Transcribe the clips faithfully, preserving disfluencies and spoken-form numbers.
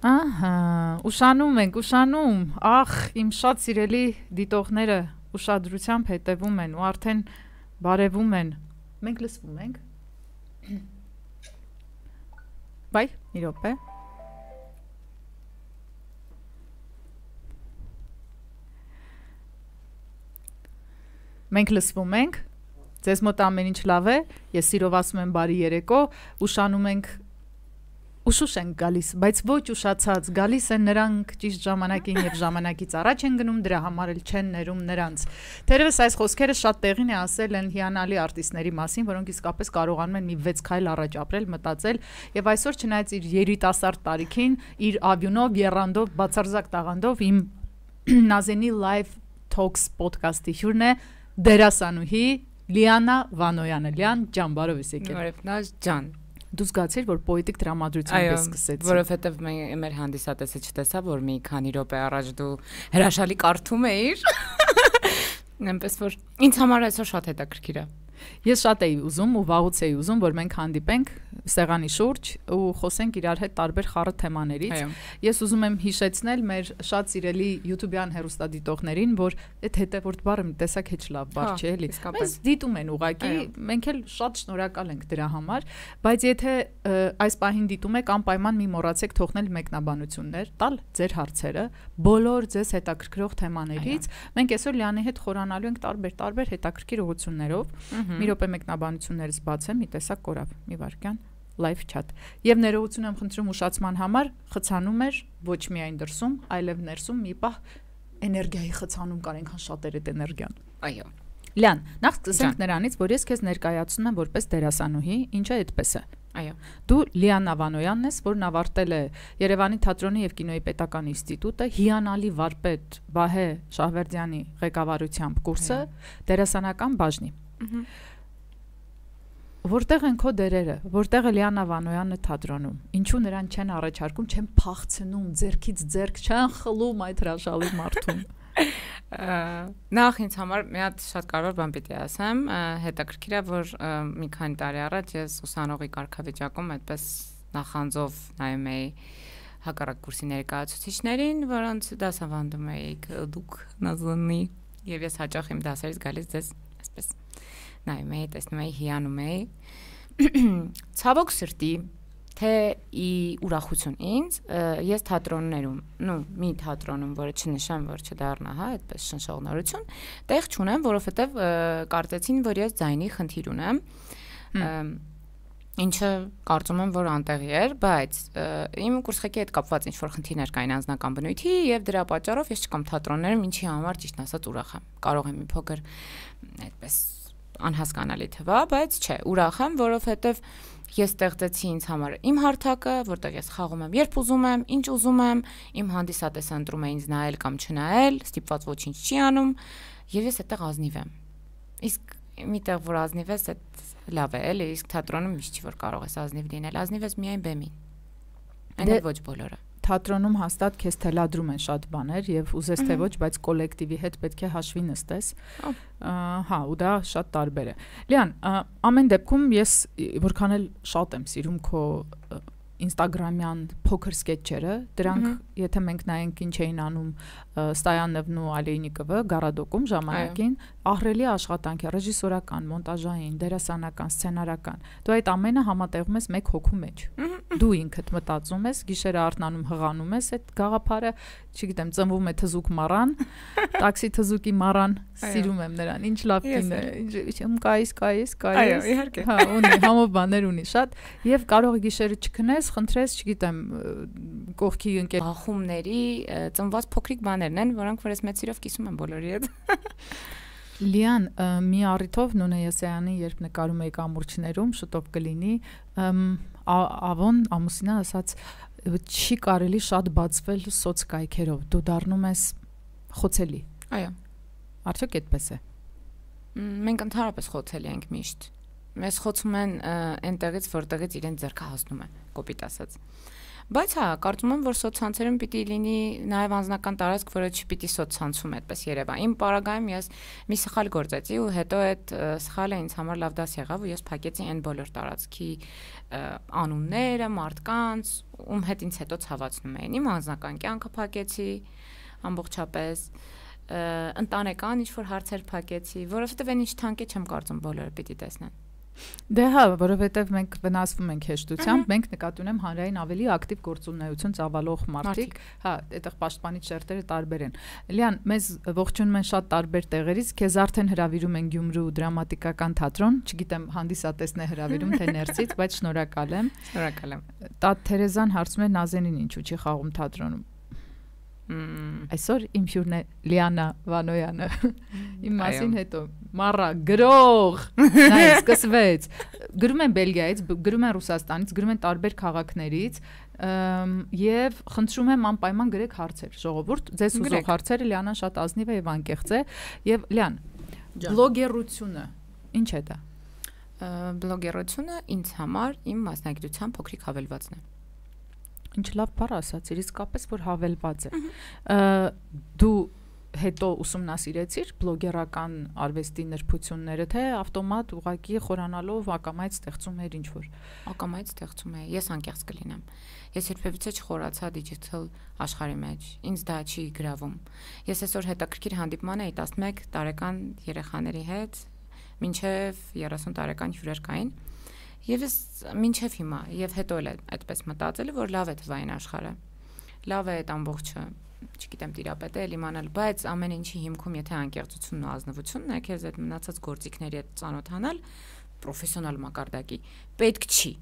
Ահա, ուշանում ենք, ուշանում, ախ, իմ շատ սիրելի դիտողները ուշադրությամբ հետևում են ու արդեն բարևում են, մենք լսվում ենք, բայ, մի րոպե, մենք լսվում ենք, ձեզ մոտ ամեն ինչ լավ է, ես սիրով ասում եմ բարի երեկո, ուշանում ենք, ուշուշ ենք գալիս, բայց ոչ ուշացած, գալիս են նրանք ճիշտ ժամանակին և ժամանակից առաջ են գնում, դրա համար էլ չեն ներում նրանց։ Թերևս այս խոսքերը շատ տեղին է ասել են հիանալի արտիստների մասին, որոնք իսկապես կարողանում են մի վեց քայլ առաջ ապրել, մտածել, և այսօր չնայած իր երիտասարդ տարիքին, իր ավյունով, եռանդով, բացարձակ տաղանդով իմ Նազենի Live Talks podcast-ի հյուրն է դերասանուհի Լիանա Վանոյանը։ Լիան ջան, բարով ես եկել։ Բարև Նազ ջան։ Դու զգացիր, որ պոետիկ տրամադրությամբ ես սկսեցի։ Որովհետև մեր հանդիսատեսը չտեսա, որ մի քանի րոպե առաջ դու հրաշալի կարդում էիր։ Այնպես որ ինձ համար այսօր շատ հետաքրքիր է։ Ես շատ էի ուզում ու վաղուց էի ուզում, որ մենք հանդիպենք սեղանի շուրջ ու խոսենք իրար հետ տարբեր խառը թեմաներից։ Ես ուզում եմ հիշեցնել մեր շատ սիրելի YouTube-յան հեռուստադիտողներին, որ այդ հետևորդ բառը մի տեսակ հեչ լավ բառ չէ, էլի։ Մեզ դիտում են ուղղակի, մենք էլ շատ շնորհակալ ենք դրա համար, բայց եթե այս պահին դիտում եք, անպայման մի մոռացեք թողնել մեկնաբանություններ, տալ ձեր հարցերը, բոլոր ձեզ հետաքրքրող թեմաներից։ Մենք այսօր Լիանի հետ խորանալու ենք տարբեր-տարբեր հետաքրքիր ուղղություններով։ Մի րոպե մեկնաբանություններից բացեմ, մի տեսակ կորավ, մի վարքյան, live chat։ Եվ ներողություն եմ խնդրում ուշացման համար, խցանում էր ոչ միայն դրսում, այլև ներսում մի պահ էներգիայի խցանում կար, այնքան շատ էր այդ էներգիան։ Այո։ Լիան, նախ սկսենք նրանից, որ ես քեզ ներկայացնում եմ որպես դերասանուհի, ինչը այդպես է։ Այո։ Դու Լիանա Վանոյանն ես, որն ավարտել է Երևանի թատրոնի և կինոյի պետական ինստիտուտը, հիանալի վարպետ Վահե Շահվերդյանի ղեկավարությամբ կուրսը, դերասանական բաժնի։ Որտեղ են քո դերերը, որտեղ է Լիանա Վանոյանը թատրոնում, ինչու նրան չեն առաջարկում, չեն փախցնում, ձեռքից ձեռք չեն խլում այդ հրաշալի մարդուն։ Նախ ինձ համար մի հատ շատ կարևոր բան պիտի ասեմ, հետաքրքիր է, որ մի քանի տարի առաջ ես ուսանողի կարգավիճակում այդպես նախանձով նայում էի հակառակ կուրսի ներկայացուցիչներին, որոնց դասավանդում էիք դուք Նազանի, եւ ես հաճախ իմ դասերից գալիս ձեզ այսպես նայում էի, տեսնում էի, հիանում էի։ Ցավոք սրտի, թե ի ուրախություն ինձ, ես թատրոններում, նու մի թատրոնում, որը չնշեմ, որ չդառնա, հա, այդպես շնշողնորություն, տեղ չունեմ, որովհետև կարծեցին, որ ես ձայնի խնդիր ունեմ, ինչը կարծում եմ, որ անտեղի էր, բայց իմ կուրսխեկի հետ կապված ինչ-որ խնդիրներ կային անձնական բնույթի եւ դրա պատճառով ես չկամ թատրոններում, ինչի համար ճիշտ ասած ուրախ եմ։ Կարող եմ մի փոքր այդպես անհասկանալի թվա, բայց չէ, ուրախ եմ, որովհետև ես ստեղծեցի ինձ համար իմ հարթակը, որտեղ ես խաղում եմ, երբ ուզում եմ, ինչ ուզում եմ, իմ հանդիսատեսը ընտրում է ինձ նայել կամ չնայել, ստիպված ոչինչ չի անում, եւ ես այդտեղ ազնիվ եմ։ Իսկ միտեղ որ ազնիվ ես, այդ լավ է, էլի, իսկ թատրոնում միշտ չի որ կարող ես ազնիվ լինել, ազնիվ ես միայն բեմին։ Այն ոչ բոլորը։ Թատրոնում հաստատ քեզ թելադրում են շատ բաներ եւ ուզես թե ոչ, բայց կոլեկտիվի հետ պետք է հաշվի նստես։ Հա, ու դա շատ տարբեր է։ Լիան, ամեն դեպքում ես որքան էլ շատ եմ սիրում քո Instagram-յան փոքր սկեթչերը, դրանք եթե մենք նայենք ինչ էին անում Ստայանովն ու Ալեյնիկովը Գարադոկում ժամանակին, ահռելի աշխատանք է, ռեժիսորական, մոնտաժային, դերասանական, սցենարական։ Դու այդ ամենը համատեղում ես մեկ հոգու մեջ։ Դու ինքդ մտածում ես, գիշերը արթնանում հղանում ես այդ գաղափարը, չգիտեմ, ծնվում է թզուկ մառան, տաքսի թզուկի մառան, սիրում եմ նրան, ինչ լավ կին է, ինչ կայիս, կայիս, կայիս։ Այո, իհարկե։ Հա, ունի, համով բաներ ունի շատ, եւ կարող է գիշերը չքնես, խնդրես, չգիտեմ, կողքի ընկեր բախումների ծնված փոքրիկ բաներն են, որոնք որ ես մեծ սիրով կիսում եմ բոլորի հետ։ Լիան, մի առիթով Նունե Եսայանի, երբ նկարում էի կամուրջներում, շուտով կլինի, Ավոն ամուսինը ասաց, չի կարելի շատ բացվել սոցկայքերով, դու դառնում ես խոցելի։ Այո։ Արդյոք այդպես է։ Մենք ընդհանրապես խոցելի ենք միշտ։ Մեզ խոցում են այնտեղից, որտեղից իրենց ձեռքը հասնում է, կոպիտ ասած։ Բայց հա, կարծում եմ, որ սոցցանցերում պիտի լինի նաև անձնական տարածք, որը չպիտի սոցցանցում այդպես երևա։ Իմ պարագայում ես մի սխալ գործեցի ու հետո այդ սխալը ինձ համար լավ դաս եղավ ու ես փակեցի այն բոլոր տարածքի անունները, մարդկանց, ում հետ ինձ հետո ցավացնում էին։ Իմ անձնական կյանքը փակեցի ամբողջապես, ընտանեկան ինչ-որ հարցեր փակեցի, որովհետև այն ինչ թանկ է չեմ կարծում բոլորը պիտի տեսնեն։ Դե հա, որովհետև մենք վնասվում ենք հեշտությամբ, մենք նկատի ունեմ հանրային ավելի ակտիվ գործունեություն ծավալող մարդիկ, հա, այդտեղ պաշտպանիչ շերտերը տարբեր են։ Լիան, մեզ ողջունում են շատ տարբեր տեղերից, քեզ արդեն հրավիրում են Գյումրու դրամատիկական թատրոն, չգիտեմ հանդիսատեսն է հրավիրում թե ներսից, բայց շնորհակալ եմ։ Շնորհակալ եմ։ Տատ Թերեզան հարցում է Նազենին ինչու չի խաղում թատրոնում։ Այսօր իմ հյուրն է Լիանա Վանոյանը։ Իմ մասին հետո մարա գրող նայ սկսվեց, գրում են Բելգիայից, գրում են Ռուսաստանից, գրում են տարբեր քաղաքներից եւ խնդրում եմ անպայման գրեք հարցեր, ժողովուրդ, ձեզ ուզող հարցերը, Լիանան շատ ազնիվ է եւ անկեղծ է եւ Լիան, բլոգերությունը ինչ է դա։ Բլոգերությունը ինձ համար իմ մասնագիտության փոքրիկ հավելվածն է։ Ինչ լավ բառ ասացիր, իսկապես որ հավելված է։ Դու հետո ուսումնասիրեցիր բլոգերական արվեստի նրբությունները, թե ավտոմատ ուղղակի խորանալով ակամայից ստեղծում էր ինչ-որ։ Ակամայից ստեղծում է, ես անկեղծ կլինեմ։ Ես երբևիցե չխորացա դիջիթալ աշխարհի մեջ, ինձ դա չի գրավում։ Ես այսօր հետաքրքիր հանդիպման էի տասնմեկ տարեկան երեխաների հետ, մինչև երեսուն տարեկան հյուրեր կային։ Եվ ես մինչև հիմա եւ հետո էլ այդպես մտածել որ լավ է թվային աշխարհը, լավ է այդ ամբողջը, չգիտեմ տիրապետել, իմանալ, բայց ամեն ինչի հիմքում եթե անկեղծությունն ու ազնվությունն է, քեզ այդ մնացած գործիքների հետ ծանոթանալ պրոֆեսիոնալ մակարդակի պետք չի,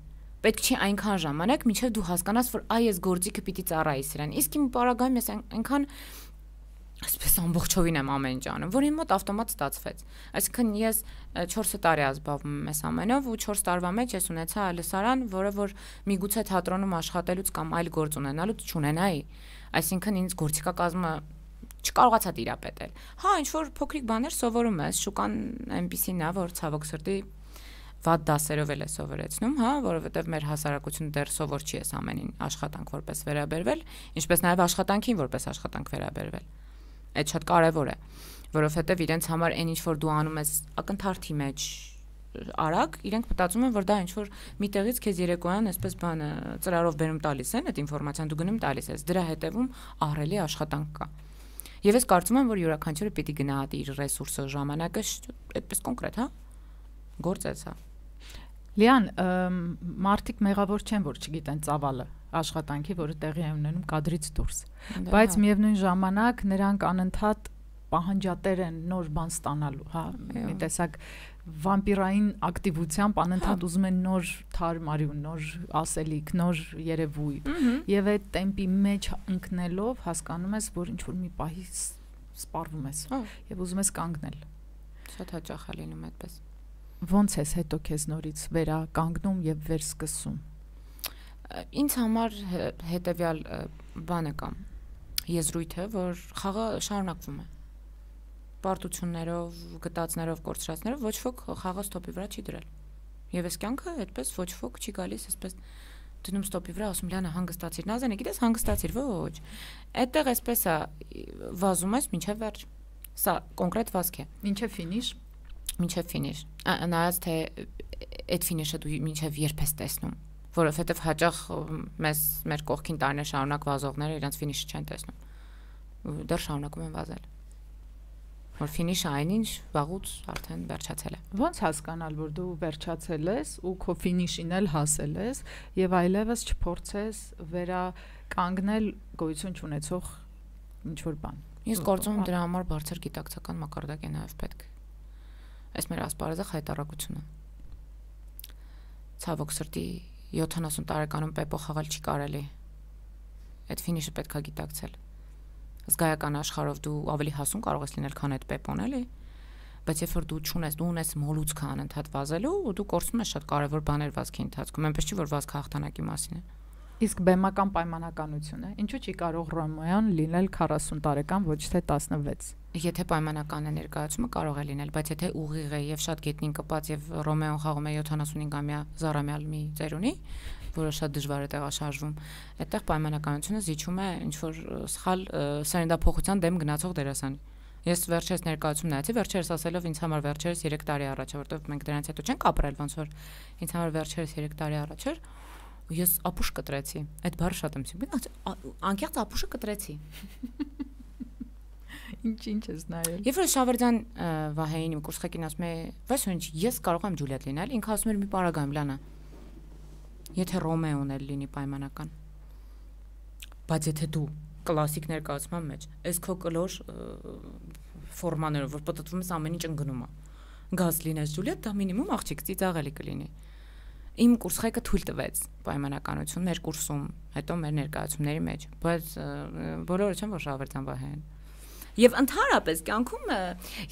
պետք չի այնքան ժամանակ, մինչև դու հասկանաս, որ այ այս գործիքը պիտի ծառայի սրան, իսկ իմ պարագայում ես այնքան այսպես ամբողջովին եմ ամեն ինչ անում, որ իմ մոտ ավտոմատ ստացվեց։ Այսինքն ես չորս տարի ազբաղվում եմ այս ամենով ու չորս տարվա մեջ ես ունեցա լսարան, որը որ միգուցե թատրոնում աշխատելուց կամ այլ գործ ունենալուց չունենայի։ Այսինքն ինձ գործիքակազմը չկարողացա տիրապետել։ Հա, ինչ որ փոքրիկ բաներ սովորում ես, շուկան այնպեսին է, որ ցավոք սրտի վատ դասերով էլ է սովորեցնում, հա, որովհետև մեր հասարակությունը դեռ սովոր չի այս ամենին աշխատանք որպես վերաբերվել, ինչպես նաև աշխատանքին որպես աշխատանք վերաբերվել։ Այդ շատ կարևոր է, որովհետև իրենց համար այն ինչ որ դու անում ես ակնթարթի մեջ արագ, իրենք մտածում են որ դա ինչ որ միտեղից քեզ երեկոյան այսպես բանը ծրարով բերում տալիս են, այդ ինֆորմացիան դու գնում տալիս ես, դրա հետևում ահռելի աշխատանք կա։ Եվ ես կարծում եմ որ յուրաքանչյուրը պիտի գնահատի իր ռեսուրսը, ժամանակը, այդպես կոնկրետ, հա։ Գործ է սա։ Լիան, մարդիկ մեղավոր չեն որ չգիտեն ծավալը աշխատանքի, որը տեղի է ունենում կադրից դուրս, բայց միևնույն ժամանակ նրանք անընդհատ պահանջատեր են նոր բան ստանալու, հա, մի տեսակ վամպիրային ակտիվությամբ անընդհատ ուզում են նոր թարմ արյուն, նոր ասելիք, նոր երևույթ, եւ այդ տեմպի մեջ ընկնելով հասկանում ես, որ ինչ որ մի պահի սպառվում ես եւ ուզում ես կանգնել։ Շատ հաճախ է լինում այդպես։ Ոնց ես հետո քեզ նորից վերականգնում եւ վերսկսում։ Ինձ համար հետեւյալ բանը կա, եզրույթը, որ խաղը շարունակվում է։ Պարտություններով, գտածներով, կորցրածներով ոչ ոք խաղը ստոպի վրա չի դրել։ Եվ այս կյանքը այդպես ոչ ոք չի գալիս, այսպես դնում ստոպի վրա, ասում Լիանա հանգստացիր, Նազենը գիտես հանգստացիր, ոչ։ Այդտեղ այսպես է վազում ես մինչև վերջ։ Սա կոնկրետ վազք է։ Մինչև ֆինիշ։ Մինչև ֆինիշ։ Նայած թե այդ ֆինիշը դու մինչև երբ ես տեսնում, որովհետև հաճախ մեզ մեր կողքին տարիներ շարունակ վազողները իրենց ֆինիշը չեն տեսնում։ Դեռ շարունակում են վազել։ Որ ֆինիշը այնինչ վաղուց արդեն վերջացել է։ Ոնց հասկանալ, որ դու վերջացել ես ու քո ֆինիշին էլ հասել ես եւ այլևս չփորձես վերականգնել գոյություն չունեցող ինչ որ բան։ Ես կարծում եմ դրա համար բարձր գիտակցական մակարդակ է նաեւ պետք։ Այս մեր ասպարեզը հայտարարությունը։ Ցավոք սրտի յոթանասուն տարեկանում պեպո խաղալ չի կարելի։ Այդ ֆինիշը պետքա գիտակցել։ Զգայական աշխարհով դու ավելի հասուն կարող ես լինել, քան այդ պեպոն, էլի։ Բայց երբ որ դու չունես, դու ունես մոլուցքը անընդհատ վազելու, ու դու կորցնում ես շատ կարևոր բաներ վազքի ընթացքում, այնպես չի որ վազքը հաղթանակի մասին է։ Իսկ բեմական պայմանականություն է։ Ինչու՞ չի կարող Ռոմեոն լինել քառասուն տարեկան, ոչ թե տասնվեց։ Եթե պայմանական է ներկայացումը կարող է լինել, բայց եթե ուղիղ է եւ շատ գետնին կպած եւ Ռոմեոն խաղում է յոթանասունհինգամյա զառամյալ մի ծերունի, որը շատ դժվար է տեղաշարժվում, այդտեղ պայմանականությունը զիջում է ինչ որ սխալ սերնդափոխության դեմ գնացող դերասանի։ Ես վերջերս ներկայացում նայեցի, վերջերս ասելով ինձ համար վերջերս երեք տարի առաջ, որովհետև մենք դրանից հետո չենք ապրել, ոնց որ ինձ համար վերջերս երեք տարի առաջ էր, ես ապուշ կտրեցի։ Այդ բառը շատ եմ սիրում։ Անկեղծ ապուշը կտրեցի։ Ինչ-ինչ ես նայել։ Եվ որ Շավերդյան Վահեին իմ կուրսխեկին ասում է, «Վայս ինչ, ես կարող եմ Ջուլիետ լինել», ինքը ասում էր մի պարագայում Լանա։ Եթե Ռոմեոն էլ լինի պայմանական։ Բայց եթե դու կլասիկ ներկայացման մեջ, այս քո կլոր ֆորմաներով, որ պատտվում ես ամեն ինչ ընկնում է։ Գազ լինես Ջուլիետ, դա մինիմում աղջիկ ծիծաղելի կլինի։ Իմ կուրսխեկը թույլ տվեց պայմանականություն մեր կուրսում, հետո մեր ներկայացումների մեջ, բայց բոլորը չեն որ Շավերդյան Վահեն։ Եվ ընդհանրապես կյանքում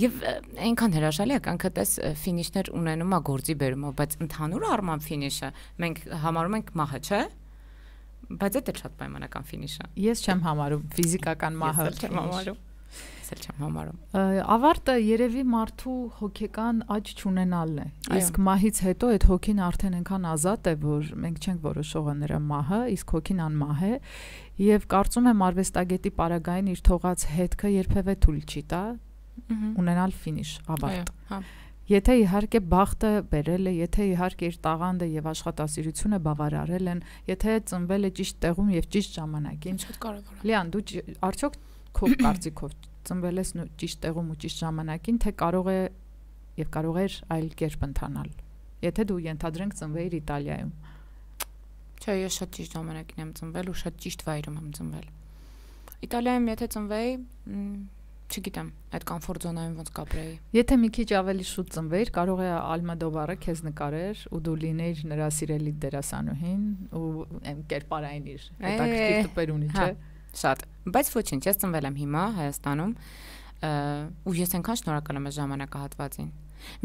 եւ այնքան հրաշալի է կյանքը տես ֆինիշներ ունենում է գործի բերումով, բայց ընդհանուր առմամբ ֆինիշը մենք համարում ենք մահը, չէ՞։ Բայց դա շատ պայմանական ֆինիշ է։ Ես չեմ համարում ֆիզիկական մահը։ Ես չեմ համարում։ Ես չեմ համարում։ Ավարտը երևի մարդու հոգեկան աճ չունենալն է։ Իսկ մահից հետո այդ հոգին արդեն այնքան ազատ է, որ մենք չենք որոշողը նրա մահը, իսկ հոգին անմահ է, եւ կարծում եմ արվեստագետի պարագային իր թողած հետքը երբևէ թույլ չի տա ունենալ ֆինիշ, ավարտ։ Եթե իհարկե բախտը բերել է, եթե իհարկե իր տաղանդը եւ աշխատասիրությունը բավարարել են, եթե ծնվել է ճիշտ տեղում եւ ճիշտ ժամանակին, շատ կարեւոր է։ Լիան, դու արդյոք քո կարծիքով ծնվել ես ճիշտ տեղում ու ճիշտ ժամանակին, թե կարող է եւ կարող էր այլ կերպ ընթանալ։ Եթե դու ենթադրենք ծնվեիր Իտալիայում։ Չէ, ես շատ ճիշտ ժամանակին եմ ծնվել ու շատ ճիշտ վայրում եմ ծնվել։ Իտալիայում եթե ծնվեի, չգիտեմ, այդ կոմֆորտ զոնայում ոնց կապրեի։ Եթե մի քիչ ավելի շուտ ծնվեիր, կարող է Ալմադովարը քեզ նկարեր ու դու լինեիր նրա սիրելի դերասանուհին ու այն կերպարային իր հետաքրքիր տպեր ունի, չէ՞։ Շատ։ Բայց ոչինչ, ես ծնվել եմ հիմա Հայաստանում ու ես այնքան շնորհակալ եմ այս ժամանակահատվածին։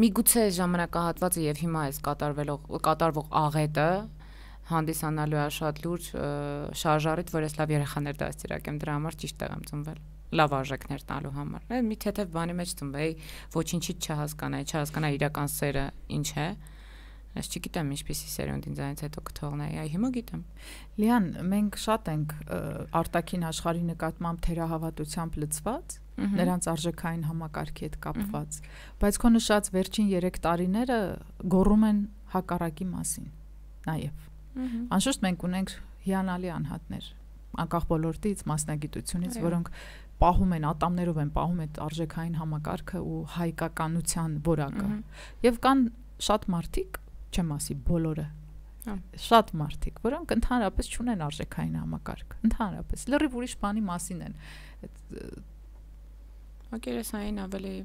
Միգուցե ժամանակահատվածը եւ հիմա այս կատարվելով կատարվող աղետը հանդիսանալու է շատ լուրջ շարժարիտ, որ ես լավ երեխաներ դաստիարակեմ, դրա համար ճիշտ տեղ եմ ծնվել։ Լավ արժեքներ տալու համար։ Մի թեթև բանի մեջ ծնվեի, ոչինչից չհասկանայի, չհասկանայի իրական սերը ինչ է։ Ես չգիտեմ ինչպեսի սերունդ ինձանից հետո կթողնայի, այ հիմա գիտեմ։ Լիան, մենք շատ ենք արտաքին աշխարհի նկատմամբ թերահավատությամբ լցված, նրանց արժեքային համակարգի հետ կապված, բայց քո նշած վերջին երեք տարիները գոռում են հակառակի մասին, նաև։ Անշուշտ մենք ունենք հիանալի անհատներ, անկախ ոլորտից, մասնագիտությունից, որոնք պահում են ատամներով են պահում այդ արժեքային համակարգը ու հայկականության որակը։ Եվ կան շատ մարդիկ, չեմ ասի բոլորը, շատ մարդիկ, որոնք ընդհանրապես չունեն արժեքային համակարգ, ընդհանրապես լրիվ ուրիշ բանի մասին են։ Մակերեսային ավելի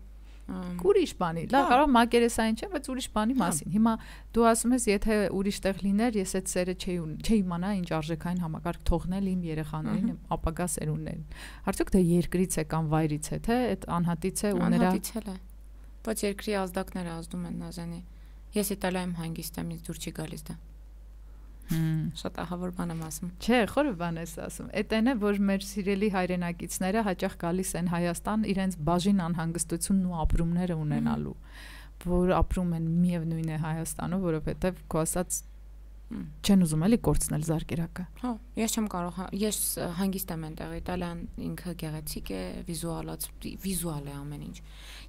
ուրիշ բանի, լավ, կարող մակերեսային չէ, բայց ուրիշ բանի մասին։ Հիմա դու ասում ես, եթե ուրիշ տեղ լիներ, ես այդ սերը չէի չէի իմանա ինչ արժեքային համակարգ թողնել իմ երեխաներին, ապագա սերունդներին։ Արդյոք դա երկրից է կամ վայրից է, թե այդ անհատից է ու նրա անհատից է։ Բայց երկրի ազդակները ազդում են Նազանի։ Ես Իտալիայում հանգիստ եմ, ինձ դուր չի գալիս դա։ Շատ ահավոր բան եմ ասում։ Չէ, խորը բան ես ասում։ Էդ այն է, որ մեր սիրելի հայրենակիցները հաճախ գալիս են Հայաստան իրենց բաժին անհանգստությունն ու ապրումները ունենալու, որ ապրում են միևնույն է Հայաստանում, որովհետև քո ասած չեն ուզում էլի կորցնել զարկերակը։ Հա, ես չեմ կարող, ես հանգիստ եմ այնտեղ, Իտալիան ինքը գեղեցիկ է, վիզուալաց, վիզուալ է ամեն ինչ։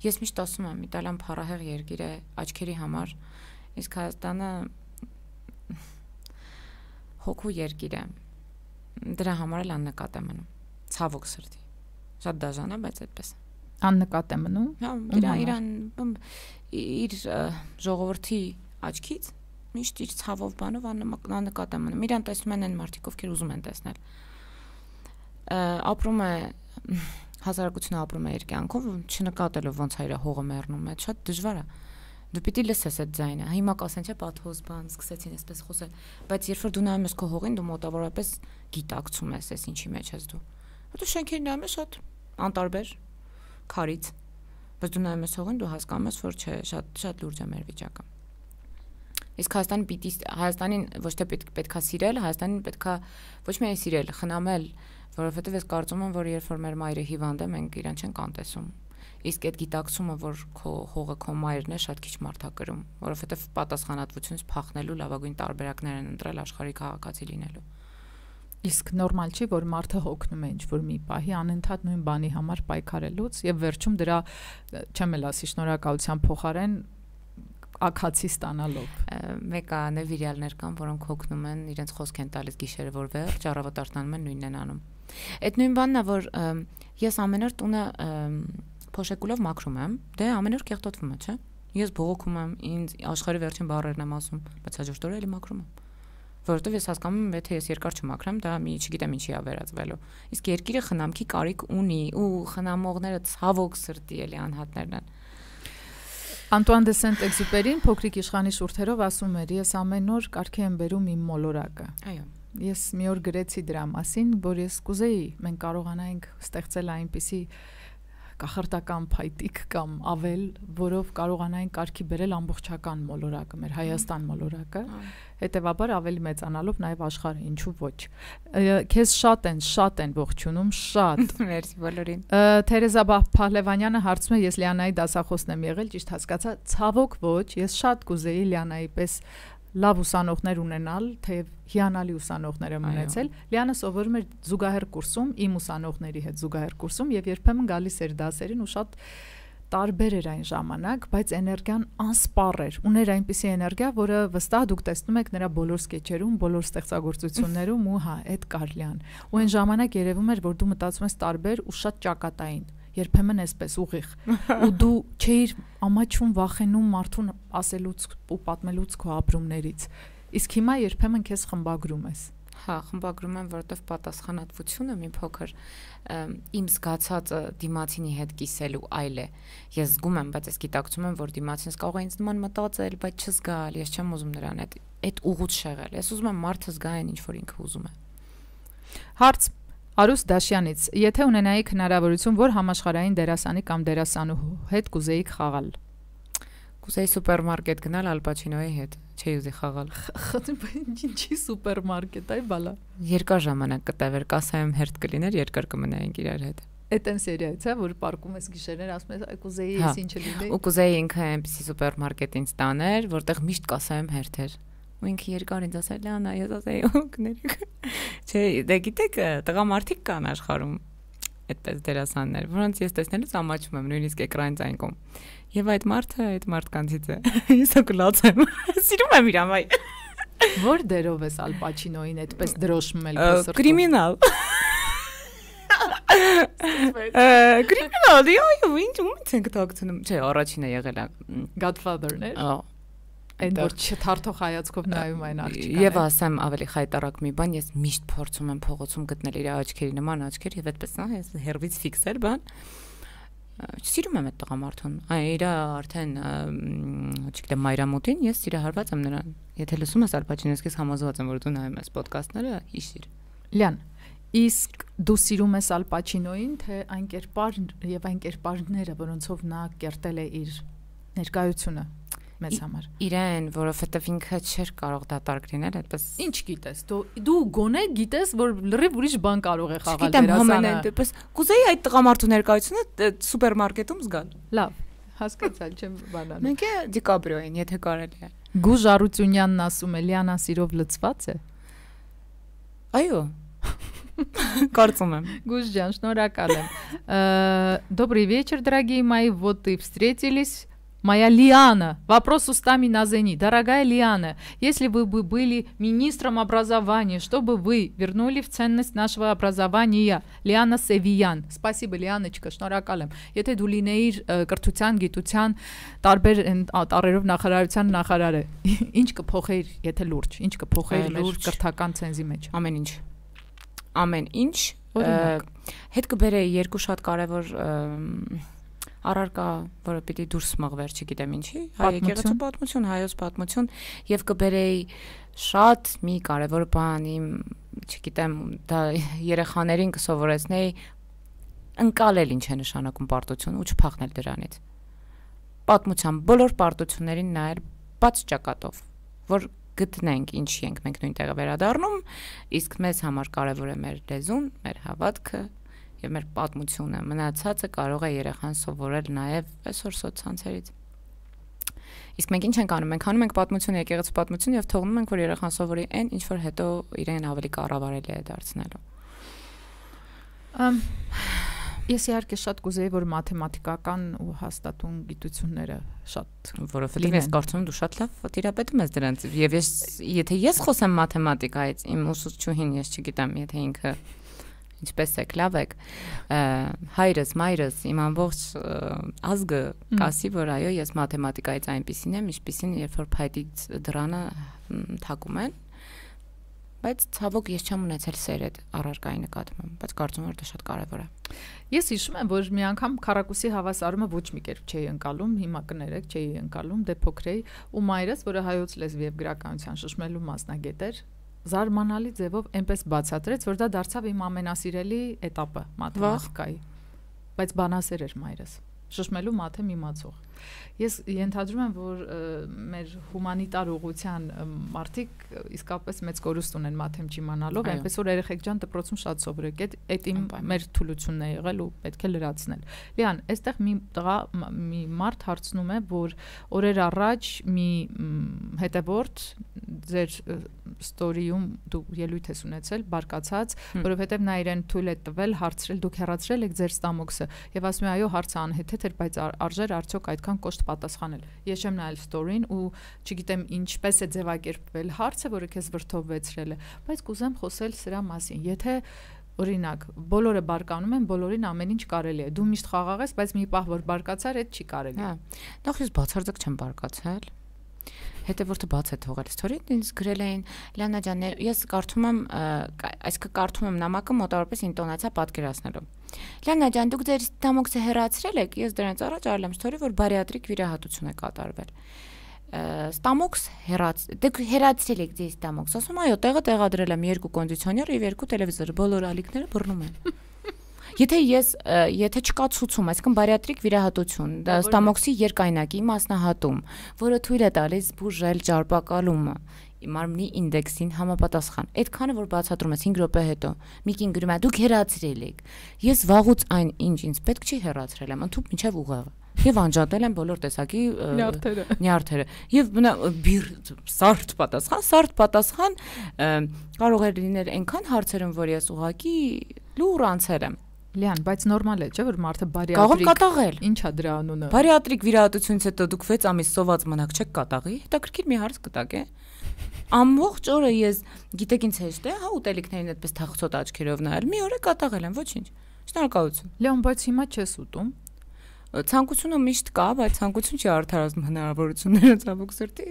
Ես միշտ ասում եմ, Իտալիան փառահեղ երկիր է աչքերի համար, իսկ Հայաստանը հոգու երկիր է։ Դրա համար էլ աննկատ է մնում։ Ցավոք սրտի։ Շատ դաժան է, բայց այդպես։ Աննկատ է մնում։ Հա, իրան իրան իր ժողովրդի աչքից միշտ իր ցավով բանով աննկատ է մնում։ Իրան տեսնում են այն մարդիկ, ովքեր ուզում են տեսնել։ Ապրում է հասարակությունը ապրում է իր կյանքով, չնկատելով ոնց է իր հողը մեռնում է, շատ դժվար է։ Դու պիտի լսես այդ ձայնը։ Հիմա կասեն չէ պատհոս բան, սկսեցին այսպես խոսել, բայց երբ որ դու նայում ես քո հողին, դու մոտավորապես գիտակցում ես, այս ինչի մեջ ես դու։ Հետո շենքերն նայում ես շատ անտարբեր, քարից, բայց դու նայում ես հողին, դու հասկանում ես, որ չէ, շատ շատ լուրջ է մեր վիճակը։ Իսկ Հայաստանը պիտի Հայաստանին ոչ թե պետքա սիրել, Հայաստանին պետքա ոչ միայն սիրել, խնամել, որովհետև ես կարծում եմ, որ երբ որ մեր մայրը հիվանդ է, մենք իրան չենք անտեսում։ իսկ այդ գիտակցումը, որ քո հողը քո մայրն է, շատ քիչ մարդ է կրում, որովհետև պատասխանատվությունից փախնելու լավագույն տարբերակներ են ընտրել աշխարհի քաղաքացի լինելու։ Իսկ նորմալ չի, որ մարդը հոգնում է ինչ-որ մի պահի անընդհատ նույն բանի համար պայքարելուց եւ վերջում դրա չեմ էլ ասի շնորհակալության փոխարեն ակացի ստանալով։ Մեկ է նեվիրյալներ կան, որոնք հոգնում են, իրենց խոսք են տալիս գիշերը, որ վերջ առավոտ արտանում են նույնն են անում։ Այդ նույն բանն է, որ ես ամեն օր տունը փոշեկուլով մաքրում եմ, դե ամեն օր կեղտոտվում է, չէ՞։ Ես բողոքում եմ, ինձ աշխարհի վերջին բառերն եմ ասում, բայց հաջորդ օրը էլի մաքրում եմ։ Որովհետև ես հասկանում եմ, եթե ես երկար չմաքրեմ, դա մի չգիտեմ ինչի է վերածվելու։ Իսկ երկիրը խնամքի կարիք ունի ու խնամողները ցավոք սրտի էլի անհատներն են։ Անտուան դե Սենտ-Էքզյուպերին փոքրիկ իշխանի շուրթերով ասում էր. ես ամեն օր կարգի եմ բերում իմ մոլորակը։ Այո։ Ես մի օր գրեցի դրա մասին, որ ես կուզեի մենք կարողանայինք ստեղծել այնպիսի կախարդական փայտիկ կամ ավել, որով կարողանային կարգի բերել ամբողջական մոլորակը, մեր Հայաստան մոլորակը, հետևաբար ավելի մեծանալով նաև աշխարհը, ինչու ոչ։ Քեզ շատ են, շատ են ողջունում, շատ։ Մերսի բոլորին։ Թերեզա Փահլևանյանը հարցում է, ես Լիանայի դասախոսն եմ եղել, ճիշտ հասկացա, ցավոք ոչ, ես շատ կուզեի Լիանայի պես լավ ուսանողներ ունենալ, թեև հիանալի ուսանողներ եմ ունեցել։ Լիանը սովորում էր զուգահեռ կուրսում, իմ ուսանողների հետ զուգահեռ կուրսում եւ երբեմն գալիս էր դասերին ու շատ տարբեր էր այն ժամանակ, բայց էներգիան անսպառ էր։ Ուներ այնպիսի էներգիա, որը վստահ դուք տեսնում եք նրա բոլոր սկեչերում, բոլոր ստեղծագործություններում ու հա, այդ կար Լիան։ Ու այն ժամանակ երևում էր, որ դու մտածում ես տարբեր ու շատ ճակատային։ Երբեմն էսպես ուղիղ ու դու չէիր ամաչում վախենում մարդուն ասելուց ու պատմելուց քո ապրումներից իսկ հիմա երբեմն քեզ խմբագրում ես հա խմբագրում եմ որովհետև պատասխանատվությունը մի փոքր իմ զգացածը դիմացինի հետ կիսելու այլ է ես զգում եմ բայց ես գիտակցում եմ որ դիմացինս կարող է ինձ նման մտածել բայց չզգալ ես չեմ ուզում նրան այդ այդ ուղուց շեղել ես ուզում եմ մարդը զգա այն ինչ որ ինքը ուզում է հարց Արուս Դաշյանից, եթե ունենայիք հնարավորություն, որ համաշխարհային դերասանի կամ դերասանուհու հետ կուզեիք խաղալ։ Կուզեի սուպերմարկետ գնալ Ալ Պաչինոյի հետ, չէի ուզի խաղալ։ Ինչի սուպերմարկետ, այ բալա։ Երկար ժամանակ կտևեր, կասայում հերթ կլիներ, երկար կմնայինք իրար հետ։ Այդ են սերիայից, հա, որ պարկում ես գիշերներ, ասում ես, այ կուզեի ես ինչը լինեի։ Ու կուզեի ինքը այնպեսի սուպերմարկետ ինձ տաներ, որտեղ միշտ կասայում հերթեր։ Ու ինքը երկար ինձ ասել, Լիանա, ես ասեի, օգներեք։ Չէ, դե գիտեք, տղամարդիկ կան աշխարհում այդպես դերասաններ, որոնց ես տեսնելուց ամաչում եմ, նույնիսկ էկրանից այնկոմ։ Եվ այդ մարդը այդ մարդկանցից է։ Ես օգլած եմ։ Սիրում եմ իրան, այ։ Որ դերով ես Ալ Պաչինոյին այդպես դրոշմում էլ քոսր։ Կրիմինալ։ Կրիմինալ, այո, ինչ ումից ենք տակցնում։ Չէ, առաջինը եղել է Godfather-ն էր։ Ահա։ Այն որ չթարթող հայացքով նայում այն աղջիկը։ Եվ ասեմ ավելի խայտարակ մի բան, ես միշտ փորձում եմ փողոցում գտնել իր աչքերի նման աչքեր եւ այդպես նա ես հերվից ֆիքսել բան։ Սիրում եմ այդ տղամարդուն։ Այ իր արդեն չգիտեմ մայրամուտին ես սիրահարված եմ նրան։ Եթե լսում ես Ալ Պաչինոյից համոզված եմ որ դու նայում ես ոդկասթները, հիշիր։ Լիան, իսկ դու սիրում ես Ալ Պաչինոյին, թե այն կերպարն եւ այն կերպարները, որոնցով նա կերտել է իր ներկայությունը մեզ համար։ Իրեն, որովհետև ինքը չէր կարող դատարկ լինել, այդպես։ Ինչ գիտես, դու դու գոնե գիտես, որ լրիվ ուրիշ բան կարող է խաղալ դերասանը։ Գիտեմ, համենայն դեպս կուզեի այդ տղամարդու ներկայությունը սուպերմարկետում զգալ։ Լավ, հասկացալ չեմ բանանը։ Մենք է Դիկաբրիոին, եթե կարելի է։ Գուժ Արությունյանն ասում է, Լիանա սիրով լցված է։ Այո։ Կարծում եմ։ Гуж ջան, շնորհակալ եմ։ Добрый вечер, дорогие мои. Вот и встретились. Моя Лиана. Вопрос устами на зени. Дорогая Лиана, если вы бы были министром образования, что бы вы вернули в ценность нашего образования? Лиана Севиян. Спасибо, Лианочка, շնորհակալ եմ։ Եթե դու լինեիր կրթության, գիտության, տարբեր տարերով նախարարության նախարարը, ինչ կփոխեիր, եթե լուրջ, ինչ կփոխեիր մեր կրթական ցենզի մեջ։ Ամեն ինչ։ Ամեն ինչ հետ կբերեի երկու շատ կարևոր առարկա, որը պիտի դուրս մղվեր, չգիտեմ ինչի, հայ եկեղեցու պատմություն, հայոց պատմություն եւ կբերեի շատ մի կարևոր բան իմ, չգիտեմ, դա երեխաներին կսովորեցնեի ընկալել ինչ է նշանակում պարտություն ու չփախնել դրանից։ Պատմության բոլոր պարտություններին նայել բաց ճակատով, որ գտնենք ինչի ենք մենք նույն տեղը վերադառնում, իսկ մեզ համար կարևոր է մեր լեզուն, մեր հավատքը եւ մեր պատմությունը, մնացածը կարող է երեխան սովորել նաեւ այսօր սոցցանցերից։ Իսկ մենք ինչ ենք անում, մենք անում ենք պատմություն, եկեղեցու պատմություն եւ թողնում ենք, որ երեխան սովորի այն, ինչ որ հետո իրեն ավելի կառավարելի է դարձնելու։ Ամ Ես իհարկե շատ կուզեի, որ մաթեմատիկական ու հաստատուն գիտությունները շատ, որովհետեւ ես կարծում եմ դու շատ լավ տիրապետում ես դրանց եւ ես եթե ես խոսեմ մաթեմատիկայից, իմ ուսուցչուհին ես չգիտեմ, եթե ինքը ինչպես եք, լավ եք, հայրս, մայրս, իմ ամբողջ ազգը կասի, որ այո, ես մաթեմատիկայից այնպիսին եմ, ինչպիսին երբ որ փայտից դրանը թակում են, բայց ցավոք ես չեմ ունեցել սեր այդ առարկայի նկատմամբ, բայց կարծում եմ որ դա շատ կարևոր է։ Ես հիշում եմ, որ մի անգամ քառակուսի հավասարումը ոչ մի կերպ չէի ընկալում, հիմա կներեք, չէի ընկալում, դե փոքր էի, ու մայրս, որը հայոց լեզվի եւ գրականության շշմելու մասնագետ էր, զարմանալի ձևով այնպես բացատրեց, որ դա դարձավ իմ ամենասիրելի էտապը մաթեմատիկայի, բայց բանասեր էր մայրս, շշմելու մաթեմ իմացող։ Ես ենթադրում եմ, որ մեր հումանիտար ուղղության մարդիկ իսկապես մեծ կորուստ ունեն մաթեմ չիմանալով, այնպես որ երեխեք ջան դպրոցում շատ սովորեք, այդ իմ մեր թուլությունն է եղել ու պետք է լրացնել։ Լիան, այստեղ մի տղա մի մարդ հարցնում է, որ օրեր առաջ մի հետևորդ ձեր ստորիում դու ելույթ ես ունեցել, բարկացած, որովհետև նա իրեն թույլ է տվել հարցրել, դուք հեռացրել եք ձեր ստամոքսը, եւ ասում է այո, հարցը անհեթեթ էր, բայց արժեր արդյոք այդքան կոշտ պատասխանել։ Ես չեմ նայել ստորին ու չգիտեմ ինչպես է ձևակերպվել հարցը, որը քեզ վրդովվեցրել է, բայց կուզեմ խոսել սրա մասին։ Եթե օրինակ բոլորը բարկանում են, բոլորին ամեն ինչ կարելի է։ Դու միշտ խաղաղ ես, բայց մի պահ որ բարկացար, այդ չի կարելի։ Հա։ Նախ ես բացարձակ չեմ բարկացել։ Հետևորդը բաց է թողել ստորին, ինձ գրել էին Լիանա ջան, ես կարդում եմ, այսինքն կարդում եմ նամակը մոտավորապես ինտոնացիա պատկերացնելով։ Լիանա ջան, դուք ձեր ստամոքսը հեռացրել եք, ես դրանից առաջ արել եմ ստորի, որ բարիատրիկ վիրահատություն է կատարվել։ Ստամոքս հեռաց, դուք հեռացրել եք ձեր ստամոքս, ասում այո, տեղը տեղադրել եմ երկու կոնդիցիոներ եւ երկու տելևիզոր, բոլոր ալիքները բռնում են։ Եթե ես եթե չկա ցուցում, այսինքն բարիատրիկ վիրահատություն, ստամոքսի երկայնակի մասնահատում, որը թույլ է տալիս բուժել ճարպակալումը, մարմնի ինդեքսին համապատասխան։ Այդքանը որ բացատրում ես հինգ րոպե հետո, Միկին գրում է դուք հեռացրել եք։ Ես վաղուց այն ինչ ինձ պետք չի հեռացրել եմ, ընդհանուր մինչև ուղեղը։ Եվ անջատել եմ բոլոր տեսակի նյարդերը։ Նյարդերը։ Եվ բիր սարդ պատասխան, սարդ պատասխան կարող է լինել այնքան հարցերում, որ ես ուղղակի լուր անցել եմ։ Լիան, բայց նորմալ է, չէ՞ որ մարդը բարիատրիկ։ Կարող կատաղել։ Ինչա դրա անունը։ Բարիատրիկ վիրահատությունից հետո դուք վեց ամիս սոված մնաք չեք կատաղի։ Հետաքրքիր մի հարց կտակ է։ Ամբողջ օրը ես գիտեք ինձ հեշտ է, հա ուտելիքներին այդպես թախծոտ աչքերով նայել։ Մի օր է կատաղել եմ, ոչինչ։ Շնորհակալություն։ Լիան, բայց հիմա չես ուտում։ Ցանկությունը միշտ կա, բայց ցանկություն չի արդարացնում հնարավորությունները ցավոք սրտի։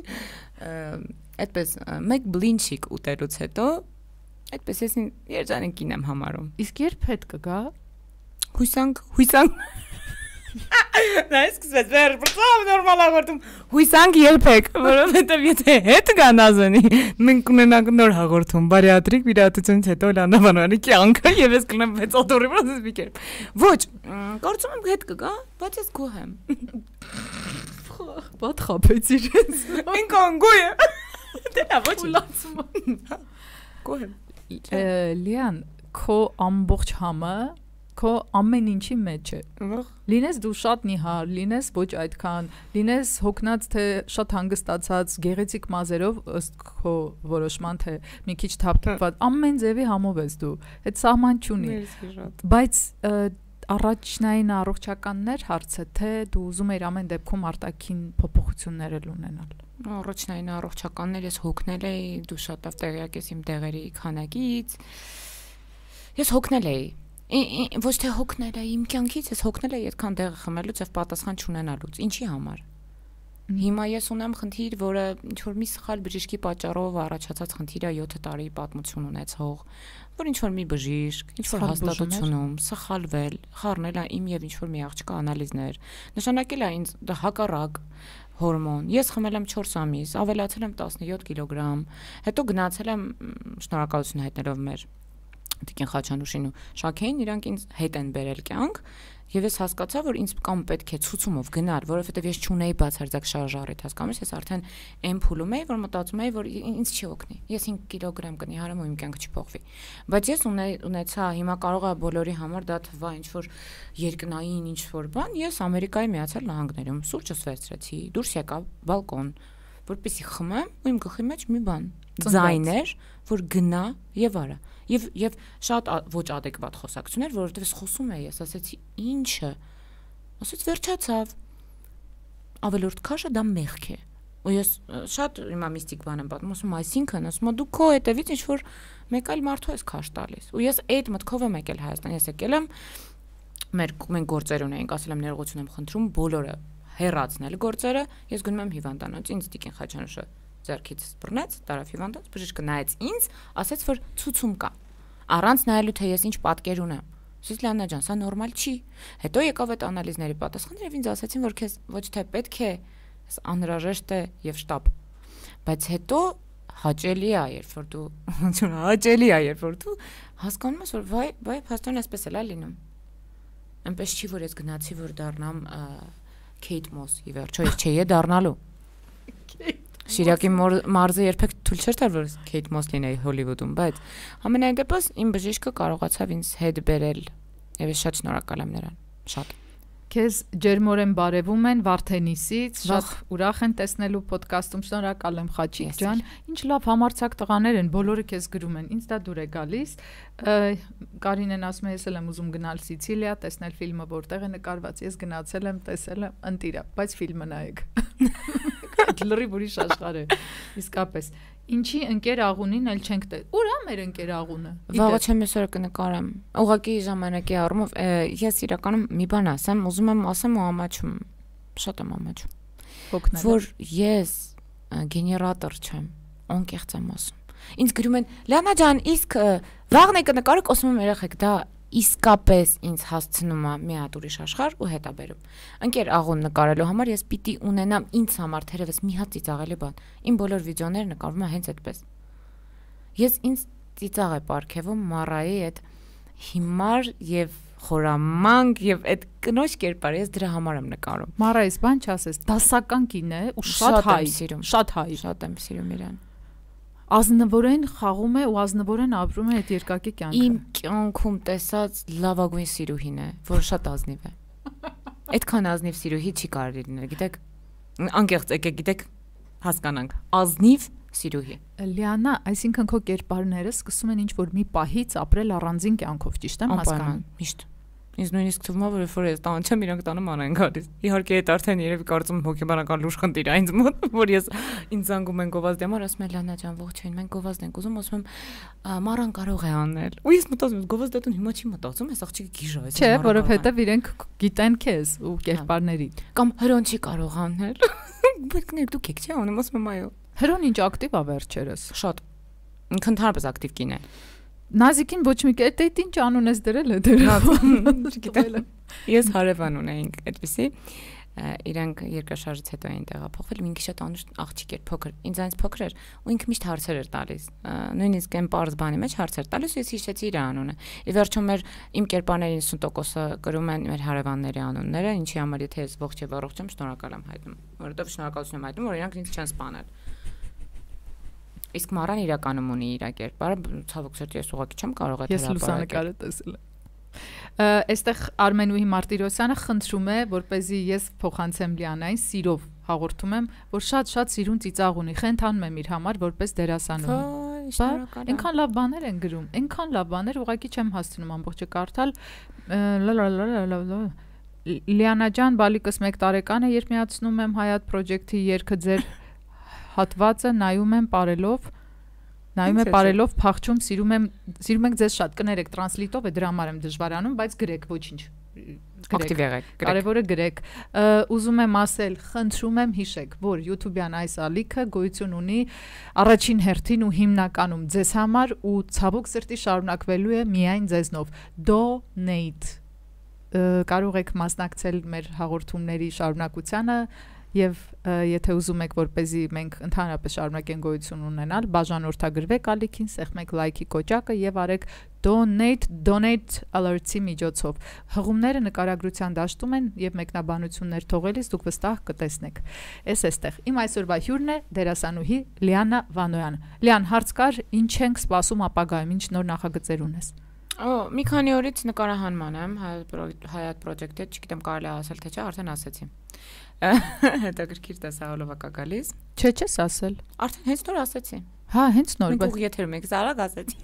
Այդպես մեկ բլինչիկ ուտելուց հետո այդպես ես երջանիկին եմ համարում։ Իսկ երբ հետ կգա։ Հույսանք, հույսանք։ Նա սկսեց վեր բրծավ նորմալ հաղորդում։ Հույսանք երբեք, որովհետև եթե հետ գա Նազանի, մենք ունենանք նոր հաղորդում, բարիատրիկ վիրահատությունից հետո Լիանա Վանոյանի կյանքը եւ ես կլինեմ վեց օտորի վրա մի կերպ։ Ոչ, կարծում եմ հետ կգա, բայց ես գոհ եմ։ Բադ խափեց իրենց։ Ինքան գոհ եմ։ Դե լավ, ոչ լացում։ Գոհ եմ։ Լիան, քո ամբողջ համը քո ամեն ինչի մեջ է։ Լինես դու շատ նիհար, լինես ոչ այդքան, լինես հոգնած թե շատ հանգստացած, գեղեցիկ մազերով ըստ քո որոշման թե մի քիչ թափթփված, ամեն ձևի համով ես դու։ Այդ սահման չունի։ Բայց առաջնային առողջականներ հարցը թե դու ուզում ես ամեն դեպքում արտաքին փոփոխություններ ունենալ։ Առաջնային առողջականներ ես հոգնել էի, դու շատ լավ տեղյակ ես իմ դեղերի քանակից։ Ես հոգնել էի։ Ոչ թե հոգնել է իմ կյանքից, ես հոգնել եմ այդքան դեղը խմելուց եւ պատասխան չունենալուց։ Ինչի համար։ Հիմա ես ունեմ խնդիր, որը ինչ որ մի սխալ բժիշկի պատճառով առաջացած խնդիր է յոթ տարի պատմություն ունեցող, որ ինչ որ մի բժիշկ, ինչ որ հաստատությունում սխալվել, խառնել է իմ եւ ինչ որ մի աղջկա անալիզներ, նշանակել է ինձ դա հակառակ հորմոն։ Ես խմել եմ չորս ամիս, ավելացել եմ տասնյոթ կիլոգրամ, հետո գնացել եմ շնորհակալություն հայտնելով մեր Տիկին Խաչանուշին ու Շաքեին, իրանք ինձ հետ են բերել կյանք, եւ ես հասկացա, որ ինձ կամ պետք է ցուցումով գնալ, որովհետեւ ես չունեի բացարձակ շարժառիթ, հասկանու՞մ ես, ես արդեն այն փուլում էի, որ մտածում էի, որ ինձ չի օգնի։ Ես cinq կիլոգրամ կնի հարամ ու իմ կյանքը չփոխվի։ Բայց ես ունեցա, հիմա կարող է բոլորի համար դա թվա ինչ որ երկնային ինչ որ բան, ես Ամերիկայի Միացյալ Նահանգներում սուրճս վերցրեցի, դուրս եկա բալկոն, որպեսզի խմեմ ու իմ գլխի մեջ մի բան ձայներ, որ գնա եւ արա։ Եվ եւ շատ ոչ adekvat խոսակցություններ, որովհետեւ ես խոսում էի, ես ասեցի, ի՞նչը։ Ասեց վերջացավ։ Ավելորդ քաշը դա մեղք է։ Ու ես շատ հիմա միստիկ բան եմ պատմում, ասում, այսինքն, ասում, դու քո հետևից ինչ որ մեկ այլ մարդու ես քաշ տալիս։ Ու ես այդ մտքով եմ եկել Հայաստան, ես եկել եմ մեր մենք գործեր ունեինք, ասել եմ ներողություն եմ խնդրում, բոլորը հեռացնել գործերը, ես գնում եմ հիվանդանոց, ինձ Տիկին Խաչանուշը ձեռքից բռնեց, տարավ հիվանդանոց, բժիշկը նայեց ինձ, ասեց, որ ցուցում կա։ Առանց նայելու թե ես ինչ պատկեր ունեմ։ Ասեց Լիանա ջան, սա նորմալ չի։ Հետո եկավ այդ անալիզների պատասխանը եւ ինձ ասացին, որ քեզ ոչ թե պետք է, անհրաժեշտ է եւ շտապ։ Բայց հետո հաճելի է, երբ որ դու հաճելի է, երբ որ դու հասկանում ես, որ վայ, վայ, փաստորեն այսպես էլ է լինում։ Այնպես չի, որ ես գնացի, որ դառնամ Քեյթ Մոս, ի վերջո ես չէի դառնալու։ Շիրակի մարզը երբեք թույլ չէր տալ, որ Քեյթ Մոս լինեի Հոլիվուդում, բայց ամենայն դեպս իմ բժիշկը կարողացավ ինձ հետ բերել եւ ես շատ շնորհակալ եմ նրան, շատ։ Քեզ ջերմորեն բարևում են Վարդենիսից, շատ ուրախ են տեսնելու ոդկասթում, շնորհակալ եմ Խաչիկ ջան, ինչ լավ համարցակ տղաներ են, բոլորը քեզ գրում են, ինձ դա դուր է գալիս։ Կարինեն ասում է, ես էլ եմ ուզում գնալ Սիցիլիա, տեսնել ֆիլմը, որտեղ է նկարված, ես գնացել եմ, տեսել եմ, ընտիրա, բայց ֆիլմը նայեք։ Լրիվ ուրիշ աշխարհ է, իսկապես։ Ինչի ընկեր աղունին էլ չենք տե։ Ուր է մեր ընկեր աղունը։ Վաղը չեմ այսօր կնկարեմ։ Ուղղակի ժամանակի առումով ես իրականում մի բան ասեմ, ուզում եմ ասեմ ու ամաչում։ Շատ եմ ամաչում։ Որ ես գեներատոր չեմ, անկեղծ եմ ասում։ Ինձ գրում են Լիանա ջան, իսկ վաղն է կնկարեք, ասում եմ երեխեք, դա իսկապես ինձ հասցնում է մի հատ ուրիշ աշխարհ ու հետա բերում։ Ընկեր աղուն նկարելու համար ես պիտի ունենամ ինձ համար թերևս մի հատ ծիծաղելի բան։ Իմ բոլոր վիդեոները նկարվում են հենց այդպես։ Ես ինձ ծիծաղ է պարգևում Մարայի այդ հիմար եւ խորամանկ եւ այդ կնոջ կերպարը, ես դրա համար եմ նկարում։ Մարայից բան չասես, դասական կին է ու շատ հայ, շատ հայ, շատ եմ սիրում իրան։ Ազնվորեն խաղում է ու ազնվորեն ապրում է այդ երկակի կյանքը։ Իմ կյանքում տեսած լավագույն սիրուհին է, որ շատ ազնիվ է։ Այդքան ազնիվ սիրուհի չի կարելի լինել, գիտեք, անկեղծ եկեք, գիտեք, հասկանանք, ազնիվ սիրուհի։ Լիանա, այսինքն քո կերպարները սկսում են ինչ որ մի պահից ապրել առանձին կյանքով, ճիշտ եմ հասկանում։ Միշտ։ Ինձ նույնիսկ թվում է, որ երբ որ ես տան չեմ, իրանք տանը ման են գալիս։ Իհարկե այդ արդեն երևի կարծում հոգեբանական լուրջ խնդիր է ինձ մոտ, որ ես ինձ զանգում են գովազդի համար, ասում են Լիանա ջան, ողջույն, մենք գովազդ ենք ուզում, ասում եմ մարան կարող է անել։ Ու ես մտածում եմ գովազդատուն հիմա չի մտածում, այս աղջիկը գիժա է։ Չէ, որովհետև իրենք գիտեն քեզ ու կերպարներին։ Կամ հրոն չի կարող անել։ Բայց ներ դուք եք, չէ՞, անում ասում եմ այո։ Հրոն ինչ ակտիվ է վերջերս։ Շատ։ Ինքն ընդհանրապես ակտիվ կին է։ Նազիկին ոչ մի կետ այդ ինչ անուն ես դրել է դրել։ Չգիտեմ։ Ես հարևան ունեինք այդպեսի, իրանք երկրաշարժից հետո էին տեղափոխվել, ինքը շատ անուշ աղջիկ էր, փոքր, ինձ այնց փոքր էր ու ինքը միշտ հարցեր էր տալիս, նույնիսկ այն պարզ բանի մեջ հարցեր տալիս ու ես հիշեցի իր անունը։ Ի վերջո մեր իմ կերպարների իննսուն տոկոսը կրում են մեր հարևանների անունները, ինչի համար եթե ես ողջ եւ առողջ եմ, շնորհակալ եմ հայտնում, որովհետեւ շնորհակալություն եմ հայտնում, որ իրանք ինձ չեն սպանել։ Իսկ Մարան իրականում ունի իր կերպարը, ցավոք սրտի ես ուղղակի չեմ կարող այդ հրապարակել։ Ես լուսանկարը տեսել եմ։ Այստեղ Արմենուհի Մարտիրոսյանը խնդրում է, որպեսզի ես փոխանցեմ Լիանային, սիրով հաղորդում եմ, որ շատ-շատ սիրուն ծիծաղ ունի, խենթանում եմ իր համար որպես դերասանուհի։ Այնքան լավ բաներ են գրում, այնքան լավ բաներ, ուղղակի չեմ հասցնում ամբողջը կարդալ։ Լիանա ջան, բալիկս մեկ տարեկան է, երբ միացնում եմ Հայատ Project-ի երգը ձեր հատվածը նայում եմ բարելով, նայում եմ բարելով, փախչում, սիրում եմ, սիրում ենք ձեզ շատ, կներեք, տրանսլիտով է, դրա համար եմ դժվարանում, բայց գրեք, ոչինչ։ Ակտիվ եղեք, գրեք։ Կարևորը գրեք։ Ուզում եմ ասել, խնդրում եմ հիշեք, որ YouTube-յան այս ալիքը գոյություն ունի առաջին հերթին ու հիմնականում ձեզ համար ու ցավոք սրտի շարունակվելու է միայն ձեզնով։ Donate կարող եք մասնակցել մեր հաղորդումների շարունակությանը եւ եթե ուզում եք որպեսզի մենք ընդհանրապես շարունակենք գոյություն ունենալ, բաժանորդագրվեք ալիքին, սեղմեք լայքի կոճակը եւ արեք donate donate alerts-ի միջոցով։ Հղումները նկարագրության դաշտում են եւ մեկնաբանություններ թողելիս դուք վստահ կտեսնեք։ Էս էստեղ։ Իմ այսօրվա հյուրն է դերասանուհի Լիանա Վանոյան։ Լիան, հարց կար, ինչ ենք սպասում ապագայում, ինչ նոր նախագծեր ունես։ Օ, մի քանի օրից նկարահանման եմ Hayat Project-ի, չգիտեմ կարելի է ասել թե չէ, արդեն ասեցի։ Հետաքրքիր տեսահոլովա կա գալիս։ Չէ, չես ասել։ Արդեն հենց նոր ասեցի։ Հա, հենց նոր, բայց ուղղ եթերում եք, զարակ ասեցի։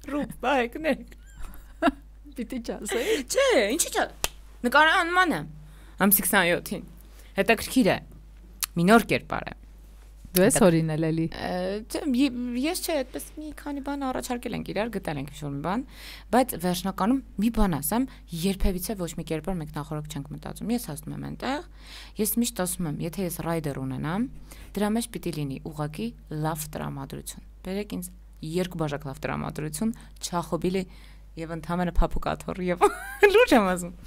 Ռուբ, բայկներ։ Պիտի չասեի։ Չէ, ինչի՞ չէ։ Նկարահանման եմ ամսի քսանյոթին։ Հետաքրքիր է։ Մի նոր կերպար է։ Դու ես օրինել էլի։ Ես չէ, այդպես մի քանի բան առաջարկել ենք իրար, գտել ենք ինչ-որ մի բան, բայց վերջնականում մի բան ասեմ, երբևիցե ոչ մի կերպար մենք նախորդ չենք մտածում։ Ես հասնում եմ այնտեղ, ես միշտ ասում եմ, եթե ես ռայդեր ունենամ, դրա մեջ պիտի լինի ուղղակի լավ տրամադրություն։ Բերեք ինձ երկու բաժակ լավ տրամադրություն, Չախոբիլի եւ ընդհանրապես փափուկաթոռ եւ լուրջ եմ ասում։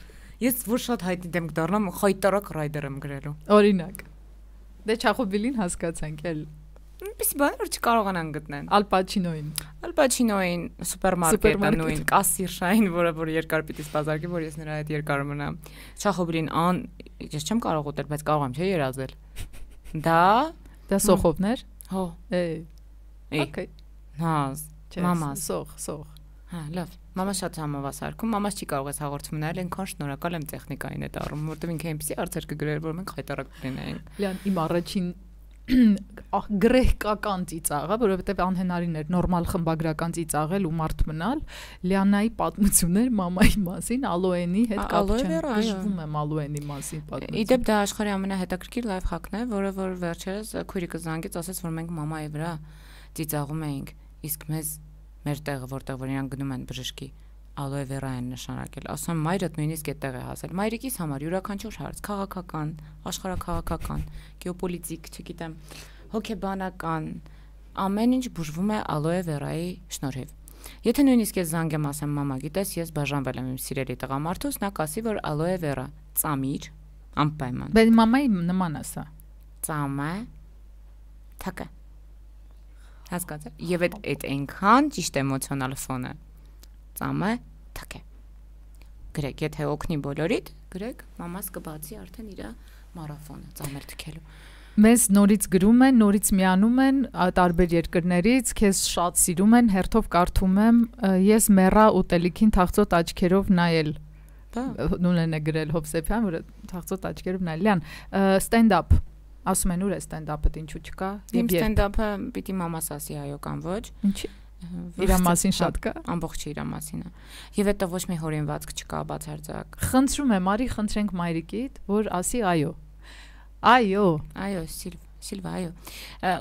Ես որ շատ հայտնի դեմ կդառնամ, խայտարակ ռայդեր եմ գրելու։ Օրինակ Դե Չախոբիլին հասկացանք էլ։ Ինչպեսի բան որ չկարողանան գտնեն։ Ալ Պաչինոին։ Ալ Պաչինոին սուպերմարկետը նույն կասիրշային, որը որ երկար պիտի սպասարկի, որ ես նրա հետ երկար մնամ։ Չախոբիլին ան ես չեմ կարող ուտել, բայց կարող եմ չէ երազել։ Դա դա սոխովներ։ Հո։ Է։ Okay։ Հազ։ Մամաս։ Սոխ, սոխ։ Հա, լավ։ Մամա շատ համով է սարքում, մամաս չի կարող էս հաղորդում ունենալ, այնքան շնորհակալ եմ տեխնիկային այդ առումով, որովհետև ինքը այնպեսի հարցեր կգրեր, որ մենք խայտարակ կլինեինք։ Լիան, իմ առաջին գրեհկական ծիծաղը, որովհետև անհնարին էր նորմալ խմբագրական ծիծաղել ու մարդ մնալ, Լիանայի պատմություններ մամայի մասին, Ալոենի հետ կապ չեն, գժվում եմ Ալոենի մասին պատմություն։ Իդեպ դա աշխարհի ամենահետաքրքիր լայֆ հակն է, որը որ վերջերս քույրիկը զանգեց, ասաց, որ մենք մամայի վրա ծիծաղում էինք, իսկ մեզ մեր տեղը, որտեղ որ իրանք գնում են բժշկի, ալոե վերա են նշանակել։ Ասում եմ, մայրդ նույնիսկ այդտեղ է հասել։ Մայրիկիս համար յուրաքանչյուր հարց, քաղաքական, աշխարհաքաղաքական, գեոպոլիտիկ, չգիտեմ, հոգեբանական, ամեն ինչ բուժվում է ալոե վերայի շնորհիվ։ Եթե նույնիսկ ես զանգեմ ասեմ, մամա, գիտես, ես բաժանվել եմ իմ սիրելի տղամարդուց, նա կասի, որ ալոե վերա ծամիր, անպայման։ Բայց մամայի նման է սա։ Ծամը, թակը։ Հասկացա։ Եվ այդ այդ այնքան ճիշտ էմոցիոնալ ֆոնը։ Ծամը թակ է։ Գրեք, եթե օգնի բոլորիդ, գրեք, մամաս կբացի արդեն իր մարաթոնը ծամեր թքելու։ Մեզ նորից գրում են, նորից միանում են տարբեր երկրներից, քեզ շատ սիրում են, հերթով կարդում եմ, ես մեռա ուտելիքին թախծոտ աչքերով նայել։ Նույնն է գրել Հովսեփյան, որը թախծոտ աչքերով նայել։ Լիան, ստենդափ ասում են ուր է ստենդափը, ինչու չկա։ Իմ ստենդափը պիտի մամաս ասի այո կամ ոչ։ Ինչի։ Իրա մասին շատ կա։ Ամբողջ իրա մասին է։ Եվ հետո ոչ մի հորինվածք չկա բացարձակ։ Խնդրում եմ, արի խնդրենք մայրիկիդ, որ ասի այո։ Այո։ Այո, Սիլվա, այո։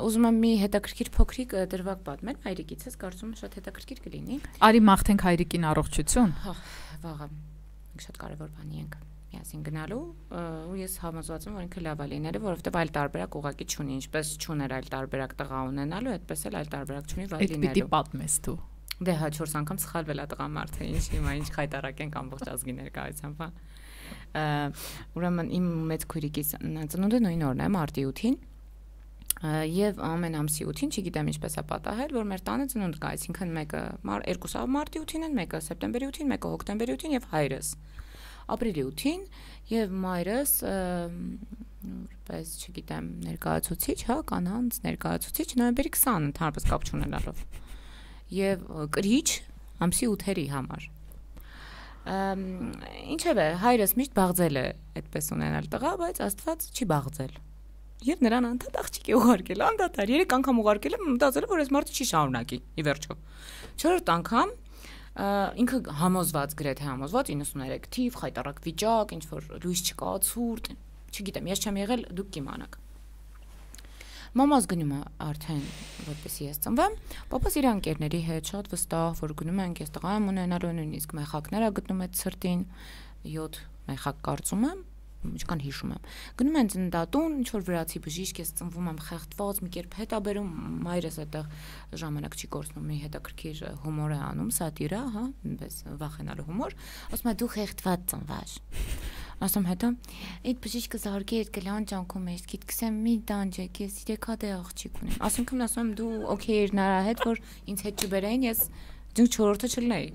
Ուզում եմ մի հետաքրքիր փոքրիկ դրվագ պատմել հայրիկից, ես կարծում եմ շատ հետաքրքիր կլինի։ Արի մաղթենք հայրիկին առողջություն։ Հա, վաղը։ Մենք շատ կարևոր բանի ենք միասին գնալու, ու ես համոզված եմ, որ ինքը լավ է լինելու, որովհետև այլ տարբերակ ուղղակի չունի, ինչպես չուներ այլ տարբերակ տղա ունենալու, այդպես էլ այլ տարբերակ չունի վայ լինելու։ Այդ պիտի պատմես դու։ Դե հա չորս անգամ սխալվել է տղամարդը, ինչ հիմա ինչ խայտարակ ենք ամբողջ ազգի ներկայությամբ, հա։ Ուրեմն իմ մեծ քույրիկի ծնունդը նույն օրն է, մարտի ութին, եւ ամեն ամսի ութին, չգիտեմ ինչպես է պատահել, որ մեր տանը ծնունդ կա, այսինքն մեկը երկուսը մարտի ութին են, մեկը սեպտեմբերի ութին, մեկը հոկտեմբերի ութին եւ հայրս ապրիլի ութին եւ մայրս որպես չգիտեմ ներկայացուցիչ, հա, կանանց ներկայացուցիչ նոյեմբերի քսանը ընդհանրապես կապ չունենալով եւ կրիչ ամսի ութերի համար ինչեւ է հայրս միշտ բաղձել է այդպես ունենալ տղա, բայց Աստված չի բաղձել եւ նրան անդադ աղջիկ է ուղարկել, անդադար երեք անգամ ուղարկել եմ, մտածել եմ, որ այս մարդը չի շարունակի ի վերջո չորրորդ անգամ ինքը համոզված գրեթե համոզված իննսուններեք թիվ խայտարակ վիճակ ինչ որ լույս չկա ցուրտ չգիտեմ ես չեմ եղել դուք կիմանաք մամաս գնում է արդեն որպեսի ես ծնվեմ պապաս իր անկերների հետ շատ վստահ որ գնում ենք ես տղա եմ ունենալու նույնիսկ մեխակներ է գտնում այդ սրտին յոթ մեխակ կարծում եմ ինչքան հիշում եմ գնում են ծննդատուն ինչ որ վրացի բժիշկ ես ծնվում եմ խեղդված մի կերպ հետ է բերում մայրս այդտեղ ժամանակ չի կորցնում մի հետաքրքիր հումոր է անում սատիրա հա այնպես վախենալու հումոր ասում է դու խեղդված ծնվաշ ասում հետո այդ բժիշկը զարգի այդ գլան ճանքում է, գիտքսեմ մի դանջեք, ես երեքա դե աղջիկ ունեմ։ Ասինքն ասում եմ դու օքեյ էր նրա հետ, որ ինձ հետ չբերեին, ես դու չորրորդը չլնեի։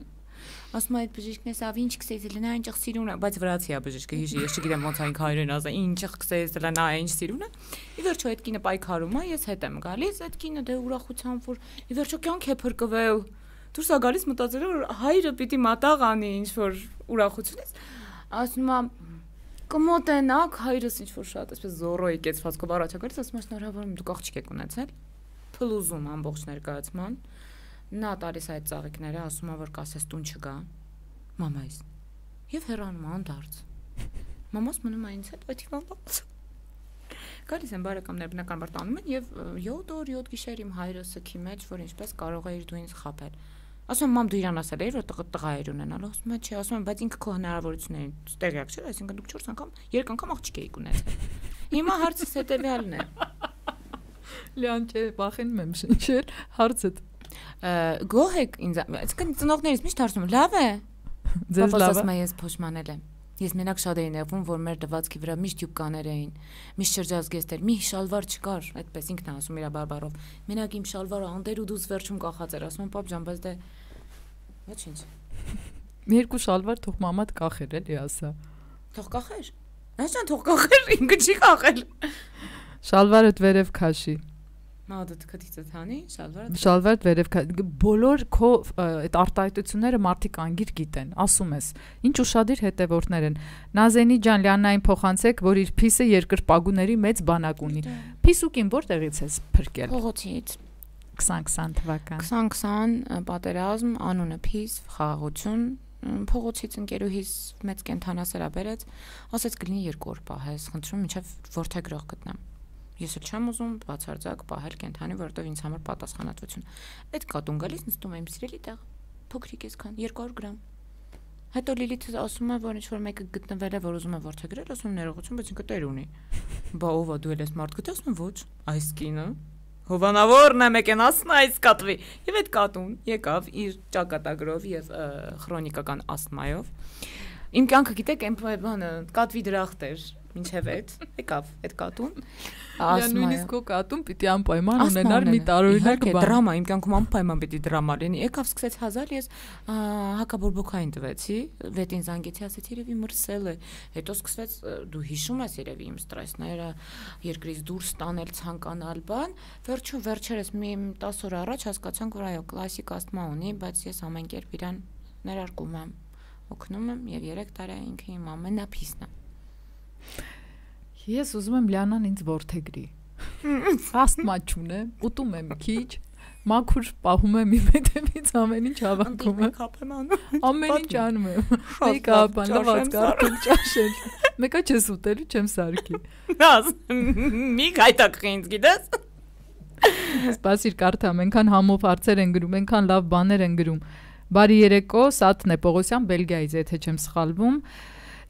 Ասում այդ բժիշկն էս ավ ինչ կսեյս լնա ինչ սիրուն է, բայց վրացի է բժիշկը, հիշի, ես չգիտեմ ոնց այն հայերեն ասա, ինչ կսեյս լնա ինչ սիրուն է։ Ի վերջո այդ կինը պայքարում է, ես հետ եմ գալիս, այդ կինը դե ուրախությամբ որ ի վերջո կյանք է փրկվել։ Դուրս է գալիս մտածելով որ հայրը պիտի մատաղ անի ինչ որ ուրախությունից։ Ասում եմ կմոտենակ հայրս ինչ որ շատ այսպես զորոյի կեցվածքով առաջ եկած, ասում եմ շնորհավոր եմ դուք աղջիկ եք ունեցել։ Փլուզում ամբողջ ներկայացման։ Նա տալիս այդ ծաղիկները, ասում է որ կասես տուն չգա։ Մամայիս։ Եվ հեռանում անդարձ։ Մամաս մնում է ինձ հետ, բայց իմանալաց։ Գալիս են բարեկամներ բնականաբար տանում են եւ յոթ օր յոթ գիշեր իմ հայրը սքի մեջ, որ ինչպես կարող է իր դու ինձ խաբել։ Ասում եմ մամ դու իրան ասել էիր որ տղա էր ունենալ, ասում եմ չէ, ասում եմ բայց ինքը քո հնարավորություններին տեղյակ չէ, այսինքն դուք չորս անգամ երեք անգամ աղջիկ եք ունեցել։ Հիմա հարցս հետեւյալն է։ Լիան չէ, վախենում եմ շնչել, հարցը գոհ եք ինձ, այսինքն ծնողներից միշտ հարցնում լավ է։ Ձեզ լավ է։ Ես փոշմանել եմ։ Ես մենակ շատ էի նեղվում, որ մեր դվածքի վրա միշտ յուբկաներ էին, միշտ շրջազգեստեր, մի շալվար չկար, այդպես ինքն է ասում իր բարբարով։ Մենակ իմ շալվարը անդեր ու դուս վերջում կախած էր, ասում եմ պապ ջան, բայց դե ոչինչ։ Մի երկու շալվար թող մամատ կախեր էլի ասա։ Թող կախեր։ Նաշան թող կախեր, ինքը չի կախել։ Շալվարդ վերև քաշի։ Մադդ քթիցը թանի, շալվարը։ Շալվարդ վերև բոլոր քո այդ արտահայտությունները մարդիկ անգիր գիտեն, ասում ես։ Ինչ ուշադիր հետևորդներ են։ Նազենի ջան, Լիաննային փոխանցեք, որ իր փիսը երկրպագուների մեծ բանակ ունի։ Փիսուկին որտեղից ես փրկել։ Փողոցից։ քսան քսան թվական։ քսան քսան պատերազմ, անունը փիս, խաղաղություն, փողոցից ընկերուհիս մեծ կենթանասերա բերեց, ասեց գլինի երկու օր պահես, խնդրում մինչև որթեգրող գտնեմ։ Ես էլ չեմ ուզում բացարձակ պահել կենթանի, որովհետև ինձ համար պատասխանատվություն։ Այդ կատուն գալիս նստում եմ սիրելի տեղ, փոքրիկ էսքան երկու հարյուր գրամ։ Հետո Լիլիթը ասում է, որ ինչ որ մեկը գտնվել է, որ ուզում է որթեգրել, ասում ներողություն, բայց ինքը տեր ունի։ Բա ով է դու ես մարդ գտես, ասում ոչ, այս կինը հովանավորն է մեկենասն այս կատվի։ Եվ այդ կատուն եկավ իր ճակատագրով եւ քրոնիկական ասթմայով։ Իմ կյանքը գիտեք, այն բանը կատվի դրախտ էր։ Ինչև այդ եկավ այդ կատուն նույնիսկ քո կատուն պիտի անպայման ունենար մի տարօրինակ բան դրամա իմ կյանքում անպայման պիտի դրամա լինի եկավ սկսեց հազար ես հակաբորբոքային տվեցի վետին զանգեցի ասեցի երևի մրսել է հետո սկսվեց դու հիշում ես երևի իմ ստրեսները երկրից դուրս տանել ցանկանալ բան վերջում վերջերս մի տասը օր առաջ հասկացանք որ այո կլասիկ ասթմա ունի բայց ես ամեն կերպ իրան ներարկում եմ օգնում եմ եւ երեք տարի ինքը իմ ամենափիսն է Ես ուզում եմ Լիանան ինձ որդեգրի։ Աստմա չունեմ, ուտում եմ քիչ, մաքուր պահում եմ իմ հետևից ամեն ինչ հավաքում եմ։ Ամեն ինչ անում եմ։ Մեյքափ, լավացք, կարդում ճաշել։ Մեկը չես ուտելու, չեմ սարքի։ Մի գայտակղի ինձ գիտես։ Սպասիր կարդամ, այնքան համով հարցեր են գրում, այնքան լավ բաներ են գրում։ Բարի երեկո, Սաթն է Պողոսյան, Բելգիայից, եթե չեմ սխալվում։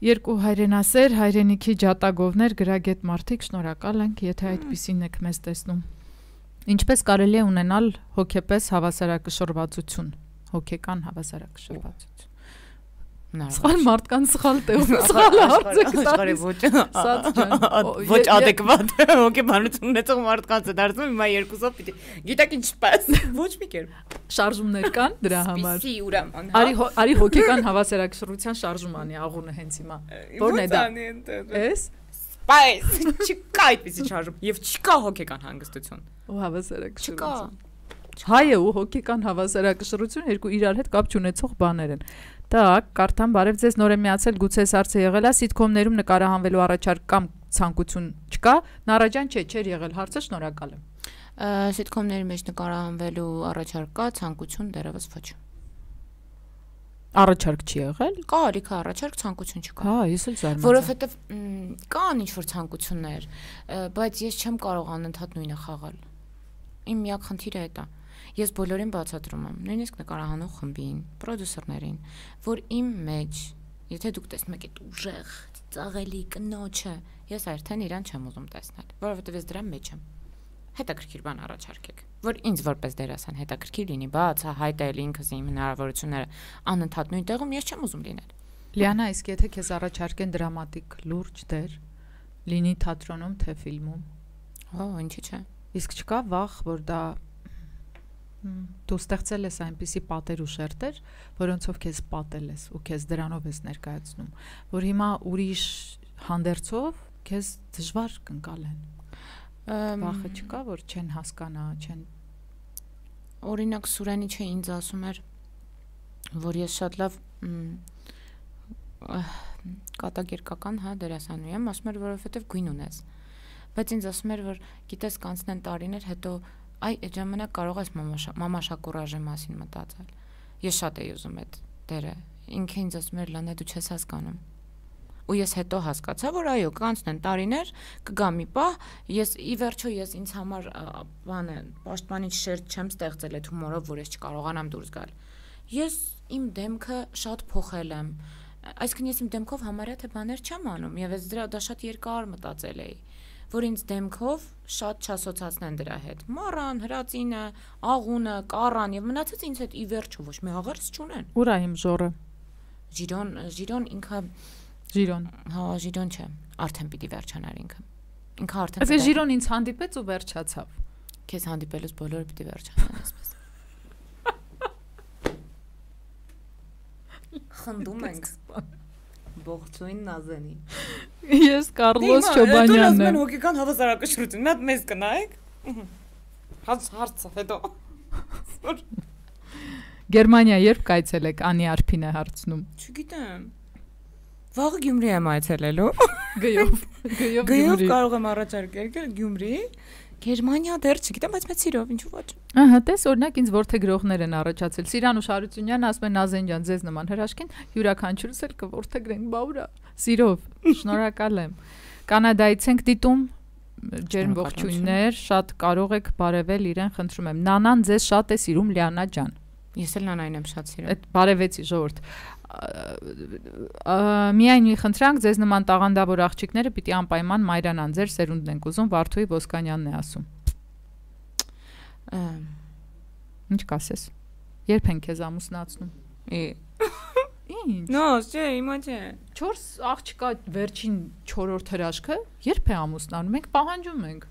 Երկու հայրենասեր, հայրենիքի ջատագովներ, գրագետ մարդիկ, շնորհակալ ենք, եթե այդպիսին եք մեզ տեսնում։ Ինչպես կարելի է ունենալ հոգեպես հավասարակշռվածություն, հոգեկան հավասարակշռվածություն։ Սխալ մարդկան սխալ տեղում սխալ հարց եք տալիս։ Ոչ adekvat հոգեբանություն ունեցող մարդկանց է դարձնում հիմա երկուսով պիտի։ Գիտեք ինչպես։ Ոչ մի կերպ։ Շարժումներ կան դրա համար։ Սպիսի ուրաման։ Արի արի հոգեկան հավասարակշռության շարժում անի աղունը հենց հիմա։ Որն է դա։ Էս։ Բայց չկա այդպեսի շարժում եւ չկա հոգեկան հանգստություն։ Ու հավասարակշռություն։ Հայը ու հոգեկան հավասարակշռություն երկու իրար հետ կապ չունեցող բաներ են։ Так, կարդամ, բարև ձեզ, նոր եմ միացել, գուցե այս հարցը եղել է, սիթքոմներում նկարահանվելու առաջարկ կամ ցանկություն չկա, Նարաջան չէ, չէր եղել հարցը, շնորհակալ եմ։ Սիթքոմների մեջ նկարահանվելու առաջարկ կա, ցանկություն դեռևս ոչ։ Առաջարկ չի եղել։ Կա, ալիքա առաջարկ, ցանկություն չկա։ Հա, ես էլ զարմացա։ Որովհետև կան ինչ-որ ցանկություններ, բայց ես չեմ կարող անընդհատ նույնը խաղալ։ Իմ միակ խնդիրը է դա։ Ես բոլորին բացատրում եմ, նույնիսկ նկարահանող խմբին, պրոդյուսերներին, որ իմ մեջ, եթե դուք տեսնում եք այդ ուժեղ, ծաղելի կնոջը, ես արդեն իրան չեմ ուզում տեսնել, որովհետև ես դրա մեջ եմ։ Հետաքրքիր բան առաջարկեք, որ ինձ որպես դերասան հետաքրքիր լինի, բաց, հայտել ինքս իմ հնարավորությունները անընդհատ նույն տեղում ես չեմ ուզում լինել։ Լիանա, իսկ եթե քեզ առաջարկեն դրամատիկ լուրջ դեր, լինի թատրոնում թե ֆիլմում։ Ո, ինչի՞ չէ։ Իսկ չկա վախ, որ դա դու ստեղծել ես այնպիսի պատեր ու շերտեր, որոնցով քեզ պատել ես ու քեզ դրանով ես ներկայացնում, որ հիմա ուրիշ հանդերձով քեզ դժվար կընկալեն։ Վախը չկա, որ չեն հասկանա, չեն։ Օրինակ Սուրենի չէ ինձ ասում էր, որ ես շատ լավ կատակերգական, հա, դերասանուհի եմ, ասում էր, որովհետև գույն ունես։ Բայց ինձ ասում էր, որ գիտես կանցնեն տարիներ, հետո այ այդ ժամանակ կարող ես մամա Շակուրաժի մասին մտածել։ Ես շատ էի ուզում այդ դերը։ Ինքը ինձ ասում էր, Լանա, դու չես հասկանում։ Ու ես հետո հասկացա, որ այո, կանցնեն տարիներ, կգա մի պահ, ես ի վերջո ես ինձ համար բանը պաշտպանիչ շերտ չեմ ստեղծել այդ հումորով, որ ես չկարողանամ դուրս գալ։ Ես իմ դեմքը շատ փոխել եմ։ Այսինքն ես իմ դեմքով համարյա թե բաներ չեմ անում, եւ ես դրա դա շատ երկար մտածել էի, որ ինձ դեմքով շատ չասոցացնեն դրա հետ։ Մառան, հրացինը, աղունը, կառան եւ մնացած ինձ հետ ի վերջո ոչ մի աղերս չունեն։ Ուր է իմ ժորը։ Ժիրոն, Ժիրոն ինքը Ժիրոն։ Հա, Ժիրոն չէ, արդեն պիտի վերջանար ինքը։ Ինքը արդեն։ Այս Ժիրոն ինձ հանդիպեց ու վերջացավ։ Քեզ հանդիպելուց բոլորը պիտի վերջանան այսպես։ Խնդում ենք։ Ողջույն Նազենի։ Ես Կարլոս Չոբանյանն եմ։ Դու հոգեկան հավասարակշռություն, մի հատ մեզ կնայեք։ Հաց հարցը հետո։ Գերմանիա երբ կայցելեք, Անի Արփին է հարցնում։ Չգիտեմ։ Վաղը Գյումրի եմ այցելելու։ Գյով, գյով Գյով կարող եմ առաջարկել Գյումրի։ Գերմանիա դեռ չգիտեմ, բայց մեծ սիրով, ինչու ոչ։ Ահա, տես օրինակ ինձ որդեգրողներ են առաջացել։ Սիրանուշ Հարությունյանն ասում է Նազեն ջան, ձեզ նման հրաշքին յուրաքանչյուրս էլ կորդեգրենք, բա ուրա։ Սիրով, շնորհակալ եմ։ Կանադայից ենք դիտում, ջերմ ողջույններ, շատ կարող եք բարևել իրեն, խնդրում եմ։ Նանան ձեզ շատ է սիրում, Լիանա ջան։ Ես էլ Նանային եմ շատ սիրում։ Այդ բարևեցի ժողովուրդ։ Միայն մի խնդրանք, ձեզ նման տաղանդավոր աղջիկները պիտի անպայման մայրանան, ձեր սերունդն ենք ուզում, Վարդուհի Ոսկանյանն է ասում։ Ինչ կասես։ Երբ են քեզ ամուսնացնում։ Ինչ։ Նո, չէ, հիմա չէ։ Չորս աղջկա վերջին չորրորդ հրաշքը երբ է ամուսնանում, մենք պահանջում ենք։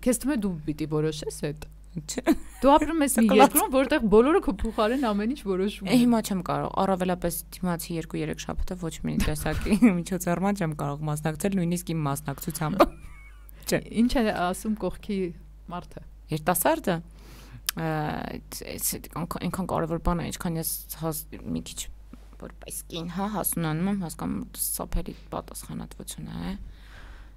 Քեզ թվում է դու պիտի որոշես այդ։ Դու ապրում ես մի երկրում, որտեղ բոլորը քո փոխարեն ամեն ինչ որոշում են։ Հիմա չեմ կարող, առավելապես դիմացի երկու-երեք շաբաթը ոչ մի տեսակի միջոցառման չեմ կարող մասնակցել, նույնիսկ իմ մասնակցությամբ։ Չէ։ Ինչ է ասում կողքի մարդը։ Երիտասարդը այնքան կարևոր բան է, ինչքան ես մի քիչ որպես կին, հա, հասունանում եմ, հասկանում սափերի պատասխանատվություն է։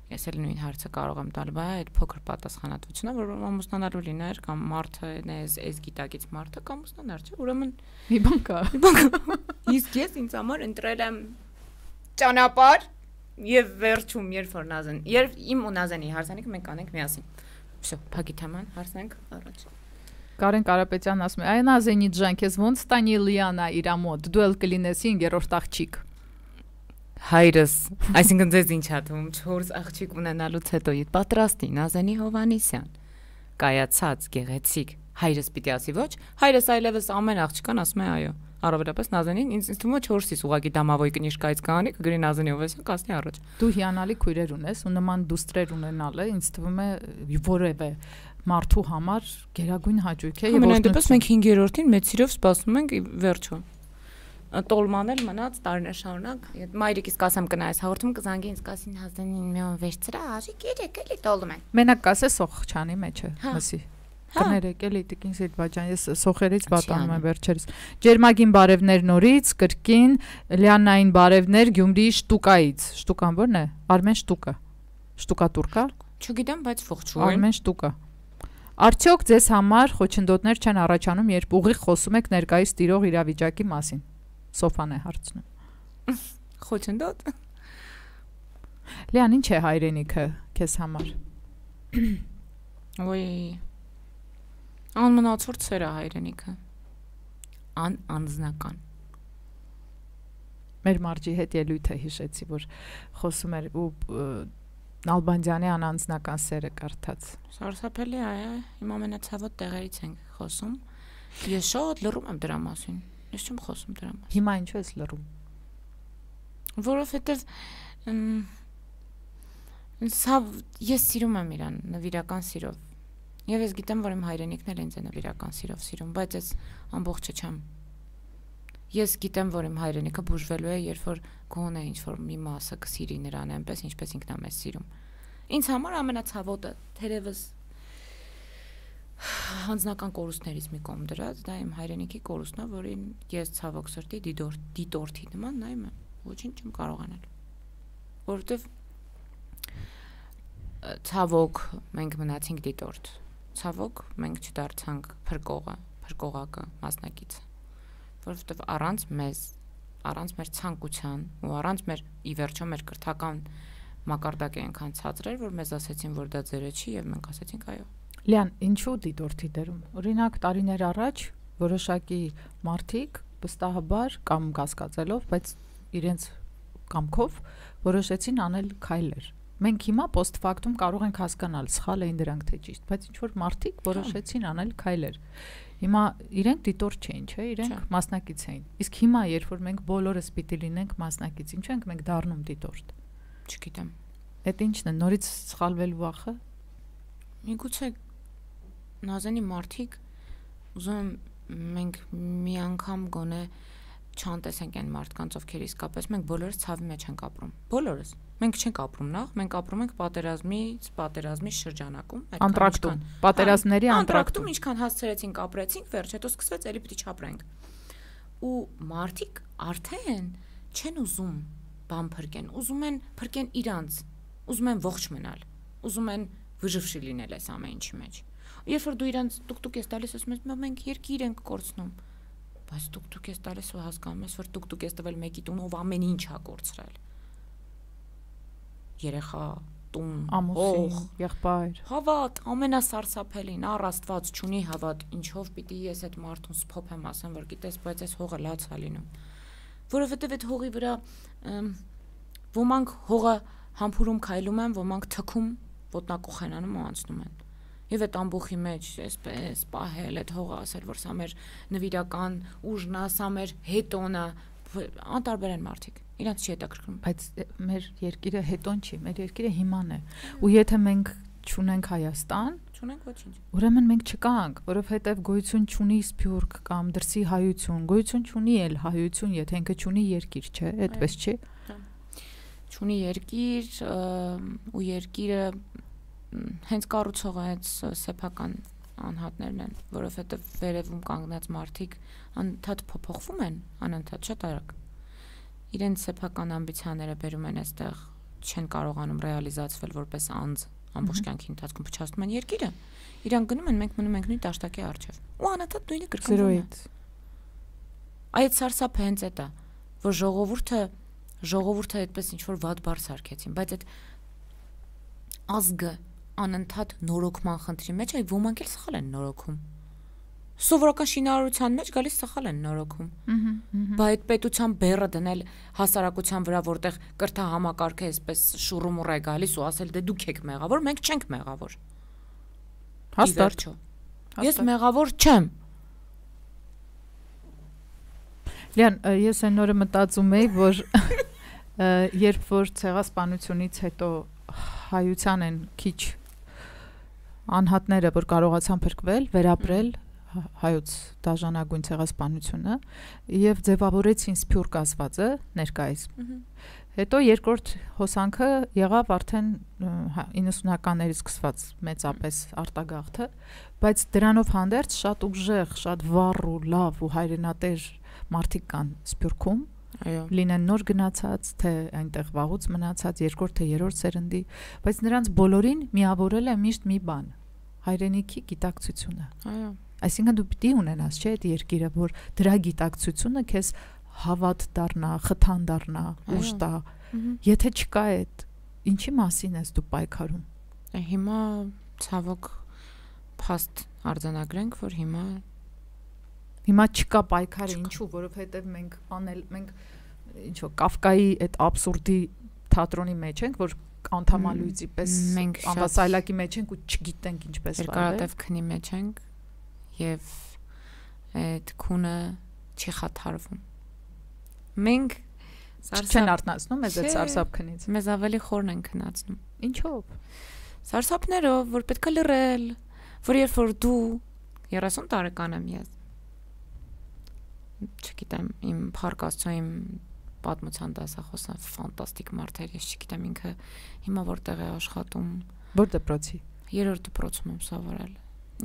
Ես էլ նույն հարցը կարող եմ տալ, բայց այդ փոքր պատասխանատվությունը, որ ամուսնանալու լիներ կամ մարդը այս այս գիտակից մարդը կամ ամուսնանար, չէ՞, ուրեմն մի բան կա։ Մի բան կա։ Իսկ ես ինձ համար ընտրել եմ ճանապարհ եւ վերջում երբ որ Նազեն, երբ իմ ու Նազենի հարսանիքը մենք անենք միասին։ Всё, փակի թեման, հարսանք առաջ։ Կարեն Կարապետյանն ասում է. «Այ Նազենի ջան, քեզ ոնց տանի Լիանա իր մոտ, դու էլ կլինես երրորդ աղջիկ»։ Հայրս, այսինքն ձեզ ինչ ա թվում, չորս աղջիկ ունենալուց հետո պատրաստի Նազենի Հովանիսյան, կայացած, գեղեցիկ, հայրս պիտի ասի ոչ, հայրս այլևս ամեն աղջկան ասում է այո, առավելապես Նազենին, ինձ թվում է չորսից ուղղակի դամավոյ կնիշկայից կանի, կգրի Նազենի Հովանիսյան կասնի առաջ։ Դու հիանալի քույրեր ունես ու նման դուստրեր ունենալը ինձ թվում է որևէ մարդու համար գերագույն հաճույք է։ Ամենայնպես մենք հինգերորդին մեծ սիրով սպասում ենք վերջո։ Տոլման էլ մնաց տարիներ շարունակ։ Մայրիկիս կասեմ կնայես հաղորդում կզանգի ինձ կասին Նազենին մի օր վերցրա, արի գերեք էլի տոլում են։ Մենակ կասես սոխչանի մեջը, մսի։ Կներեք էլի տիկին Սիլվաջան, ես սոխերից վատանում եմ վերջերս։ Ջերմագին բարևներ նորից, կրկին Լիանային բարևներ Գյումրիի Շտուկայից։ Շտուկան ո՞րն է։ Արմեն Շտուկա։ Շտուկատուրկա։ Չգիտեմ, բայց ողջույն։ Արմեն Շտուկա։ Արդյոք ձեզ համար խոչընդոտներ չեն առաջանում, երբ ուղիղ խոսում եք ներկայիս տիրող իրավիճակի մասին։ Սոֆան է հարցնում։ Խոչընդոտ։ Լիան, ինչ է հայրենիքը քեզ համար։ Ոյ։ Անմնացորդ սեր է հայրենիքը։ Ան անձնական։ Մեր մարջի հետ ելույթը հիշեցի, որ խոսում էր ու Նալբանդյանի անանձնական սերը կարդաց։ Սարսափելի է, իմ ամենացավոտ տեղերից ենք խոսում։ Ես շատ լռում եմ դրա մասին։ Ես չեմ խոսում դրա մասին։ Հիմա ինչու ես լռում։ Որովհետև սա ես սիրում եմ իրան նվիրական սիրով։ Եվ ես գիտեմ, որ իմ հայրենիքն էլ ինձ է նվիրական սիրով սիրում, բայց ես ամբողջը չեմ։ Ես գիտեմ, որ իմ հայրենիքը բուժվելու է, երբ որ գոնե ինչ-որ մի մասը կսիրի նրան այնպես, ինչպես ինքն է մեզ սիրում։ Ինձ համար ամենացավոտը թերևս հանձնական կորուստներից մի կողմ դրած, դա իմ հայրենիքի կորուստն է, որին ես ցավոք սրտի դիտորդի նման նայում եմ, ոչինչ չեմ կարող անել։ Որովհետև ցավոք մենք մնացինք դիտորդ։ Ցավոք մենք չդարձանք փրկողը, փրկողակը, մասնակիցը։ Որովհետև առանց մեզ, առանց մեր ցանկության ու առանց մեր ի վերջո մեր կրթական մակարդակը այնքան ցածր էր, որ մեզ ասեցին, որ դա ձերը չի, եւ մենք ասեցինք այո։ Լիան, ինչու դիտորդի դերում։ Օրինակ տարիներ առաջ որոշակի մարդիկ վստահաբար կամ կասկածելով, բայց իրենց կամքով որոշեցին անել քայլեր։ Մենք հիմա post factum կարող ենք հասկանալ սխալ էին դրանք թե ճիշտ, բայց ինչ որ մարդիկ որոշեցին անել քայլեր։ Հիմա իրենք դիտորդ չէին, չէ՞, իրենք մասնակից էին։ Իսկ հիմա, երբ որ մենք բոլորս պիտի լինենք մասնակից, ինչու ենք մենք դառնում դիտորդ։ Չգիտեմ։ Այդ ինչն է, նորից սխալվելու վախը։ Միգուցե նազանի մարդիկ ուզում են մենք մի անգամ գոնե չանտեսենք այն մարդկանց, ովքեր իսկապես մենք բոլորս ցավի մեջ ենք ապրում։ Բոլորս։ Մենք չենք ապրում նախ, մենք ապրում ենք պատերազմից, պատերազմի շրջանակում, անտրակտում, պատերազմների անտրակտում, ինչքան հասցրեցինք, ապրեցինք, վերջ հետո սկսվեց էլի պիտի չապրենք։ Ու մարդիկ արդեն չեն ուզում բան փրկեն, ուզում են փրկեն իրանց, ուզում են ողջ մնալ, ուզում են վժվշի լինել այս ամեն ինչի մեջ։ Երբ որ դու իրանց տուկտուկ ես տալիս, ասում ես, մենք երկիր ենք կորցնում, բայց տուկտուկ ես տալիս ու հասկանում ես, որ տուկտուկ ես տվել մեկի տունով ամեն ինչ ա կորցրել։ Երեխա, տուն, ամուսին, եղբայր։ Հավատ, ամենասարսափելին, առ Աստված չունի հավատ, ինչով պիտի ես այդ մարդուն սփոփեմ ասեմ, որ գիտես, բայց այս հողը լաց է լինում։ Որովհետև այդ հողի վրա ոմանք հողը համբուրում քայլում են, ոմանք թքում ոտնակոխենանում ու անցնում են։ Եվ այդ ամբողջի մեջ այսպես պահել այդ հողը ասել, որ սա մեր նվիրական ուժն է, սա մեր հետոնը, անտարբեր են մարդիկ։ Իրանց չի հետաքրքրում։ Բայց մեր երկիրը հետոն չի, մեր երկիրը հիման է։ Ու եթե մենք չունենք Հայաստան, չունենք ոչինչ։ Ուրեմն մենք չկանք, որովհետև գոյություն չունի Սփյուռք կամ դրսի հայություն, գոյություն չունի էլ հայություն, եթե ինքը չունի երկիր, չէ՞, այդպես չի։ Չունի երկիր ու երկիրը հենց կառուցողը հենց սեփական անհատներն են, որովհետև վերևում կանգնած մարդիկ անընդհատ փոփոխվում են, անընդհատ շատ արագ։ Իրենց սեփական ամբիցիաները բերում են այստեղ, չեն կարողանում ռեալիզացվել որպես անձ, ամբողջ կյանքի ընթացքում փչացնում են երկիրը։ Իրան գնում են, մենք մնում ենք նույն տաշտակի առջև։ Ու անընդհատ նույնը կրկնվում է։ Այդ սարսափը հենց էդ է, որ ժողովուրդը ժողովուրդը այդպես ինչ որ վատ բառ սարքեցին, բայց այդ ազգը անընդհատ նորոգման խնդրի մեջ է, ոմանք էլ սխալ են նորոգում։ Սովորական շինարարության մեջ գալիս սխալ են նորոգում։ Բայց այդ պետության բեռը դնել հասարակության վրա, որտեղ կրթահամակարգը այսպես շուռումուռ է գալիս ու ասել դե դուք եք մեղավոր, մենք չենք մեղավոր։ Հաստատ։ Ես մեղավոր չեմ։ Լիան, ես այն օրը մտածում էի, որ երբ որ ցեղասպանությունից հետո հայության են քիչ անհատները, որ կարողացան փրկվել, վերապրել հայոց դաժանագույն ցեղասպանությունը եւ ձևավորեցին Սփյուռք ասվածը ներկայիս։ Հետո երկրորդ հոսանքը եղավ արդեն իննսունականներից սկսված մեծապես արտագաղթը, բայց դրանով հանդերձ շատ ուժեղ, շատ վառ ու լավ ու հայրենատեր մարդիկ կան Սփյուռքում, լինեն նոր գնացած, թե այնտեղ վաղուց մնացած, երկրորդ թե երրորդ սերնդի, բայց նրանց բոլորին միավորել է միշտ մի բան՝ հայրենիքի գիտակցությունը։ Այո։ Այսինքն դու պիտի ունենաս, չէ՞, այդ երկիրը, որ դրա գիտակցությունը քեզ հավատ դառնա, խթան դառնա, ուժ տա։ Եթե չկա այդ, ինչի մասին ես դու պայքարում։ Հիմա ցավոք փաստ արձանագրենք, որ հիմա Հիմա չկա պայքարը, ինչու, որովհետև մենք անել, մենք ինչ որ Կաֆկայի այդ աբսուրդի թատրոնի մեջ ենք, որ անդամալույցի պես անվասայլակի մեջ ենք ու չգիտենք ինչպես վարվել։ Երկարատև քնի մեջ ենք եւ այդ քունը չի խաթարվում։ Մենք չեն արթնացնում մեզ այդ սարսափքնից։ Մեզ ավելի խորն են քնացնում։ Ինչով։ Սարսափներով, որ պետք է լռել, որ երբ որ դու երեսուն տարեկան եմ ես։ Չգիտեմ, իմ փառք Աստծո, իմ պատմության դասախոսը ֆանտաստիկ մարդ էր, ես չգիտեմ ինքը հիմա որտեղ է աշխատում։ Որ դպրոցի։ Երրորդ դպրոցում եմ սովորել։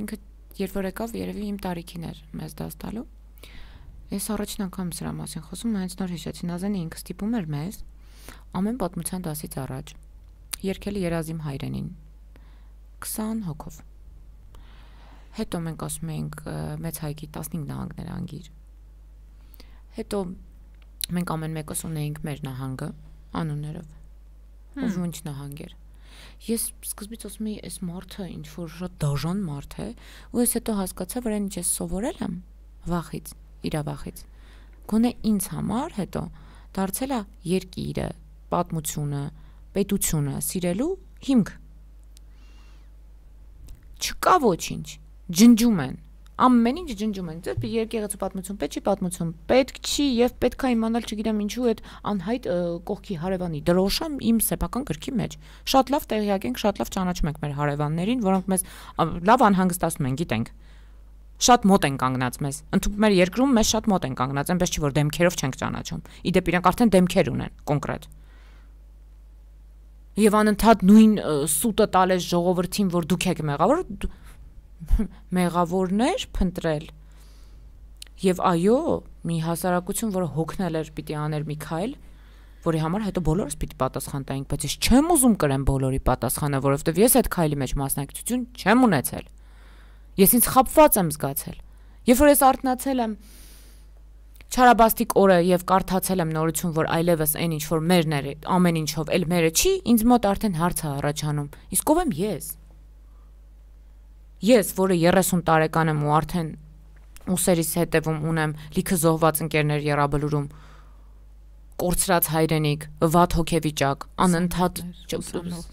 Ինքը երբ որ եկավ, երևի իմ տարիքին էր մեզ դաս տալու։ Ես առաջին անգամ սրա մասին խոսում, հենց նոր հիշեցի, Նազենը ինքը ստիպում էր մեզ ամեն պատմության դասից առաջ երգել Երազիմ հայրենին քսան հոգով։ Հետո մենք ասում էինք մեծ հայկի տասնհինգ նահանգներ անգիր։ Հետո մենք ամեն մեկս ունեինք մեր նահանգը անուններով։ Ով ինչ նահանգ էր։ Ես սկզբից ասում էի, այս մարդը ինչ որ շատ դաժան մարդ է, ու ես հետո հասկացա, որ այն ինչ ես սովորել եմ վախից, իրավախից։ Գոնե ինձ համար հետո դարձել է երկիրը, պատմությունը, պետությունը սիրելու հիմք։ Չկա ոչինչ, ջնջում են, ամեն ինչ ջնջում են, դեռ երկեղեցու պատմություն, պետք չի պատմություն, պետք չի եւ պետք է իմանալ, չգիտեմ ինչու այդ անհայտ կողքի հարևանի դրոշը իմ սեփական գրքի մեջ։ Շատ լավ տեղյակ ենք, շատ լավ ճանաչում ենք մեր հարևաններին, որոնք մեզ լավ անհանգստացնում են, գիտենք։ Շատ մոտ են կանգնած մեզ։ Ընդհանուր մեր երկրում մեզ շատ մոտ են կանգնած, այնպես չի որ դեմքերով չենք ճանաչում։ Իդեպ իրենք արդեն դեմքեր ունեն կոնկրետ։ Եվ անընդհատ նույն սուտը տալես ժողովրդին, որ դուք եք մեղավոր, մեղավորներ փնտրել։ Եվ այո, մի հասարակություն, որը հոգնել էր պիտի աներ մի քայլ, որի համար հետո բոլորս պիտի պատասխան տայինք, բայց ես չեմ ուզում կրեմ բոլորի պատասխանը, որովհետև ես այդ քայլի մեջ մասնակցություն չեմ ունեցել։ Ես ինձ խաբված եմ զգացել։ Երբ որ ես արթնացել եմ չարաբաստիկ օրը եւ կարդացել եմ նորություն, որ այլևս այն ինչ որ մերն է, ամեն ինչով էլ մերը չի, ինձ մոտ արդեն հարց է առաջանում։ Իսկ ով եմ ես։ Ես, որը երեսուն տարեկան եմ ու արդեն ուսերիս հետևում ունեմ լիքը զոհված ընկերներ Եռաբլուրում, կորցրած հայրենիք, վատ հոգեվիճակ, անընդհատ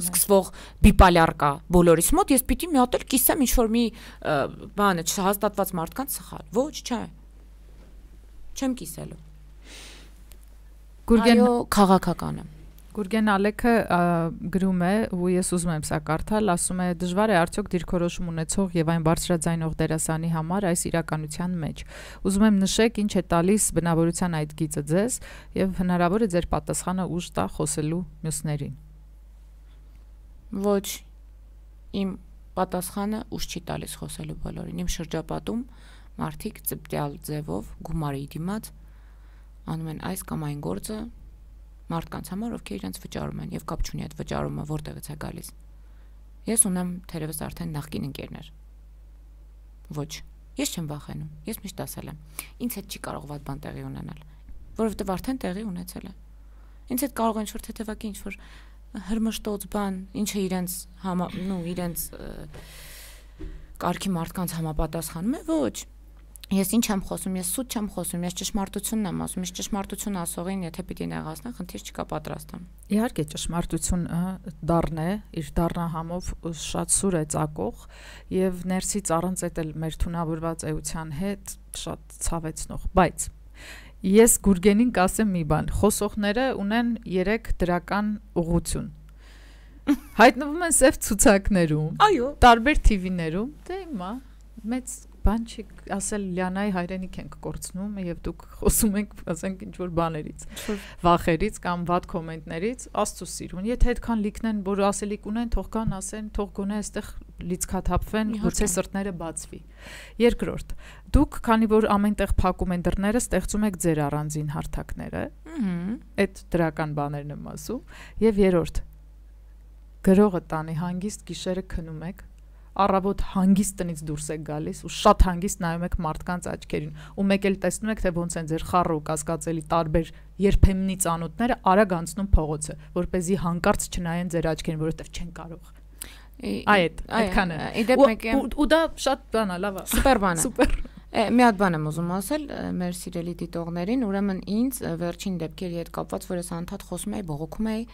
սկսվող բիպոլյար կա բոլորիս մոտ, ես պիտի մի հատ էլ կիսեմ ինչ որ մի բանը չհաստատված մարդկանց սխալ։ Ոչ, չէ։ Չեմ կիսելու։ Գուրգեն այո, քաղաքական եմ։ Գուրգեն Ալեքը գրում է, ու ես ուզում եմ սա կարդալ, ասում է դժվար է արդյոք դիրքորոշում ունեցող եւ այն բարձրաձայնող դերասանի համար այս իրականության մեջ։ Ուզում եմ նշեք ինչ է տալիս բնավորության այդ գիծը ձեզ եւ հնարավոր է ձեր պատասխանը ուժ տա խոսելու մյուսներին։ Ոչ, իմ պատասխանը ուժ չի տալիս խոսելու բոլորին։ Իմ շրջապատում մարդիկ ծպտյալ ձևով գումարի դիմաց անում են այս կամ այն գործը մարդկանց համար, ովքեր իրենց վճարում են եւ կապ չունի այդ վճարումը որտեղից է գալիս։ Ես ունեմ թերևս արդեն նախկին ընկերներ։ Ոչ, ես չեմ վախենում, ես միշտ ասել եմ, ինձ հետ չի կարող վատ բան տեղի ունենալ, որովհետեւ արդեն տեղի ունեցել է։ Ինձ հետ կարող են ինչ-որ թեթևակի ինչ-որ հրմշտոց բան, ինչը իրենց համա, նու իրենց կարգի մարդկանց համապատասխանում է, ոչ։ Ես ինչ եմ խոսում, ես սուտ չեմ խոսում, ես ճշմարտությունն եմ ասում, ես ճշմարտություն ասողին, եթե պիտի նեղացնեմ, խնդիր չկա, պատրաստ եմ։ Իհարկե ճշմարտությունը դառն է, իր դառնահամով շատ սուր է ծակող եւ ներսից առանց այդ էլ մեր թունավորված էության հետ շատ ցավեցնող, բայց ես Գուրգենին կասեմ մի բան, խոսողները ունեն երեք դրական ուղղություն։ Հայտնվում են սև ցուցակներում, այո, տարբեր թի վիներում, դե հիմա մեծ բան չի ասել Լիանայի հայրենիք ենք կորցնում եւ դուք խոսում եք, ասենք ինչ որ բաներից, վախերից կամ վատ կոմենտներից, Աստծո սիրուն, եթե այդքան լիքնեն, որ ասելիք ունեն, թող կան, ասեն, թող գոնե այստեղ լիցքաթափվեն, գուցե սրտները բացվի։ Երկրորդ, դուք քանի որ ամենտեղ փակում են դռները, ստեղծում եք ձեր առանձին հարթակները, այդ դրական բաներն եմ ասում, եւ երրորդ, գրողը տանի հանգիստ գիշերը քնում եք, առավոտ հանգիստ տնից դուրս եք գալիս ու շատ հանգիստ նայում եք մարդկանց աչքերին ու մեկ էլ տեսնում եք թե ոնց են ձեր խառը ու կասկածելի տարբեր երբեմնի ծանոթները արագ անցնում փողոցը, որպեսզի հանկարծ չնայեն ձեր աչքերին, որովհետև չեն կարող։ Այդ այդքան է։ Ու դա շատ բան է, լավ է։ Սուպեր բան է։ Սուպեր։ Մի հատ բան եմ ուզում ասել մեր սիրելի դիտողներին, ուրեմն ինձ վերջին դեպքերի հետ կապված, որ ես անդադ խոսում էի, բողոքում էի,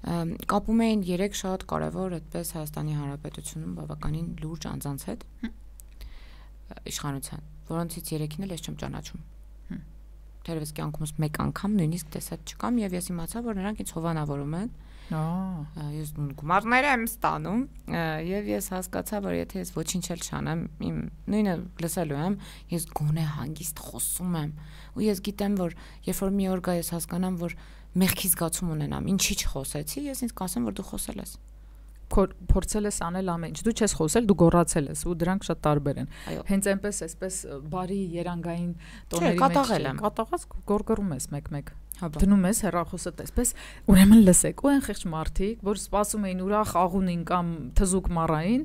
կապում էին երեք շատ կարևոր այդպես Հայաստանի Հանրապետությունում բավականին լուրջ անձանց հետ իշխանության, որոնցից երեքին էլ ես չեմ ճանաչում։ թերևս կյանքումս մեկ անգամ նույնիսկ տեսած չկամ եւ ես իմացա, որ նրանք ինձ հովանավորում են։ Ահա։ Ես գումարներ եմ ստանում եւ ես հասկացա, որ եթե ես ոչինչ էլ չանեմ, իմ նույնը լսելու եմ, ես գոնե հանգիստ խոսում եմ։ Ու ես գիտեմ, որ երբ որ մի օր գա ես հասկանամ, որ մեղքի զգացում ունենամ, ինչի չխոսեցի, ես ինձ կասեմ, որ դու խոսել ես։ Փորձել ես անել ամեն ինչ։ Դու չես խոսել, դու գոռացել ես ու դրանք շատ տարբեր են։ Հենց այնպես էսպես բարի երանգային տոների մեջ կատաղած գորգռում ես մեկ-մեկ։ Դնում ես հեռախոսը տեսպես, ուրեմն լսեք, ու այն խեղճ մարդիկ, որ սպասում էին ուրախ աղունին կամ թզուկ մառային,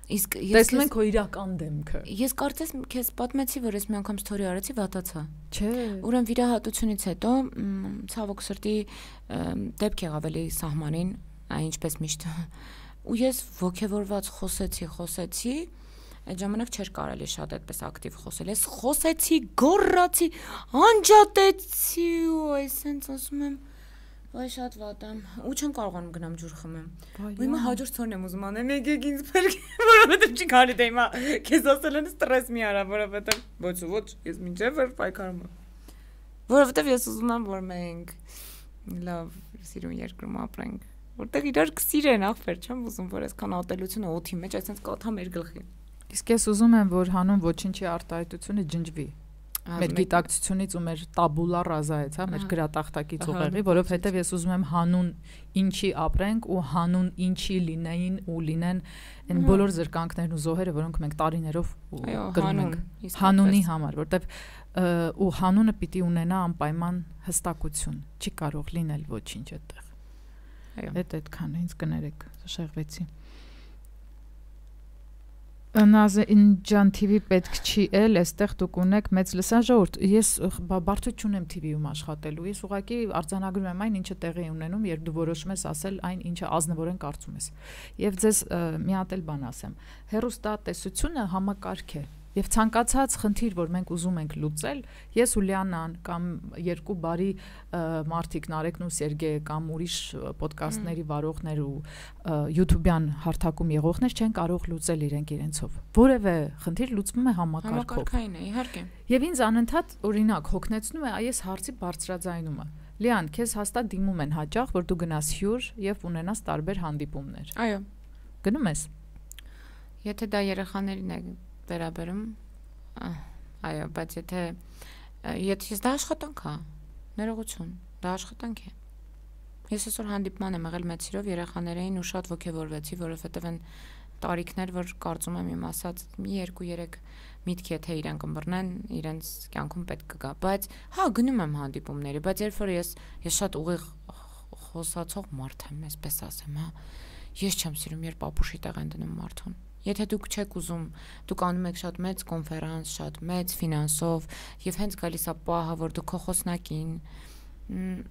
իսկ տեսնում են քո իրական դեմքը։ Ես կարծես քեզ պատմեցի, որ ես մի անգամ ստորի արեցի, վատացա։ Չէ։ Ուրեմն վիրահատությունից հետո ցավոք սրտի դեպք եղավ էլի սահմանին, այն ինչպես միշտ։ Ու ես ոգևորված խոսեցի, խոսեցի, այդ ժամանակ չէր կարելի շատ այդպես ակտիվ խոսել։ Ես խոսեցի, գոռացի, անջատեցի ու այսպես ասում եմ, վայ շատ վատ եմ, ու չեմ կարողանում գնամ ջուր խմեմ։ Ու հիմա հաջորդ ցորն եմ ուզում անեմ, եկեք ինձ բերեք, որովհետև չի կարելի դե հիմա քեզ ասել են ստրես մի արա, որովհետև ոչ ոչ, ես մինչև որ պայքարում եմ։ Որովհետև ես ուզում եմ, որ մենք լավ սիրուն երկրում ապրենք, որտեղ իրար կսիրեն ախպեր, չեմ ուզում, որ այսքան ատելությունը օդի մեջ այսպես կաթա մեր գլխին։ Իսկ ես ուզում եմ, որ հանուն ոչինչի արտահայտությունը ջնջվի։ Մեր գիտակցությունից ու մեր տաբուլա ռազայից, հա, մեր գրատախտակից ուղեղի, որովհետև ես ուզում եմ հանուն ինչի ապրենք ու հանուն ինչի լինեին ու լինեն այն բոլոր զրկանքներն ու զոհերը, որոնք մենք տարիներով կրում ենք հանունի համար, որովհետև ու հանունը պիտի ունենա անպայման հստակություն, չի կարող լինել ոչինչ այդտեղ։ Այդ այդքան ինձ կներեք, շեղվեցի։ Նազին ջան T V պետք չի էլ, այստեղ դուք ունեք մեծ լսաժողովուրդ։ Ես բարդություն չունեմ T V-ում աշխատելու։ Ես ուղղակի արձանագրում եմ այն, ինչը տեղի է ունենում, երբ դու որոշում ես ասել այն, ինչը ազնվորեն կարծում ես։ Եվ ձեզ մի հատ էլ բան ասեմ։ Հեռուստատեսությունը համակարգ է։ Եվ ցանկացած խնդիր, որ մենք ուզում ենք լուծել, ես ու Լիանան կամ երկու բարի մարդիկ Նարեկն ու Սերգեյը կամ ուրիշ ոդկասթների վարողներ ու YouTube-յան հարթակում եղողներ չեն կարող լուծել իրենք իրենցով։ Որևէ խնդիր լուծվում է համակարգով։ Համակարգային է, իհարկե։ Եվ ինձ անընդհատ օրինակ հոգնեցնում է այս հարցի բարձրաձայնումը։ Լիան, քեզ հաստատ դիմում են հաճախ, որ դու գնաս հյուր եւ ունենաս տարբեր հանդիպումներ։ Այո։ Գնում ես։ Եթե դա երեխաներին է վերաբերում, այո, բայց եթե եթե դա աշխատանք է, ներողություն, դա աշխատանք է։ Ես այսօր հանդիպման եմ եղել մեծ սիրով երեխաներին ու շատ ոգևորվեցի, որովհետև այն տարիքներ, որ կարծում եմ իմ ասած մի երկու երեք միտք եթե իրեն կմբռնեն, իրենց կյանքում պետք կգա, բայց հա գնում եմ հանդիպումների, բայց երբ որ ես ես շատ ուղիղ խոսացող մարդ եմ, այսպես ասեմ, հա։ Ես չեմ սիրում, երբ ապուշի տեղ են դնում մարդուն։ Եթե դուք չեք ուզում, դուք անում եք շատ մեծ կոնֆերանս, շատ մեծ ֆինանսով, եւ հենց գալիս է պահը, որ դու քո խոսնակին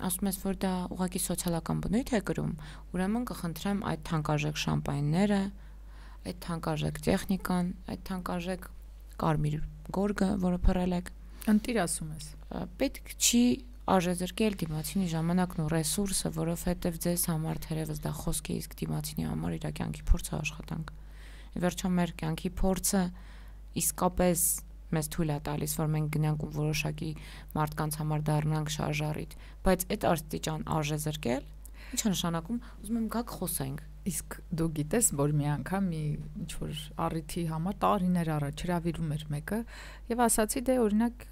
ասում ես, որ դա ուղղակի սոցիալական բնույթ է կրում, ուրեմն կխնդրեմ այդ թանկարժեք շամպայնները, այդ թանկարժեք տեխնիկան, այդ թանկարժեք կարմիր գորգը, որը փռել եք, ընտիր ասում ես։ Պետք չի արժեզրկել դիմացինի ժամանակն ու ռեսուրսը, որովհետև ձեզ համար թերևս դա խոսք է, իսկ դիմացինի համար իր կյանքի փորձը աշխատանք։ Վերջում մեր կյանքի փորձը իսկապես մեզ թույլ է տալիս, որ մենք գնանք ու որոշակի մարդկանց համար դառնանք շարժառիթ, բայց այդ աստիճան արժեզրկել, ինչ է նշանակում, ուզում եմ գաք խոսենք։ Իսկ դու գիտես, որ մի անգամ մի ինչ որ առիթի համար տարիներ առաջ հրավիրում էր մեկը եւ ասացի դե օրինակ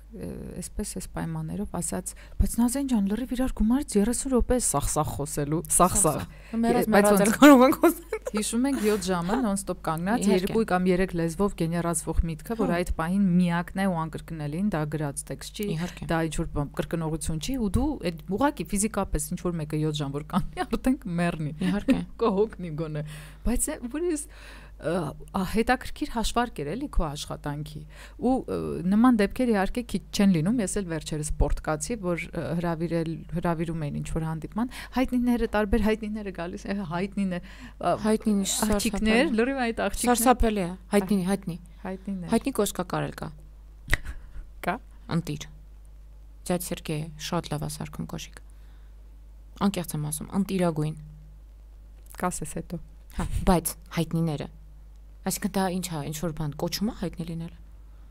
այսպես էս պայմաններով ասաց, բայց Նազեն ջան, լրիվ իրար գումարից երեսուն րոպե սախսախ խոսելու, սախսախ։ Բայց ոնց կարող ենք խոսել։ Հիշում ենք յոթ ժամը նոն-ստոպ կանգնած, երկու կամ երեք լեզվով գեներացվող միտքը, որ այդ պահին միակն է ու անկրկնելին, դա գրած տեքստ չի, դա ինչ որ կրկնողություն չի, ու դու այդ ուղղակի ֆիզիկապես ինչ որ մեկը յոթ ժամ որ կանգնի, արդեն կմեռնի։ Իհարկե։ Կհոգնի գոնե։ Բայց որից հետաքրքիր հաշվարկ էր էլի քո աշխատանքի ու նման դեպքեր իհարկե քիչ չեն լինում, ես էլ վերջերս սպորտկացի, որ հրավիրել հրավիրում էին ինչ որ հանդիպման, հայտնիները տարբեր հայտնիները գալիս է, հայտնիներ, հայտնին աղջիկներ, լրիվ այդ աղջիկներ, սարսափելի է, հայտնի, հայտնի, հայտնիներ, հայտնի կոշկակար էլ կա, կա, ընտիր, ձյաձ Սերգեյ շատ լավ է սարքում կոշիկ, անկեղծ եմ ասում, ընտիրագույն, կասես հետո, հա, բայց հայտնիները Այսինքն դա ինչ է, ինչ որ բան կոչում է հայտնի լինելը։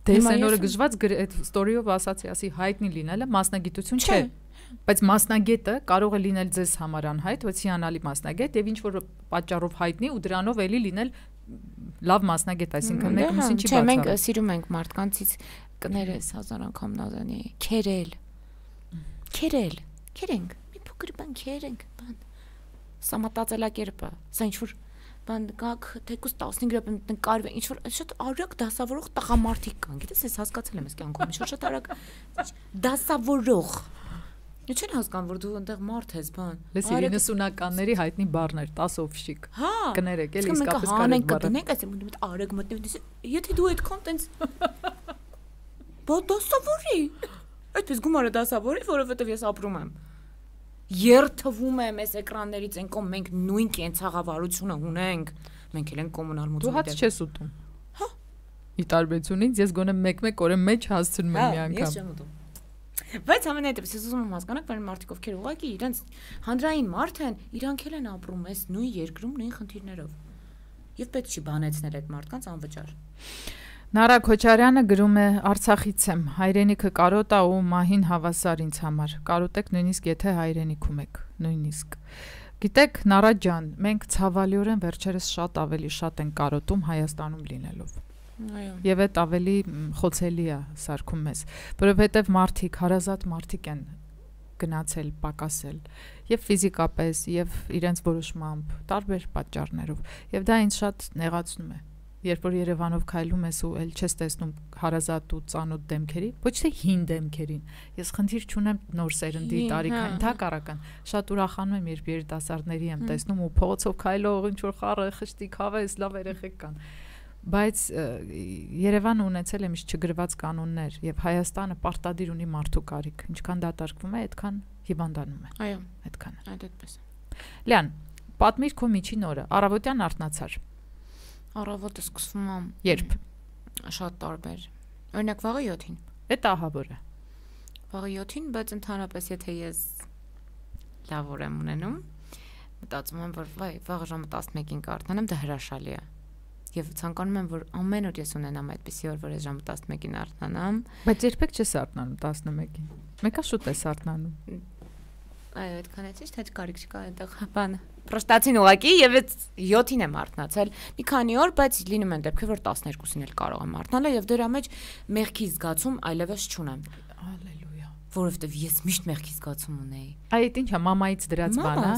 Դե այն օրը գժված այդ ստորիով ասացի, ասի հայտնի լինելը մասնագիտություն չէ։ Բայց մասնագետը կարող է լինել ձեզ համար անհայտ, բայց հիանալի մասնագետ եւ ինչ որ պատճառով հայտնի ու դրանով էլի լինել լավ մասնագետ, այսինքն մեկը մյուսին չի բացառում։ Չէ, մենք սիրում ենք մարդկանցից կներես հազար անգամ նազանի, քերել։ Քերել, քերենք, մի փոքր բան քերենք, բան։ Սա մտածելակերպը, սա ինչ որ բան գաք թեկուս տասնհինգ րոպե նկարվի, ինչ որ շատ արագ դասավորող տղամարդիկ կան, գիտես, ես հասկացել եմ այս կյանքում, ինչ որ շատ արագ դասավորող։ Ինչ չեն հասկանում, որ դու այնտեղ մարդ ես, բան։ Լսի, իննսունականների հայտնի բառներ, տասովշիկ։ Կներեք, էլի իսկապես կարելի բառը։ Դնենք այս մոտ արագ մտնի, եթե դու այդքան տենց բա դասավորի։ Այդպես գումարը դասավորի, որովհետև ես ապրում եմ։ Երթվում եմ այս էկրաններից են կողմ մենք նույն կենցաղավարությունը ունենք, մենք էլ ենք կոմունալ մուտքի դու հաց չես ուտում։ Հա։ Ի տարբերությունից ես գոնե մեկ-մեկ օրը մեջ հասցնում եմ մի անգամ։ Ես չեմ ուտում։ Բայց ամենայնպես ես ուզում եմ հասկանալ, որ մարդիկ ովքեր ուղղակի իրենց հանրային մարդ են, իրանք էլ են ապրում այս նույն երկրում նույն խնդիրներով։ Եվ պետք չի բանեցնել այդ մարդկանց անվճար։ Նարա Քոչարյանը գրում է Արցախից եմ, հայրենիքը կարոտ է ու մահին հավասար ինձ համար։ Կարոտեք նույնիսկ եթե հայրենիքում եք, նույնիսկ։ Գիտեք, Նարա ջան, մենք ցավալիորեն վերջերս շատ ավելի շատ են կարոտում Հայաստանում լինելով։ Եվ այդ ավելի խոցելի է սարքում մեզ, որովհետև մարդիկ, հարազատ մարդիկ են գնացել, պակասել, եւ ֆիզիկապես, եւ իրենց որոշմամբ, տարբեր պատճառներով, եւ դա ինձ շատ նեղացնում է։ Երբ որ Երևանով քայլում ես ու էլ չես տեսնում հարազատ ու ծանոթ դեմքերի, ոչ թե հին դեմքերին։ Ես խնդիր չունեմ նոր սերնդի տարիքային, ընդհակառակն շատ ուրախանում եմ, երբ երիտասարդների եմ տեսնում ու փողոցով քայլող ինչ որ խառը, խշտի, քավես, լավ երեխեք կան։ Բայց Երևանը ունեցել է միշտ չգրված կանոններ եւ Հայաստանը պարտադիր ունի մարդու կարիք։ Ինչքան դատարկվում է, այդքան հիվանդանում է։ Այո, այդքան։ Այդպես։ Լյան, պատմիր քո միջին օրը, առավոտյան արթնացար։ Առավոտը սկսվում եմ։ Երբ։ Շատ տարբեր։ Օրինակ վաղը յոթին։ Էդ ահավորը։ Վաղը յոթին, բայց ընդհանրապես եթե ես լավ օր եմ ունենում, մտածում եմ, որ վայ, վաղը ժամը տասնմեկին կարթնանեմ, դա հրաշալի է։ Եվ ցանկանում եմ, որ ամեն օր ես ունենամ այդպիսի օր, որ ես ժամը տասնմեկին արթնանամ։ Բայց երբեք չես արթնանում տասնմեկին։ Մեկա շուտ ես արթնանում։ Այո, այդքան է ճիշտ, հետ կարիք չկա այնտեղ բան։ Պրոստատին ուղակի եւ այդ յոթին եմ արթնացել։ Մի քանի օր, բայց լինում են դեպքեր, որ տասներկուսին էլ կարող եմ արթնանալ եւ դրա մեջ մեղքի զգացում այլևս չունեմ։ Ալելույա։ Որովհետեւ ես միշտ մեղքի զգացում ունեի։ Այդ ի՞նչ է, մամայից դրած բան է։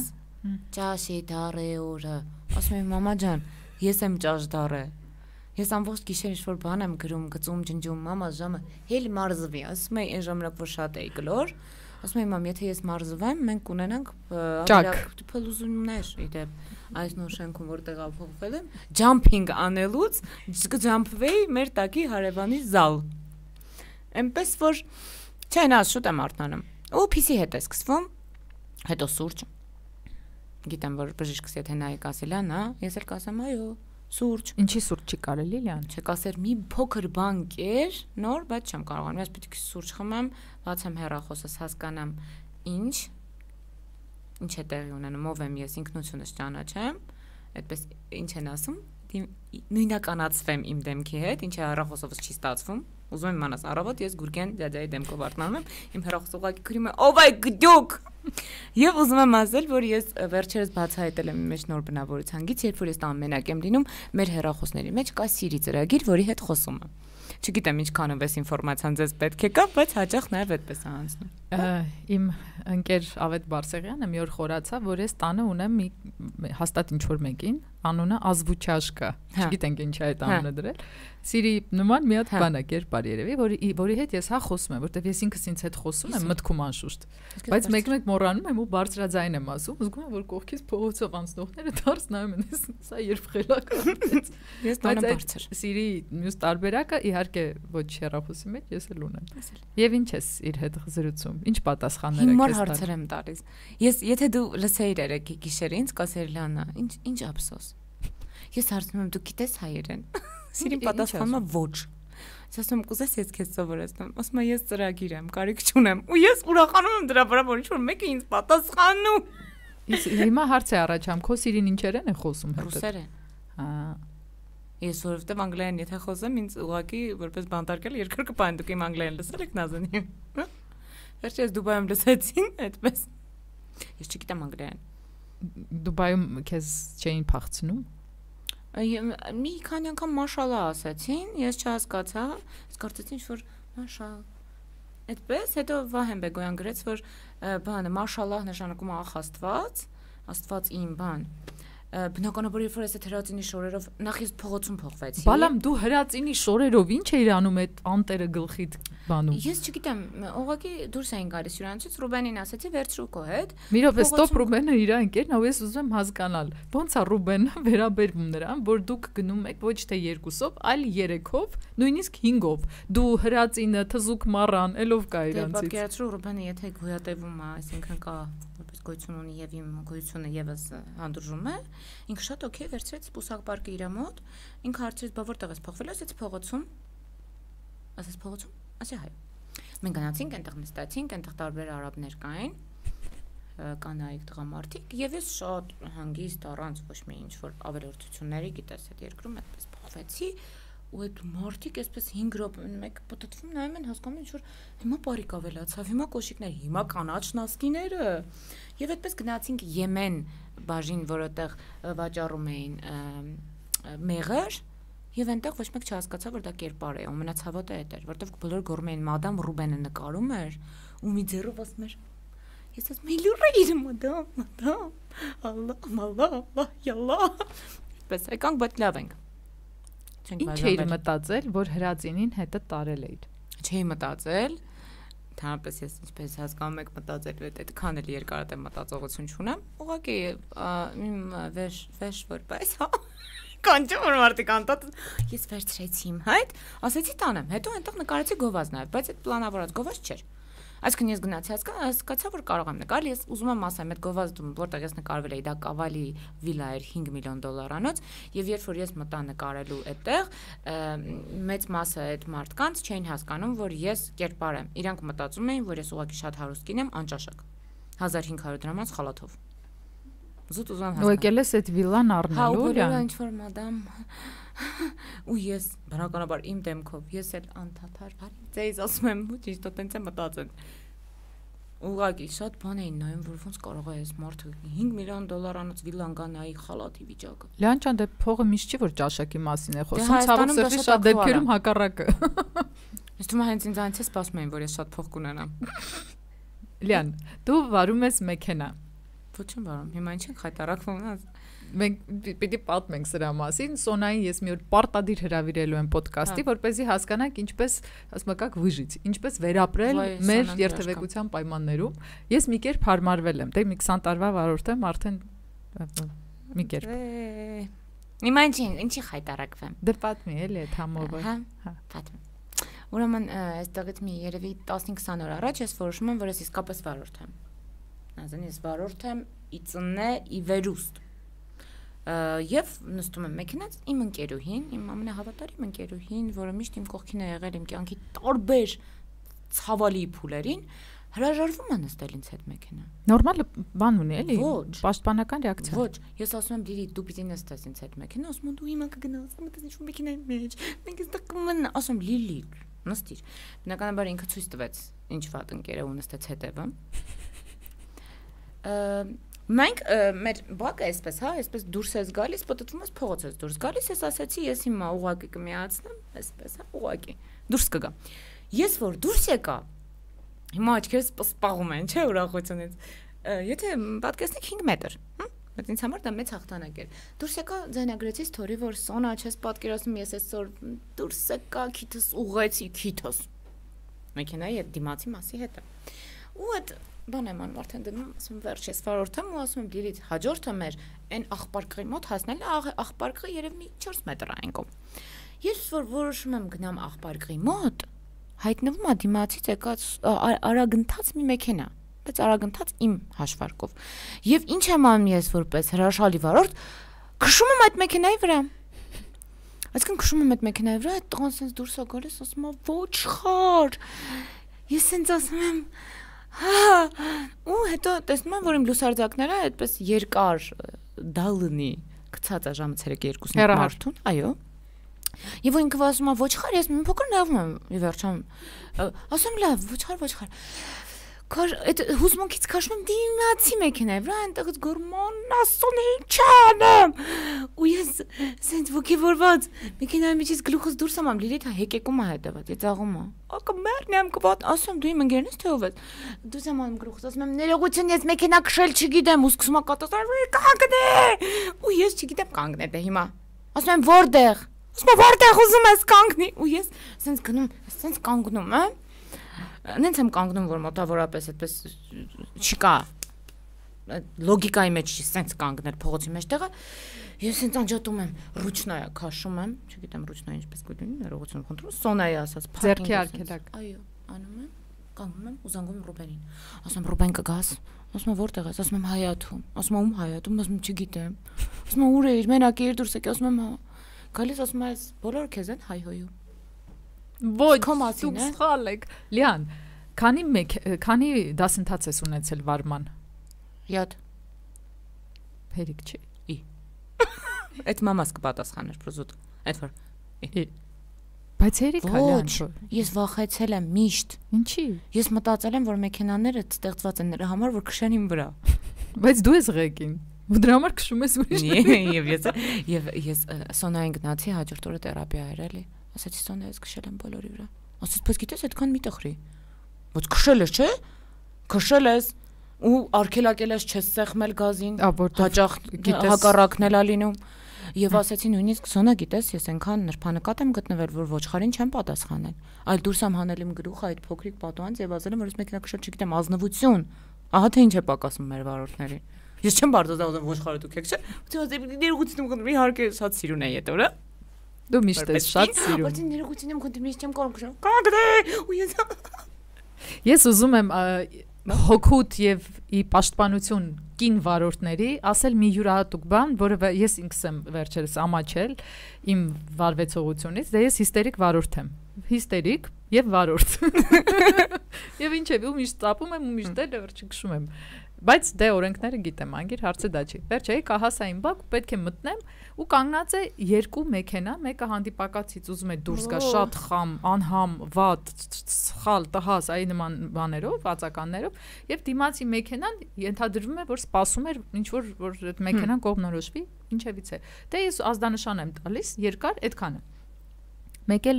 Ճաշի դարե օրը։ Ասում եմ, մամա ջան, ես եմ ճաշ դարը։ Ես ամբողջ գիշեր ինչ-որ բան եմ գրում, գծում, ջնջում, մամա ժամը հել մարզվի, ասում եմ, այն ժամանակ որ շատ էի գլոր, ասում եմ, մամ, եթե ես մարզվեմ, մենք կունենանք փլուզումներ, իդեպ, այս նոր շենքում որ տեղափոխվել եմ, ջամփինգ անելուց կջամփվեի մեր տակի հարևանի զալ։ Էնպես որ չէ, նա շուտ եմ արթնանում։ Ու փիսի հետ է սկսվում, հետո սուրճ։ Գիտեմ, որ բժիշկս եթե նայի կասելան, հա, ես էլ կասեմ, այո, սուրճ։ Ինչի սուրճ չի կարելի լյան։ Չէ, կասեր մի փոքր բան կեր, նոր, բայց չեմ կարողանում, ես պետք է սուրճ խմեմ, բացեմ հեռախոսս, հասկանամ ինչ, ինչ է տեղի ունենում, ով եմ ես, ինքնությունս ճանաչեմ, այդպես ինչ են ասում, նույնականացվեմ իմ դեմքի հետ, ինչը հեռախոսովս չի ստացվում, ուզում եմ իմանաս, առավոտ ես Գուրգեն դյաջայի դեմքով արթնանում եմ, իմ հեռախոսը ուղղակի գրում է, ով այ գդյուկ։ Եվ ուզում եմ ասել, որ ես վերջերս բացահայտել եմ իմ մեջ նոր բնավորությունից, երբ որ ես տան մենակ եմ լինում, մեր հեռախոսների մեջ կա Siri ծրագիր, որի հետ խոսում եմ։ Չգիտեմ ինչքանով էս ինֆորմացիան ձեզ պետք է կա, բայց հաճախ նաև այդպես է անցնում։ Իմ ընկեր Ավետ Բարսեղյանը մի օր խորացավ, որ ես տանը ունեմ մի հաստատ ինչ որ մեկին, անունը Ազվուչաշկա։ Չգիտենք ինչ է այդ անունը դրել։ Siri նման մի հատ բան է կերպար երևի, որի որի հետ ես հա խոսում եմ, որտեվ ես ինքս ինձ հետ խոսում եմ մտքում անշուշտ։ Բայց մեկ-մեկ մոռանում եմ ու բարձրաձայն եմ ասում, զգում եմ, որ կողքից փողոցով անցնողները դարձ նայում են, սա երբ խելական։ Ես տանը բարձր։ Siri մյուս տարբերակը իհարկե ոչ հեռախոսի մեջ ես էլ ունեմ։ Եվ ինչ ես իր հետ զրուցում։ Ինչ պատասխաններ եք տալիս։ Հիմար հարցեր եմ տալիս։ Ես եթե դու լսեիր երեկ գիշերը ինձ կասեր Լանա, ինչ ինչ ափսոս։ Ես հարցնում եմ դու գիտես հայերեն։ Սիրին պատասխանում է ոչ։ Ես ասում եմ կուզես ես քեզ սովորեցնեմ։ Ասում է ես ծրագիր եմ, կարիք չունեմ։ Ու ես ուրախանում եմ դրա վրա, որ ինչ որ մեկը ինձ պատասխանում։ Հիմա հարց է առաջանում, քո Սիրին ինչերեն է խոսում հետո։ Ռուսերեն։ Հա։ Ես որովհետև անգլերեն եթե խոսեմ, ինձ ուղղակի որպես բանտարկել երկրորդ կպայն դուք իմ անգլերեն լսել եք Նազանի։ Վերջի ես Դուբայում լսեցին, այդպես։ Ես չգիտեմ անգլերեն։ Դուբայում քեզ չէին փախցնում։ Մի քանի անգամ մաշալլա ասացին, ես չհասկացա, ես կարծեցի որ մաշալ։ Այդպես, հետո Վահեն Բեգոյան գրեց, որ բանը մաշալլահ նշանակում է Աստված, Աստված իմ բան։ Բնականաբար երբ որ ես այդ հրացինի շորերով նախ ես փողոցում փոխվեցի։ Բալամ դու հրացինի շորերով ինչ էիր անում այդ անտերը գլխիդ բանում։ Ես չգիտեմ, ուղղակի դուրս էին գալիս հյուրանոցից, Ռուբենին ասացի վերցրու քո հետ։ Մի րոպե, ստոպ, Ռուբենը իր ընկերն է, ես ուզում եմ հասկանալ։ Ոնց է Ռուբենը վերաբերվում նրան, որ դուք գնում եք ոչ թե երկուսով, այլ երեքով, նույնիսկ հինգով։ Դու հրացինը, թզուկ մառան, ելով կա իրանցից։ Դե պատկերացրու Ռուբենը եթե գոյատևում է, այսինքն կա որպես գոյություն ունի եւ իմ գոյությունը եւս հանդուրժում է, ինքը շատ օքեյ վերցրեց սպուսակ պարկը իր մոտ, ինքը հարցրեց բա որտեղ ես փոխվել, ասեց փողոցում։ Ասեց փողոցում, ասի հայ։ Մենք գնացինք, այնտեղ նստացինք, այնտեղ տարբեր արաբներ կային, կանայք, տղամարդիկ, եւ ես շատ հանգիստ առանց ոչ մի ինչ որ ավելորդությունների, գիտես, այդ երկրում այդպես փոխվեցի, ու այդ մարդիկ այսպես հինգ րոպե մեկ պատտվում նայում են հասկանում ինչ որ հիմա բարիք ավելացավ, հիմա կոշիկներ, հիմա կանաչ նասկիները, եւ այդպես գնացինք Եմեն բաժին, որտեղ վաճառում էին մեղր, եւ այնտեղ ոչ մեկ չհասկացավ, որ դա կերպար է, ամենացավոտը այդ էր, որտեղ բոլորը գոռում էին մադամ Ռուբենը նկարում էր, ու մի ձեռով ասում էր ես ասում եմ լուրեր մադամ, մադամ, ալլահ, մալլահ, ալլահ, յալլահ, այդպես եկանք, բայց լավ ենք։ Ինչ էիր մտածել, որ հրացինին հետը տարել էիր։ Չէի մտածել, Թարապես ես ինչպես հասկանում եք մտածել, այդ այդքան էլ երկարատև մտածողություն չունեմ։ Ուղղակի իմ վեշ վեշ որպես հա կանչում որ մարդիկ անտած ես վերցրեցի իմ հայտ, ասեցի տանեմ, հետո այնտեղ նկարեցի գովազ նաև, բայց այդ պլանավորած գովազ չէր։ Այսինքն ես գնացի հասկացա, որ կարող եմ նկարել, ես ուզում եմ ասեմ, այդ գովազդում, որտեղ ես նկարվել էի, դա Կավալի վիլա էր հինգ միլիոն դոլարանոց, եւ երբ որ ես մտա նկարելու այդտեղ, մեծ մասը այդ մարդկանց չէին հասկանում, որ ես կերպար եմ։ Իրանք մտածում էին, որ ես ուղղակի շատ հարուստ կին եմ, անճաշակ։ հազար հինգ հարյուր դրամանց խալաթով։ Զուտ ուզում հասկանալ։ Ու եկել ես այդ վիլան առնելու, հա, ինչ որ մադամ ու ես բնականաբար իմ դեմքով ես էլ անդադար բարի ձեզ ասում եմ ու ճիշտ տենց եմ մտածել ուղղակի շատ բան էին նայում որ ոնց կարող է այս մարդը հինգ միլիոն դոլարանոց վիլան գանայի խալաթի վիճակը Լեան ջան դե փողը միշտ չի որ ճաշակի մասին է խոսում ցավոք սրտի շատ դեպքերում հակառակը Ես թվում է հենց ինձ այնց է սպասում էին որ ես շատ փող կունենամ Լեան դու վարում ես մեքենա Ոչ չեմ վարում հիմա ինչ ենք խայտարակվում Մենք պիտի պատմենք սրա մասին, Սոնային ես մի օր պարտադիր հրավիրելու եմ ոդկասթի, որպեսզի հասկանանք ինչպես, ասում եք, վիժից, ինչպես վերապրել մեր երթևեկության պայմաններում։ Ես մի կերպ հարմարվել եմ, դե մի քսան տարվա վարորդ եմ, արդեն մի կերպ։ Հիմա ինչի, ինչի խայտարակվեմ։ Դե պատմի, էլի այդ համովը։ Հա, պատմի։ Ուրեմն այստեղից մի երևի տասնհինգ քսան օր առաջ ես որոշում եմ, որ ես իսկապես վարորդ եմ։ Նազան ես վարորդ եմ, ի ծնե, ի վերուստ։ Եվ նստում եմ մեքենաց իմ ընկերուհին, իմ ամենահավատարիմ ընկերուհին, որը միշտ իմ կողքին է եղել իմ կյանքի տարբեր ցավալի փուլերին, հրաժարվում է նստել ինձ հետ մեքենա։ Նորմալ բան ունի, էլի։ Ոչ, պաշտպանական ռեակցիա։ Ոչ, ես ասում եմ Լիլի, դու պիտի նստես ինձ հետ մեքենա, ասում եմ դու հիմա կգնաս, մտես ինչ-որ մեքենայի մեջ։ Մենք այստեղ կմնա, ասում Լիլի, նստիր։ Բնականաբար ինքը ցույց տվեց ինչ վատ ընկեր է ու նստեց հետևը։ Մենք մեր բակը այսպես, հա, այսպես դուրս ես գալիս, պատտվում ես փողոց ես դուրս գալիս, ես ասացի, ես հիմա ուղակի կմիացնեմ, այսպես, հա, ուղակի դուրս կգա։ Ես որ դուրս եկա, հիմա աչքերս սպասպաղում են, չէ, ուրախությունից։ Եթե պատկերացնեք հինգ մետր, հա, բայց ինձ համար դա մեծ հաղթանակ էր։ Դուրս եկա ձայնագրեցի սթորի, որ Սոնա չես պատկերացնում, ես այսօր դուրս եկա, քիթս ուղղեցի, քիթս։ Մեքենայի այդ դիմացի մասի հետ։ Ու այդ բան եմ անում արդեն դնում, ասում վերջ ես վարորդեմ ու ասում եմ Լիլիթ, հաջորդը մեր այն աղպարկղի մոտ հասնել է, աղպարկղը երևի մի չորս մետր այն կողմ։ Ես որ որոշում եմ գնամ աղպարկղի մոտ, հայտնվում է դիմացից եկած արագընթաց մի մեքենա, բայց արագընթաց իմ հաշվարկով։ Եվ ինչ եմ անում ես որպես հրաշալի վարորդ, քշում եմ այդ մեքենայի վրա։ Այսինքն քշում եմ այդ մեքենայի վրա, այդ տղան sense դուրս է գալիս, ասում է ոչ խար։ Ես sense ասում եմ Հա, ու հետո տեսնում եմ, որ իմ լուսարձակները այդպես երկար դալնի գցած է ժամը ցերեկի երկուսին մարդուն, այո։ Եվ ինքը ասում է ոչխար, ես մի փոքր նայում եմ, ի վերջո ասում լավ, ոչխար, ոչխար։ Կար այդ հուզմունքից քաշում եմ դիմացի մեքենայի վրա, այնտեղից գորման ասուն ինչ անեմ։ Ու ես սենց ոգևորված մեքենայի միջից գլուխս դուրս եմ լիլիթ հեկեկում է հետևած, ես աղում եմ։ Ակա մեռնեմ կվատ, ասում դու իմ ընկերն ես թե ով ես։ Դուրս եմ անում գլուխս, ասում եմ ներողություն, ես մեքենա քշել չգիտեմ, ու սկսում եմ կատաստրոֆ կանգնե։ Ու ես չգիտեմ կանգնել դե հիմա։ Ասում եմ որտեղ։ Ասում եմ որտեղ ուզում ես կանգնի։ Ու ես սենց գնում, սենց կանգնում եմ։ Նենց եմ կանգնում, որ մոտավորապես այդպես չկա լոգիկայի մեջ չի սենց կանգնել փողոցի մեջտեղը, ես սենց անջատում եմ, ռուչնայա քաշում եմ, չգիտեմ ռուչնայա ինչպես կոչվում, ներողություն խնդրում, սոնայի ասած, ձեռքի արգելակ։ Այո, անում եմ, կանգնում եմ ու զանգում Ռուբենին։ Ասում եմ Ռուբեն կգաս, ասում եմ որտեղ ես, ասում եմ Հայաթում, ասում եմ ում Հայաթում, ասում եմ չգիտեմ, ասում եմ ուր էիր, մենակ էիր դուրս եկի, ասում եմ հա, գալիս ասում եմ բոլորը քեզ են հայհոյում։ Ոչ, դուք սխալ եք։ Լիան, քանի մեկ, քանի դասընթաց ես ունեցել վարման։ յոթ։ Հերիք չի։ Ի։ Այդ մամաս կպատասխաներ պրոզուտ։ Այդ որ։ Ի։ Բայց հերիք է Լիան։ Ես վախեցել եմ միշտ։ Ինչի։ Ես մտածել եմ, որ մեքենաները ստեղծված են նրա համար, որ քշեն իմ վրա։ Բայց դու ես ղեկին։ Ու դրա համար քշում ես ուրիշ։ Եվ ես եւ ես Սոնային գնացի հաջորդ օրը թերապիա էր էլի։ Ասացի Սոնա ես քշել եմ բոլորի վրա։ Ասաց, բայց գիտես այդքան մի տխրի։ Ոչ քշել ես, չէ՞։ Քշել ես ու արկելակել ես չես սեղմել գազին, հաճախ հակառակն էլա լինում։ Եվ ասացի նույնիսկ Սոնա գիտես, ես այնքան նրբանկատ եմ գտնվել, որ ոչխարին չեմ պատասխանել։ Այլ դուրս եմ հանել իմ գլուխը այդ փոքրիկ պատուհանից եւ ասել եմ, որ ես մեքենա քշել չգիտեմ, ազնվություն։ Ահա թե ինչ է պակասում մեր վարորդներին։ Ես չեմ բարձրացնում ոչխարը դուք եք, չէ՞։ Ո՞նց ներողություն եմ, իհարկե շատ սիրուն է այդ օրը։ Դու միշտ ես շատ սիրուն։ Բայց ներողություն եմ խնդրում, ես չեմ կարող քշել։ Կանգնե։ Ու ես Ես ուզում եմ հոգուտ եւ ի պաշտպանություն կին վարորդների ասել մի յուրահատուկ բան, որը ես ինքս եմ վերջերս ամաչել իմ վարվեցողությունից, դե ես հիստերիկ վարորդ եմ։ Հիստերիկ եւ վարորդ։ Եվ ինչեւ ու միշտ ծապում եմ ու միշտ էլ վերջի քշում եմ։ Բայց դե օրենքները գիտեմ, անգիր հարցը դա չի։ Վերջ էի կահասային բակ, պետք է մտնեմ ու կանգնած է երկու մեքենա, մեկը հանդիպակացից ուզում է դուրս գա շատ խամ, անհամ, վատ, սխալ, տհաս, այ նման բաներով, վացականներով, եւ դիմացի մեքենան ենթադրվում է, որ սպասում էր ինչ որ որ այդ մեքենան կողմնորոշվի, ինչևից է։ Դե ես ազդանշան եմ տալիս, երկար այդքանը։ Մեկ էլ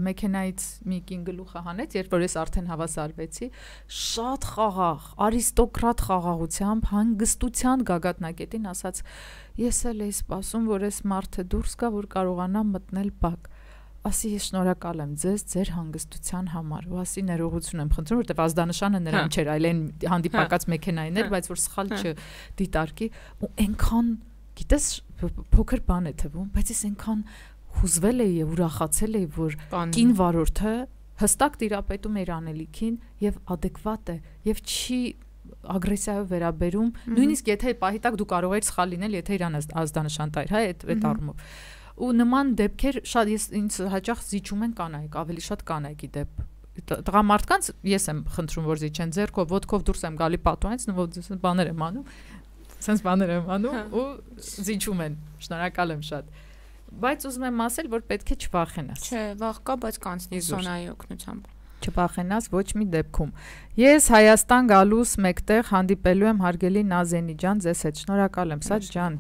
մեքենայից մի կին գլուխը հանեց, երբ որ ես արդեն հավասարվեցի, շատ խաղաղ, արիստոկրատ խաղաղությամբ, հանգստության գագաթնակետին ասաց. ես էլ էի սպասում, որ այս մարդը դուրս գա, որ կարողանամ մտնել բակ։ Ասի ես շնորհակալ եմ ձեզ ձեր հանգստության համար։ Ու ասի ներողություն եմ խնդրում, որտեվ ազդանշանը նրան չէր, այլ այն հանդիպակաց մեքենային էր, բայց որ սխալ չդիտարկի, ու այնքան, գիտես, փոքր բան է թվում, բայց ես այնքան հուզվել էի եւ ուրախացել էի, որ կին վարորդը հստակ տիրապետում էր անելիքին եւ adekvat է եւ չի ագրեսիայով վերաբերում, նույնիսկ եթե պահի տակ դու կարող ես սխալ լինել, եթե իրան ազդանշան տայր, հա, այդ այդ առումով։ Ու նման դեպքեր շատ ես ինձ հաճախ զիջում են կանայք, ավելի շատ կանայքի դեպ։ Տղամարդկանց ես եմ խնդրում, որ զիջեն ձեռքով, ոտքով դուրս եմ գալի պատուհանից, նույն բաներ եմ անում, sense բաներ եմ անում ու զիջում են։ Շնորհակալ եմ շատ։ Բայց ուզում եմ ասել, որ պետք է չվախենաս։ Չէ, վախ կա, բայց կանցնի Սոնայի օգնությամբ։ Չվախենաս ոչ մի դեպքում։ Ես Հայաստան գալուս մեկտեղ հանդիպելու եմ հարգելի Նազենի ջան, ձեզ հետ շնորհակալ եմ, Սաչ ջան,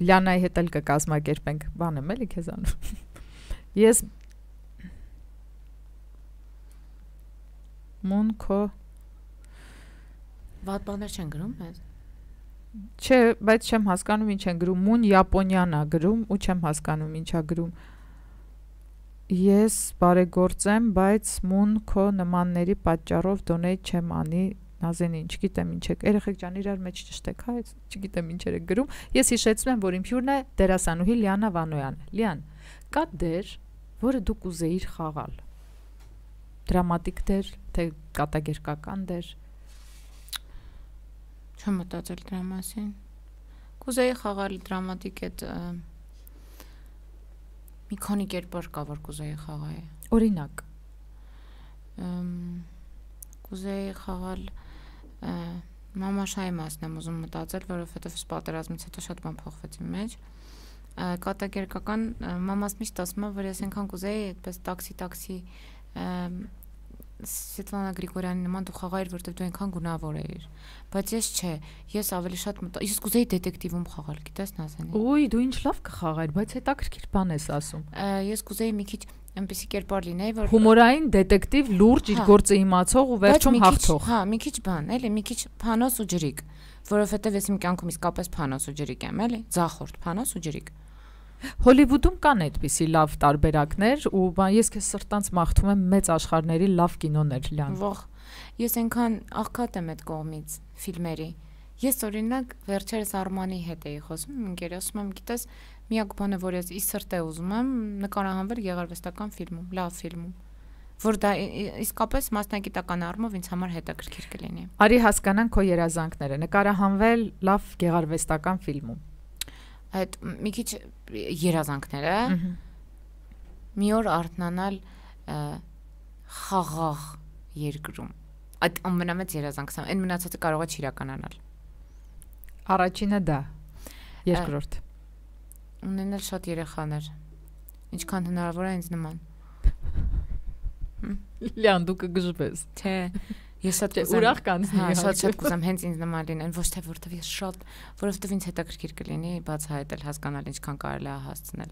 Լիանայի հետ էլ կկազմակերպենք, բան եմ էլի քեզանով։ Ես Մոնկո Վատ բաներ չեն գրում մեզ։ Չէ, բայց չեմ հասկանում ինչ են գրում, մուն Япոնիան է գրում ու չեմ հասկանում ինչա գրում։ Ես բարեգործեմ, բայց մուն քո նմանների պատճառով դոնեյթ չեմ անի, Նազենին, չգիտեմ ինչ եք, երեխեք ջան իրար մեջ ճշտեք, հա, չգիտեմ ինչեր եք գրում։ Ես հիշեցնում եմ, որ իմ հյուրն է դերասանուհի Լիանա Վանոյանը։ Լիան, կա դեր, որը դու կուզեիր խաղալ։ Դրամատիկ դեր, թե կատակերգական դեր։ Չեմ մտածել դրա մասին։ Կուզեի խաղալ դրամատիկ այդ մի քանի կերպար կա, որ կուզեի խաղալ։ Օրինակ։ Կուզեի խաղալ մամաշայի մասն եմ ուզում մտածել, որովհետև պատերազմից հետո շատ բան փոխվեց իմ մեջ։ կատակերգական մամաս միշտ ասում է, որ ես այնքան կուզեի այդպես տաքսի տաքսի Սվետլանա Գրիգորյանի նման դու խաղայր, որտեղ դու այնքան գունավոր էիր, բայց ես չէ, ես ավելի շատ ես կուզեի դետեկտիվում խաղալ, գիտես Նազանի։ Ոյ, դու ինչ լավ կխաղայր, բայց հետաքրքիր բան ես ասում։ Ես կուզեի մի քիչ այնպեսի կերպար լինեի, որ հումորային դետեկտիվ, լուրջ, իր գործը իմացող ու վերջում հաղթող։ Հա, մի քիչ բան, էլի, մի քիչ փանոս ու ջրիկ, որովհետև ես իմ կյանքում իսկապես փանոս ու ջրիկ եմ, էլի, ձախորդ փանոս ու ջրիկ։ Հոլիվուդում կան այդպիսի լավ տարբերակներ ու ես քեզ սրտանց մաղթում եմ մեծ աշխարհների լավ կինոներ լան։ Ող, ես այնքան աղքատ եմ այդ կողմից ֆիլմերի։ Ես օրինակ վերջերս Արմանի հետ էի խոսում, ինքեր ասում եմ, գիտես, միակ բանը, որ ես ի սրտ է ուզում եմ, նկարահանվել գեղարվեստական ֆիլմում, լավ ֆիլմում, որ դա իսկապես մասնագիտական առումով ինձ համար հետաքրքիր կլինի։ Արի հասկանանք քո երազանքները, նկարահանվել լավ գեղարվեստական ֆիլմում։ Այդ մի քիչ երազանքները մի օր արթնանալ խաղաղ երկրում, այդ ամենամեծ երազանքն է, այն մնացածը կարող է չիրականանալ։ Առաջինը դա, երկրորդ ունենալ շատ երեխաներ, ինչքան հնարավոր է ինձ նման։ Լյան դու կգժվես, թե ես շատ կուզեմ ուրախ կանցնի, հա, շատ շատ կուզեմ հենց ինձ նման լինեն, ոչ թե որովհետև ես շատ, որովհետև ինձ հետաքրքիր կլինի բացահայտել, հասկանալ ինչքան կարելի է հասցնել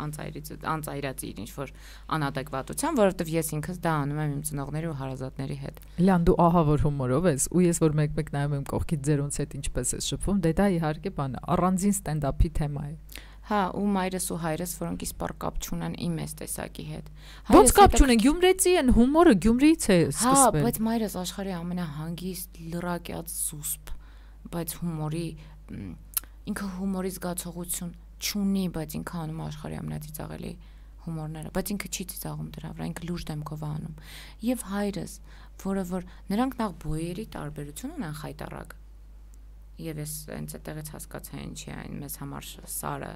անծայրից, անծայրած իր ինչ որ անադեկվատության, որովհետև ես ինքս դա անում եմ իմ ծնողների ու հարազատների հետ։ Լյան դու ահա որ հումորով ես, ու ես որ մեկ-մեկ նայում եմ կողքից ձերոնց հետ ինչպես ես շփվում, դե դա իհարկե բան է, առանձին ստենդափի թեմա է։ Հա, ու մայրս ու հայրս, որոնք իսպար կապ չունեն իմ այս տեսակի հետ։ Ոնց կապ չունեն, Գյումրեցի են, հումորը Գյումրիից է սկսվել։ Հա, բայց մայրս աշխարհի ամենահանգիստ, լրակյաց զուսպ, բայց հումորի ինքը հումորի զգացողություն չունի, բայց ինքը անում աշխարհի ամենածիծաղելի հումորները, բայց ինքը չի ծիծաղում դրա վրա, ինքը լուրջ դեմքով անում։ Եվ հայրս, որը որ նրանք նախ բոյերի տարբերություն ունեն խայտարակ։ Եվ ես հենց այդտեղից հասկացա ինչի այն մեզ համար սարը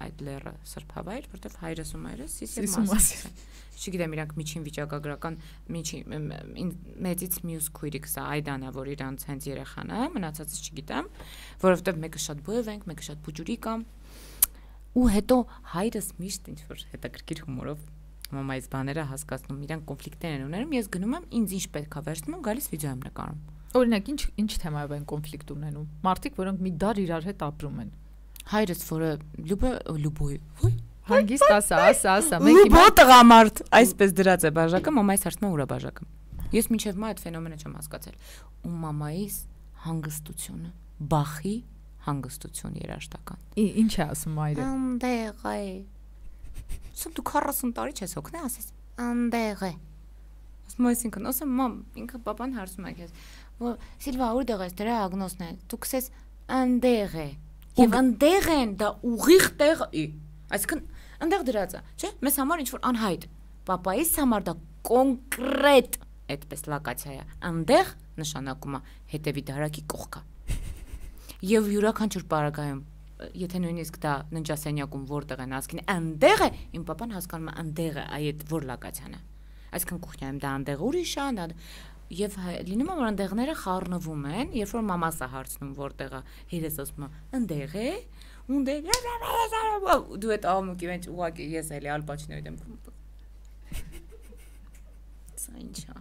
այդ լերը սրբավայր, որտեվ հայրս ու մայրս սիսի մասին։ Չգիտեմ, իրանք միջին վիճակագրական միջին մեծից մյուս քույրիկս է Այդանա, որ իրանց հենց երեխան է, մնացածից չգիտեմ, որովհետև մեկը շատ բոև ենք, մեկը շատ բուջուրիկ է։ Ու հետո հայրս միշտ ինչ որ հետաքրքիր հումորով մամայից բաները հասկացնում, իրանք կոնֆլիկտներ են ունենում, ես գնում եմ, ինձ ինչ պետք է վերցնում, գալիս վիդեո եմ նկարում։ Օրինակ, ինչ ինչ թեմայով են կոնֆլիկտ ունենում։ Մարդիկ, որոնք մի դար իրար հետ ապրում են։ Հայրս, որը լուբը լուբոյ, ոյ, հանգիստ ասա, ասա, ասա, մեկ հիմա տղամարդ, այսպես դրած է բաժակը, մամայից հարցնում է ուրա բաժակը։ Ես մինչև մա այդ ֆենոմենը չեմ հասկացել։ Ու մամայից հանգստությունը, բախի հանգստություն երաշտական։ Ինչ է ասում մայրը։ Անդեղ է։ Սա դու քառասուն տարի չես հոգնե, ասես անդեղ է։ Ասում ես ինքն, ասեմ մամ, ինքը papan հարցում է քեզ, որ Սիլվա որտեղ ես դրա ագնոսն է։ Դու քսես անդեղ է։ Եվ անդեղ են դա ուղիղ տեղ է։ Այսինքն անդեղ դրած է, չէ՞։ Մեզ համար ինչ որ անհայտ։ Պապայիս համար դա կոնկրետ այդպես լոկացիա է։ Անդեղ նշանակում է հետևի դարակի կողքը։ Եվ յուրաքանչյուր պարագայում, եթե նույնիսկ դա ննջասենյակում որտեղ են ասքին անդեղ է, իմ papan հասկանում է անդեղ է, այդ որ լոկացիան է։ Այսինքն կուխնայում դա անդեղ ուրիշ է, դա եւ լինում է որ անդեղները խառնվում են, երբ որ մամասը հարցնում որտեղը, հերս ասում է անդեղ է, ունդե դու այդ աղմուկի մեջ ուղակի ես էլի ալպաչինոյ դեմքում։ Սա ինչա։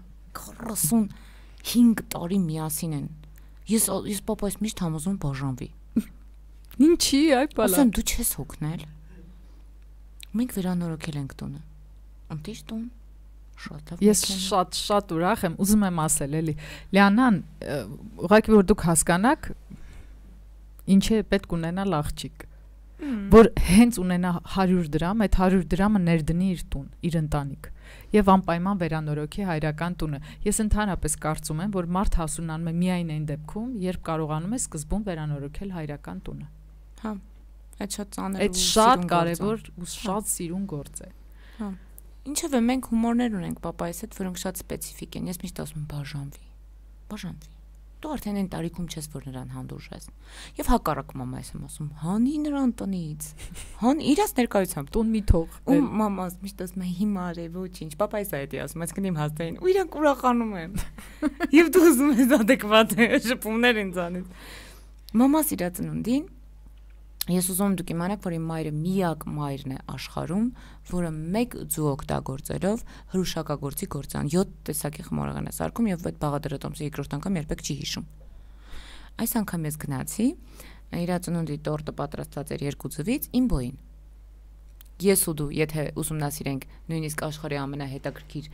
քառասունհինգ տարի միասին են։ Ես ես պապայից միշտ համոզում բաժանվի։ Ինչի, այ բալա։ Ասեմ դու չես հոգնել։ Մենք վերանորոգել ենք տունը։ Անտիշ տուն։ Ես շատ շատ ուրախ եմ, ուզում եմ ասել էլի Լիանան, ուղղակի որ դուք հասկանաք ինչ է պետք ունենալ աղջիկ, որ հենց ունենա հարյուր դրամ, այդ հարյուր դրամը ներդնի իր տուն, իր ընտանիք եւ անպայման վերանորոգի հայրական տունը։ Ես ընդհանրապես կարծում եմ, որ մարդ հասունանում է միայն այն դեպքում, երբ կարողանում է սկզբում վերանորոգել հայրական տունը։ Հա, այդ շատ ծանր ու շատ կարեւոր ու շատ սիրուն գործ է։ Հա։ Ինչևէ մենք հումորներ ունենք պապայիս հետ, որոնք շատ սպეციფիկ են։ Ես միշտ ասում եմ բաժանվի։ Բաժանվի։ Դու արդեն այն տարիքում չես, որ նրան հանդուրժես։ Եվ հակառակ մամայիս եմ ասում, հանի նրան տնից։ Հան իրաց ներկայությամբ տուն մի թող։ Ու մամաս միշտ ասում է հիմա է ոչինչ։ Պապայիս այդ է ասում, այսինքն իմ հաստային։ Ու իրանք ուրախանում են։ Եվ դու ուզում ես adekvat շփումներ ինձանից։ Մամաս իր ծնունդին Ես ուզում եմ դուք իմանաք, որ իմ մայրը միակ մայրն է աշխարհում, որը մեկ ձու օգտագործելով հրուշակագործի գործան յոթ տեսակի խմորեղեն է սարքում եւ այդ բաղադրատոմսը երկրորդ անգամ երբեք չի հիշում։ Այս անգամ ես գնացի, իր ծնունդի տորտը պատրաստված էր երկու ձվից, իմ բոյին։ Ես ու դու, եթե ուսումնասիրենք նույնիսկ աշխարհի ամենահետաքրքիր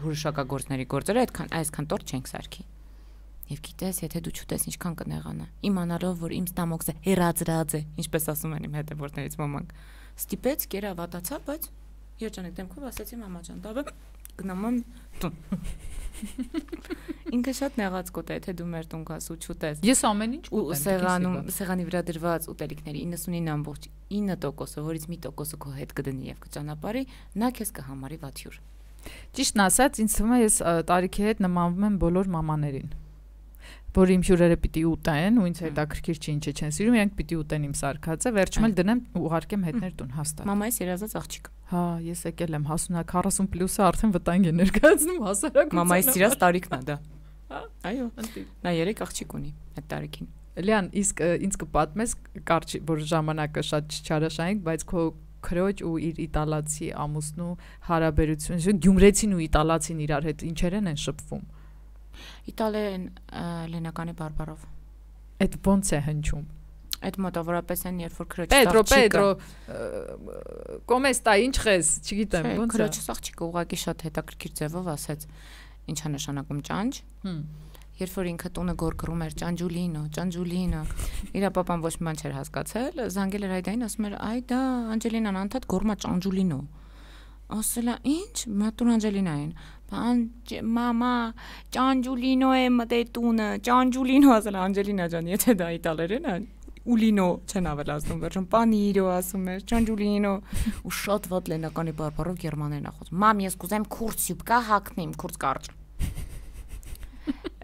հրուշակագործների գործերը, այդքան այսքան տորտ չենք սարքի։ Եվ գիտես, եթե դու չուտես ինչքան կնեղանա, իմանալով, որ իմ ստամոքսը հերածրած է, ինչպես ասում են իմ հետևորդներից ոմանք, ստիպեց, կերավատացա, բայց երջանիկ դեմքով ասացի մամա ջան, դավը գնամ տուն։ Ինքը շատ նեղած կոտ է, եթե դու մեր տուն գաս ու չուտես։ Ես ամեն ինչ ուտեմ։ Սեղանում, սեղանի վրա դրված ուտելիքների իննսունինը ամբողջ ինը տոկոսը, որից մի տոկոսը քո հետ կդնի եւ կճանապարհի, նա քեզ կհամարի վաթյուր։ Ճիշտն ասած, ինձ թվում է ես տարիքի հետ նմանվում եմ բոլոր մամաներին, որ իմ հյուրերը պիտի ուտեն, ու ինձ հետաքրքիր չի ինչը չեն սիրում, իրենք պիտի ուտեն իմ սարքածը, վերջում էլ դնեմ ու ուղարկեմ հետներ տուն հաստատ։ Մամայիս երազած աղջիկ։ Հա, ես եկել եմ հասունակ քառասուն պլյուսը արդեն վտանգ է ներկայացնում հասարակությանը։ Մամայիս սիրած տարիքն է դա։ Այո, նա երեք աղջիկ ունի այդ տարիքին։ Լիան, իսկ ինձ կպատմես կարճ, որ ժամանակը շատ չչարաշահենք, բայց քո քրոջ ու իր իտալացի ամուսնու հարաբերությունը, գյումրեցին ու իտալացին իրար հետ ինչերեն են շփվում։ Իտալերեն լենականի բարբարով։ Այդ ոնց է հնչում։ Այդ մոտավորապես են, երբ որ քրոջը Պետրո, Պետրո, կոմեստա, ինչ ես, չգիտեմ, ոնց է։ Քրոջը աղջիկը ուղղակի շատ հետաքրքիր ձևով ասեց, ինչա նշանակում ճանճ։ Երբ որ ինքը տունը գորգռում էր ճանջուլինո, ճանջուլինո, իր պապան ոչ մի բան չէր հասկացել, զանգել էր Այդային, ասում էր, այ դա Անջելինան անդադ գորմա ճանջուլինո։ Ասել է, ինչ, մատուր Անջելինային։ Բան, մամա, ճանջուլինո է մտե տունը, ճանջուլինո ասել Անջելինա ջան, եթե դա իտալերեն է, ուլինո չեն ավելացնում, վերջում պանիրո ասում էր, ճանջուլինո, ու շատ վատ լենականի բարբարով գերմաներեն ախոց։ Մամ, ես կուզեմ քուրսյուբ կա հակնեմ, քուրս կարճ։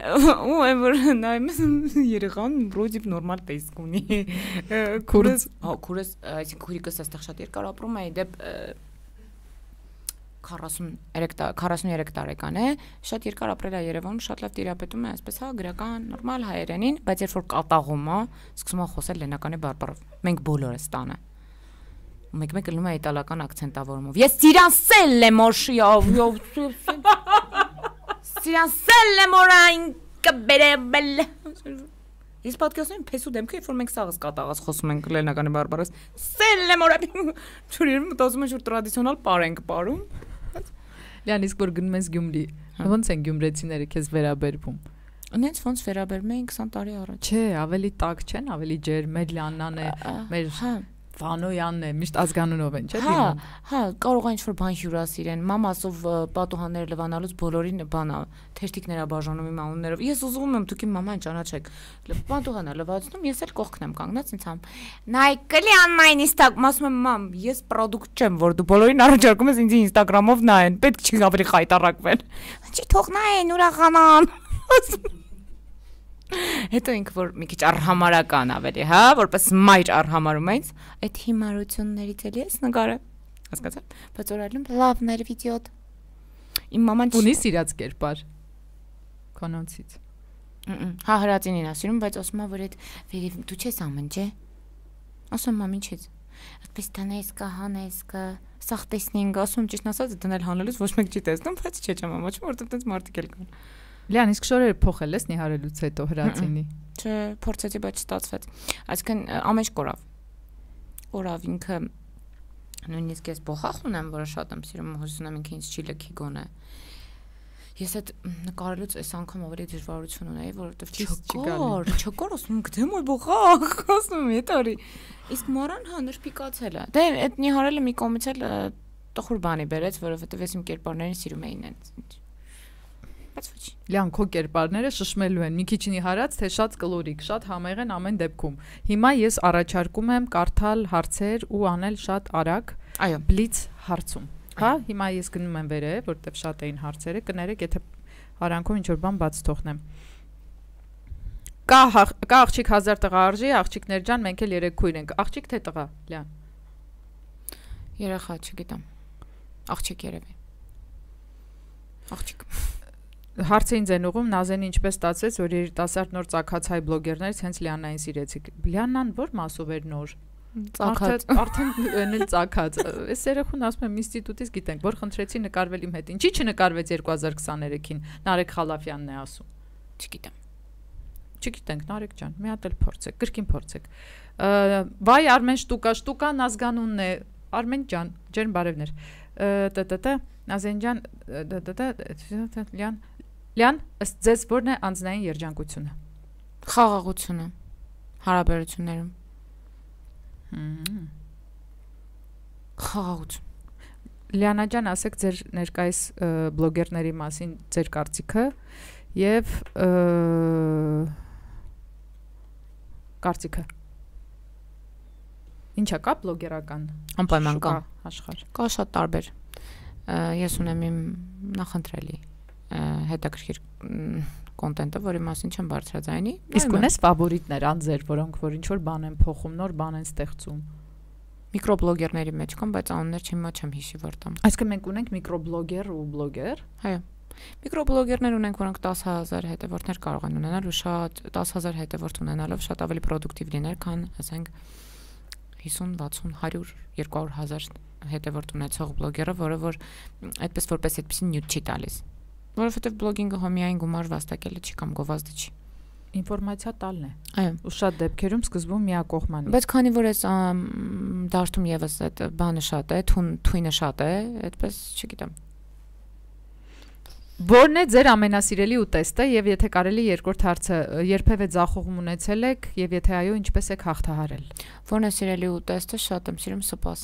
Ու որ նայում ես երեխան բրոդիվ նորմալ տեսք ունի։ Քուրս, հա, քուրս, այսինքն քուրիկս այստեղ շատ երկար ապրում է, դեպ քառասուններեք տարեկան է, շատ երկար ապրել է Երևանում, շատ լավ տիրապետում է, այսպես հա, գրական, նորմալ հայերենին, բայց երբ որ կատաղում է, սկսում է խոսել լենականի բարբարով։ Մենք բոլորս տանը։ Ու մեկ-մեկ լնում է իտալական ակցենտավորումով։ Ես սիրանսել եմ օշիով, սիրանսել եմ օրայն կբերել։ Ես պատկերացնում եմ փեսու դեմքը, երբ որ մենք սաղս կատաղած խոսում ենք լենականի բարբարով։ Սել եմ օրայն։ Չորիերում մտածում եմ, որ տրադիցիոնալ պար ենք պարում։ Լիան, իսկ որ գնում ես Գյումրի, ոնց են գյումրեցիները քեզ վերաբերվում։ Անենց ոնց վերաբերում էին քսան տարի առաջ։ Չէ, ավելի տաք չեն, ավելի ջեր, մեր Լիաննան է, մեր Վանոյանն է, միշտ ազգանունով են, չէ՞ դիմում։ Հա, կարող է ինչ-որ բան հյուրասիրեն։ Մամասով պատուհանները լվանալուց բոլորին բանա, թերթիկներ բաժանում իմ անուններով։ Ես ուզում եմ դուք իմ մաման ճանաչեք։ Պատուհանը լվացնում, ես էլ կողքն եմ կանգնած ինձ համ։ Նայկլի անմայն ինստակ, ասում եմ մամ, ես պրոդուկտ չեմ, որ դու բոլորին առաջարկում ես ինձ ինստագրամով նայեն, պետք չի ավելի խայտարակվել։ Չի թող նայեն, ուրախանան։ Հետո ինքը որ մի քիչ արհամարական ավելի, հա, որպես մայր արհամարում այնց, այդ հիմարություններից էլի ես նկարը։ Հասկացա՞ր։ Բայց օրալում լավներ վիդեոտ։ Իմ մաման ունի սիրած կերպար քոնոցից։ Հա, հրացինին ասում, բայց ասում է, որ այդ վերև դու չես ամեն, չէ։ Ասում մամ ինչից։ Այդպես տանես կա, հանես կա, սախ տեսնենք, ասում ճիշտ ասած դնել հանելուց ոչ մեկ չի տեսնում, բայց չէ չեմ ամաչում, որովհետև տենց մարդիկ էլ կան։ Լիան, իսկ շորերը փոխել ես նիհարելուց հետո հրացինի։ Չէ, փորձեցի, բայց չստացվեց։ Այսինքն ամեն ինչ կորավ։ Կորավ ինքը նույնիսկ ես փոխախ ունեմ, որը շատ եմ սիրում, հուսում եմ ինքը ինձ չի լքի գոնե։ Ես այդ նկարելուց այս անգամ ավելի դժվարություն ունեի, որովհետև չկար, չկար, ասում եմ, գտեմ այ փոխախ, ասում եմ, էտարի։ Իսկ մորան հա նրբիկացել է։ Դե այդ նիհարելը մի կողմից էլ տխուր բանի բերեց, որովհետև ես իմ կերպարներին սիրում էի ինձ։ Լիան, քո կերպարները շշմելու են, մի քիչ նիհարած, թե շատ կլորիկ, շատ համեղ են ամեն դեպքում։ Հիմա ես առաջարկում եմ կարդալ հարցեր ու անել շատ արագ, այո, բլից հարցում։ Հա, հիմա ես գնում եմ վերև, որտեվ շատ էին հարցերը, կներեք, եթե արանքում ինչ-որ բան բաց թողնեմ։ Կա կա աղջիկ հազար տղա արժի, աղջիկներ ջան, մենք էլ երեք քույր ենք։ Աղջիկ թե տղա, Լիան։ Երեխա, չգիտեմ։ Աղջիկ երևի։ Աղջիկ։ Հարցը ինձ են ուղում, Նազենի ինչպես ստացվեց, որ երիտասարդ նոր ծագած հայ բլոգերներից հենց Լիաննային սիրեցիք։ Լիաննան ո՞ր մասով էր նոր։ Ծակած, արդեն էնել ծակած։ Այս երեխուն ասում եմ ինստիտուտից գիտենք, որ խնդրեցի նկարվել իմ հետ։ Ինչի՞ չնկարվեց երկու հազար քսաներեքին։ Նարեկ Խալափյանն է ասում։ Չգիտեմ։ Չգիտենք, Նարեկ ջան, մի հատ էլ փորձեք, կրկին փորձեք։ Վայ Արմեն Շտուկա, Շտուկան ազգանունն է, Արմեն ջան, ջերմ բարևներ։ Տտ Նազեն ջան, տտ Լյան, Լյան, ըստ ձեզ որն է անձնային երջանկությունը։ Խաղաղությունը հարաբերություններում։ Խաղաղություն։ Լիանա ջան, ասեք ձեր ներկայիս բլոգերների մասին ձեր կարծիքը եւ կարծիքը։ Ինչա կա բլոգերական անպայման կա աշխարհ։ Կա շատ տարբեր։ Ես ունեմ իմ նախընտրելի հետաքրքիր կոնտենտը, որի մասին չեմ բարձրաձայնի։ Իսկ ունես ֆավորիտներ անձեր, որոնք որ ինչ որ բան են փոխում, նոր բան են ստեղծում։ Միկրոբլոգերների մեջ կան, բայց անուններ չիմա չեմ հիշի որտամ։ Այսինքն մենք ունենք միկրոբլոգեր ու բլոգեր։ Այո։ Միկրոբլոգերներ ունենք, որոնք տասը հազար հետևորդներ կարող են ունենալ ու շատ տասը հազար հետևորդ ունենալով շատ ավելի պրոդուկտիվ լինել, քան ասենք հիսուն, վաթսուն, հարյուր, երկու հարյուր հազար հետևորդ ունեցող բլոգերը, որը որ այդպես որպես այդպեսի նյութ չի տալիս։ Որովհետև բլոգինգը հոմիային գումար վաստակելը չի կամ գովազդը չի։ Ինֆորմացիա տալն է։ Այո։ Ու շատ դեպքերում սկզբում միակողմանի։ Բայց քանի որ այս դաշտում եւս այդ բանը շատ է, թույնը շատ է, այդպես չգիտեմ։ Որն է ձեր ամենասիրելի ուտեստը եւ եթե կարելի երկրորդ հարցը երբևէ ձախողում ունեցել եք եւ եթե այո ինչպես եք հաղթահարել։ Որն է սիրելի ուտեստը, շատ եմ սիրում սպաս։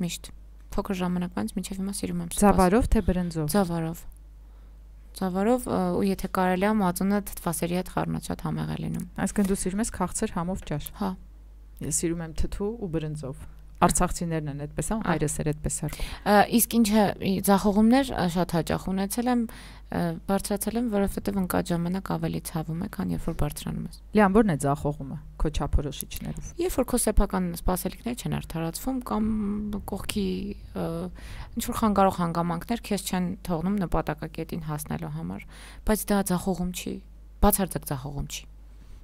Միշտ փոքր ժամանակվանից մինչեւ հիմա սիրում եմ սպաս։ Ձավարով թե բրնձով։ Ձավարով։ Ձավարով ու եթե կարելի է մածունը թթվասերի հետ խառնած շատ համեղ է լինում։ Այսինքն դու սիրում ես քաղցր համով ճաշ։ Հա։ Ես սիրում եմ թթու ու բրնձով։ Արցախցիներն են այդպես, հա, հայրս էր այդպես արվում։ Իսկ ինչը ձախողումներ շատ հաճախ ունեցել եմ, բարձրացել եմ, որովհետև ընկած ժամանակ ավելի ցավում է, քան երբ որ բարձրանում ես։ Լիան, ո՞րն է ձախողումը քո չափորոշիչներով։ Երբ որ քո սեփական սպասելիքները չեն արդարացվում կամ կողքի ինչ որ խանգարող հանգամանքներ քեզ չեն թողնում նպատակակետին հասնելու համար, բայց դա ձախողում չի, բացարձակ ձախողում չի։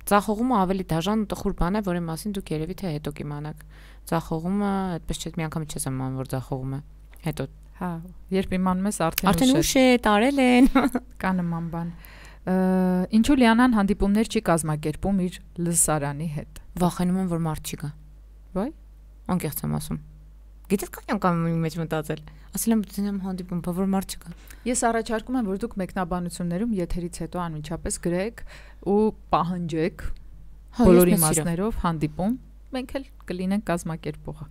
Ձախողումը ավելի դաժան ու տխուր բան է, որի մասին դուք երևի թե հետո կիմանաք։ Ձախողումը այդպես չէ, միանգամից չես իմանում, որ ձախողում է։ Հետո, հա, երբ իմանում ես արդեն արդեն ուշ է, տարել են։ Կա նման բան։ Ինչու Լիանան հանդիպումներ չի կազմակերպում իր լսարանի հետ։ Վախենում եմ, որ մարդ չի գա։ Վայ, անկեղծ եմ ասում։ Գիտես կա անգամ մի մեջ մտածել։ Ասել եմ դինեմ հանդիպում, բա որ մարդ չկա։ Ես առաջարկում եմ, որ դուք մեկնաբանություններում եթերից հետո անմիջապես գրեք ու պահանջեք բոլոր իմաստներով հանդիպում, մենք էլ կլինենք կազմակերպողը։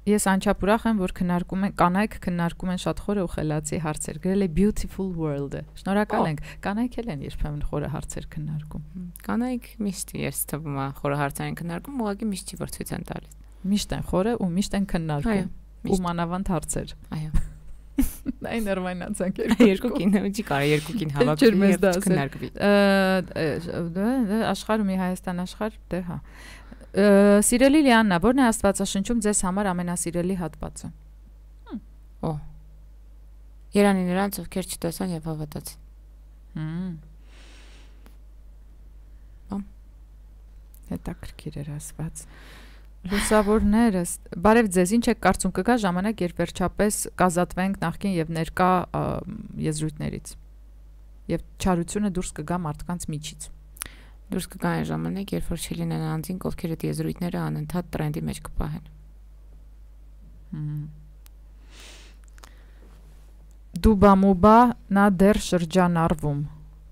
Ես անչափ ուրախ եմ, որ քննարկում են կանայք քննարկում են շատ խորը ու խելացի հարցեր։ Գրել է Beautiful World-ը։ Շնորհակալ ենք։ Կանայք էլ են երբեմն խորը հարցեր քննարկում։ Կանայք միշտ ես թվում է խորը հարցեր են քննարկում, ուղղակի միշտ չի որ ցույց են տալիս։ Միշտ են խորը ու միշտ են քննարկում։ Ու մանավանդ հարցեր։ Այո։ Այն նորմայնացանք երկու կին չի կարա երկու կին հավաքել եւ քննարկվի։ Աշխարհում մի Հայաստան աշխարհ, դե հա։ Սիրելի Լիաննա, ո՞րն է Աստվածաշնչում ձեզ համար ամենասիրելի հատվածը։ Օ։ Երանի նրանց, ովքեր չտեսան եւ հավատացին։ Հմ։ Բամ։ Հետաքրքիր էր ասված։ Լուսավորներս, բարև ձեզ, ինչ եք կարծում կգա ժամանակ, երբ վերջապես կազատվենք նախկին եւ ներկա եզրույթներից եւ չարությունը դուրս կգա մարդկանց միջից։ Դուրս կգա այն ժամանակ, երբ որ չլինեն անձինք, ովքեր այդ եզրույթները անընդհատ տրենդի մեջ կպահեն։ Դուբա մուբա նա դեռ շրջանառվում։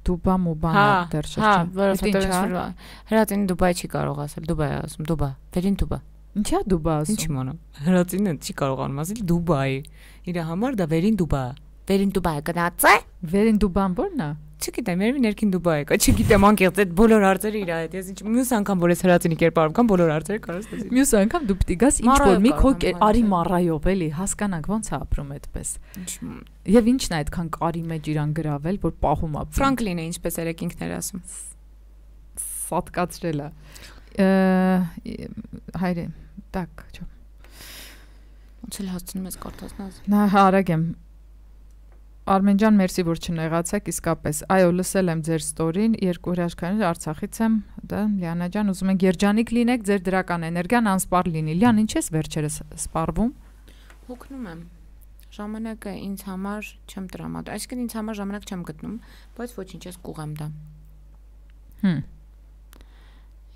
Դուբա մուբա նա դեռ շրջան։ Հա, որովհետեւ հրատին Դուբայ չի կարող ասել, Դուբայ ասում, Դուբա, վերին Դուբա։ Ինչա Դուբա ասում։ Ինչ իմանամ։ Հրատինը չի կարողանում ասել Դուբայ։ Իր համար դա վերին Դուբա։ Վերին Դուբայ գնաց է։ Վերին Դուբան ո՞րն է։ Չգիտեմ, երևի ներքին Դուբայ է, չգիտեմ անկեղծ այդ բոլոր հարցերը իր հետ։ Ես ինչ մյուս անգամ որ ես հրացինի կերպարով կամ բոլոր հարցերը կարաս տեսի։ Մյուս անգամ դու պիտի գաս ինչ որ մի քո արի մառայով էլի, հասկանանք ոնց է ապրում այդպես։ Եվ ինչն է այդքան կարի մեջ իրան գրավել, որ պահում ապրում։ Ֆրանկլինը ինչպես երեք ինքներ ասում։ Սատկացրել է։ Հայրե, так, չո։ Ոնց էլ հասցնում ես կարդացնաս։ Նա հարագ եմ։ Արմեն ջան, մերսի որ չնեղացեք, իսկապես։ Այո, լսել եմ ձեր ստորին, երկու հրաշքներ Արցախից եմ, դա Լիանա ջան, ուզում ենք երջանիկ լինեք, ձեր դրական էներգիան անսպառ լինի։ Լիան, ինչ ես վերջերս սպառվում։ Հոգնում եմ։ Ժամանակը ինձ համար չեմ տրամադրում, այսինքն ինձ համար ժամանակ չեմ գտնում, բայց ոչինչ ես կուղեմ դա։ Հմ։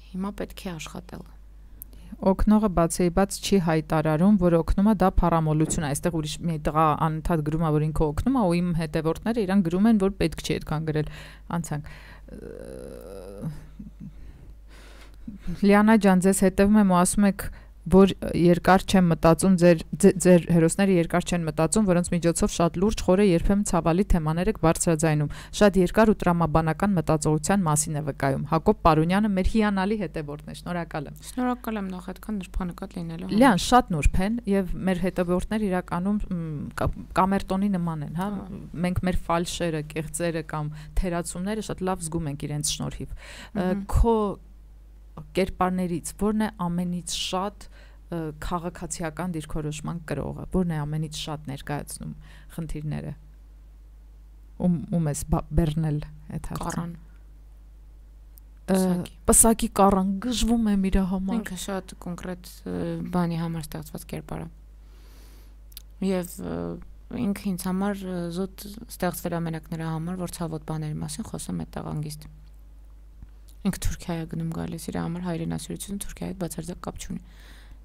Հիմա պետք է աշխատել։ Օգնողը բացեի բաց չի հայտարարում, որ օգնում է, դա փառամոլություն է։ Այստեղ ուրիշ մի տղա անընդհատ գրում է, որ ինքը օգնում է, ու իմ հետևորդները իրան գրում են, որ պետք չի այդքան գրել։ Անցանք։ Լիանա ջան, ձեզ հետևում եմ ու ասում եք, որ երկար չեմ մտածում, ձեր ձեր հերոսները երկար չեն մտածում, որոնց միջոցով շատ լուրջ խորը երբեմն ցավալի թեմաներ եք բարձրաձայնում։ Շատ երկար ու տրամաբանական մտածողության մասին է վկայում։ Հակոբ Պարունյանը մեր հիանալի հետևորդն է, շնորհակալ եմ։ Շնորհակալ եմ նախ այդքան նրբանկատ լինելու։ Լիան, շատ նուրբ են եւ մեր հետևորդները իրականում կամերտոնի նման են, հա։ Մենք մեր ֆալշերը, կեղծերը կամ թերացումները շատ լավ զգում ենք իրենց շնորհիվ։ Քո կերպարներից որն է ամենից շատ քաղաքացիական դիրքորոշման կրողը, որն է ամենից շատ ներկայացնում խնդիրները։ Ում ում ես բեռնել այդ հարցը։ Կառան։ Պսակի Կառան գժվում եմ իր համար։ Ինքը շատ կոնկրետ բանի համար ստեղծված կերպար է։ Եվ ինքը ինձ համար զուտ ստեղծվել ամենակ նրա համար, որ ցավոտ բաների մասին խոսում է տաղանգիստ։ Ինքը Թուրքիա է գնում գալիս, իր համար հայրենասիրությունը Թուրքիայի հետ բացարձակ կապ չունի։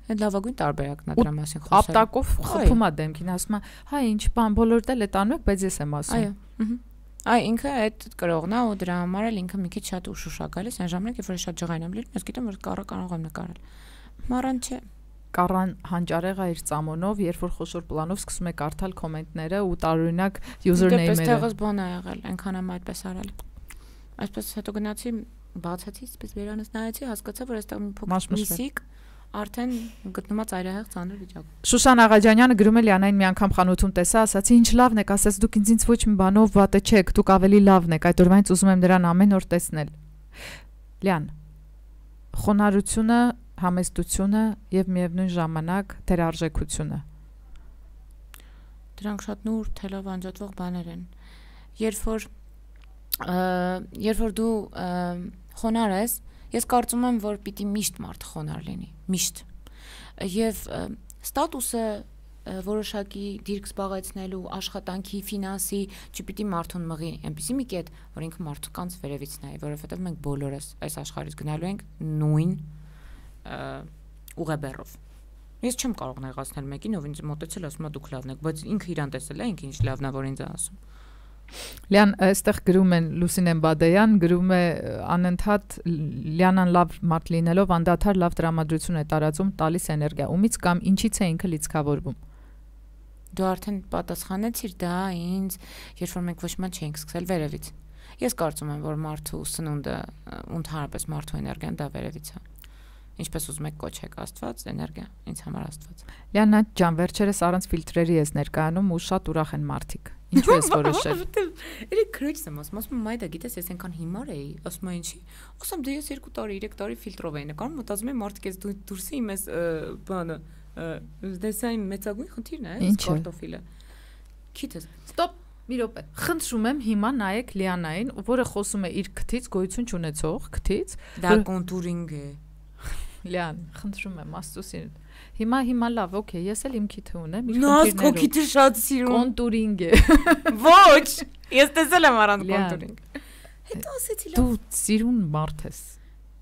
Այդ լավագույն տարբերակն է դրա մասին խոսել։ Ապտակով խփում է դեմքին, ասում է, հա ինչ բան, բոլորդ էլ այդ անում եք, բայց ես եմ ասում։ Այո։ Այ ինքը այդ կրողն է ու դրա համար էլ ինքը մի քիչ շատ ուշուշ է գալիս, այն ժամանակ երբ որ շատ ջղայն եմ լինում, ես գիտեմ որ Կառը կարող եմ նկարել։ Մարան չէ։ Կառան հանճարեղ է իր ծամոնով, երբ որ խոշոր պլանով սկսում է կարդալ կոմենտները ու տարօրինակ username-երը։ Դեպս տեղս բան է եղել, այնքան եմ այդպես արել։ Այսպես հետո գնացի բացացի, այսպես վերանս նայեցի, հասկացա, որ այստեղ մի փոքր միսիկ արդեն գտնում է ծայրահեղ ծանր վիճակում։ Շուշան Աղաջանյանը գրում է Լիանային մի անգամ խանութում տեսա, ասացի ինչ լավն եք, ասաց դուք ինձ ինձ ոչ մի բանով վատը չեք, դուք ավելի լավն եք, այդ օրվանից ուզում եմ նրան ամեն օր տեսնել։ Լիան, խոնարհությունը, համեստությունը եւ միևնույն ժամանակ թերարժեքությունը։ Դրանք շատ նուրբ թելով անջատվող բաներ են։ Երբ որ երբ որ դու խոնար ես, ես կարծում եմ, որ պիտի միշտ մարդը խոնար լինի, միշտ։ Եվ ստատուսը որոշակի դիրք զբաղեցնելու աշխատանքի, ֆինանսի չպիտի մարդուն մղի այնպեսի մի կետ, որ ինքը մարդկանց վերևից նայի, որովհետև մենք բոլորս այս աշխարհից գնալու ենք նույն ուղեբեռով։ Ես չեմ կարող նեղացնել մեկին, ով ինձ մոտեցել ասում է դուք լավն եք, բայց ինքը իրան տեսել է, ինքը ինչ լավն է, որ ինձ է ասում։ Լիան, այստեղ գրում են Լուսինեն Բադեյան, գրում է անընդհատ Լիանան լավ մարդ լինելով անդադար լավ տրամադրություն է տարածում, տալիս էներգիա, ումից կամ ինչից է ինքը լիցքավորվում։ Դու արդեն պատասխանեցիր դա ինձ, երբ որ մենք ոչ մի չէինք սկսել վերևից։ Ես կարծում եմ, որ մարդու սնունդը, ընդհանրապես մարդու էներգիան դա վերևից է։ Ինչպես ուզում եք կոչեք Աստված, էներգիա, ինձ համար Աստված։ Լիանա ջան, վերջերս առանց ֆիլտրերի ես ներկայանում ու շատ ուրախ են մարդիկ։ Ինչու ես որոշել։ Էլի քրոջս եմ ասում, ասում եմ այ դա գիտես, ես այնքան հիմար էի, ասում եմ ինչի։ Ասում դե ես երկու տարի, երեք տարի ֆիլտրով էի նկարում, մտածում եմ մարդիկ ես դուրսի իմ էս բանը, դեսա իմ մեծագույն խնդիրն է, էս կարտոֆիլը։ Քիթս։ Ստոպ, մի րոպե։ Խնդրում եմ հիմա նայեք Լիանային, որը խոսում է իր քթից, գոյություն չունեցող քթից։ Դա կոնտուրինգ է։ Լիան, խնդրում եմ, Աստծոսին։ Հիմա հիմա լավ, օքեյ, ես էլ իմ քիթը ունեմ, իր խնդիրներով։ Նոս քո քիթը շատ սիրում։ Կոնտուրինգ է։ Ոչ, ես տեսել եմ առանց կոնտուրինգ։ Հետո ասեցի լավ։ Դու սիրուն մարդ ես։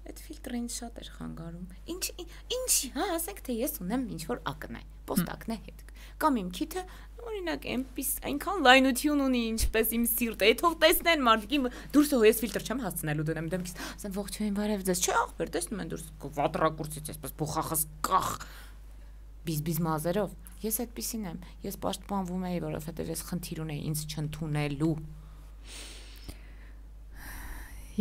Այդ ֆիլտրը ինձ շատ էր խանգարում։ Ինչ ինչ, հա, ասենք թե ես ունեմ ինչ որ ակնե, պոստակնե հետ։ Կամ իմ քիթը օրինակ էմպես այնքան լայնություն ունի, ինչպես իմ սիրտը։ Այդ թող տեսնեն մարդիկ, դուրս հո ես ֆիլտր չեմ հասցնելու դնեմ դեմքից։ Ասեմ ողջույն, բարև ձեզ։ Չէ, ախպեր, տեսնում են դուրս վատրակուրցից այսպես բուխախս կախ բիզբիզ մազերով։ Ես այդպեսին եմ։ Ես պաշտպանվում եի, որովհետև ես խնդիր ունեի ինձ չընդունելու։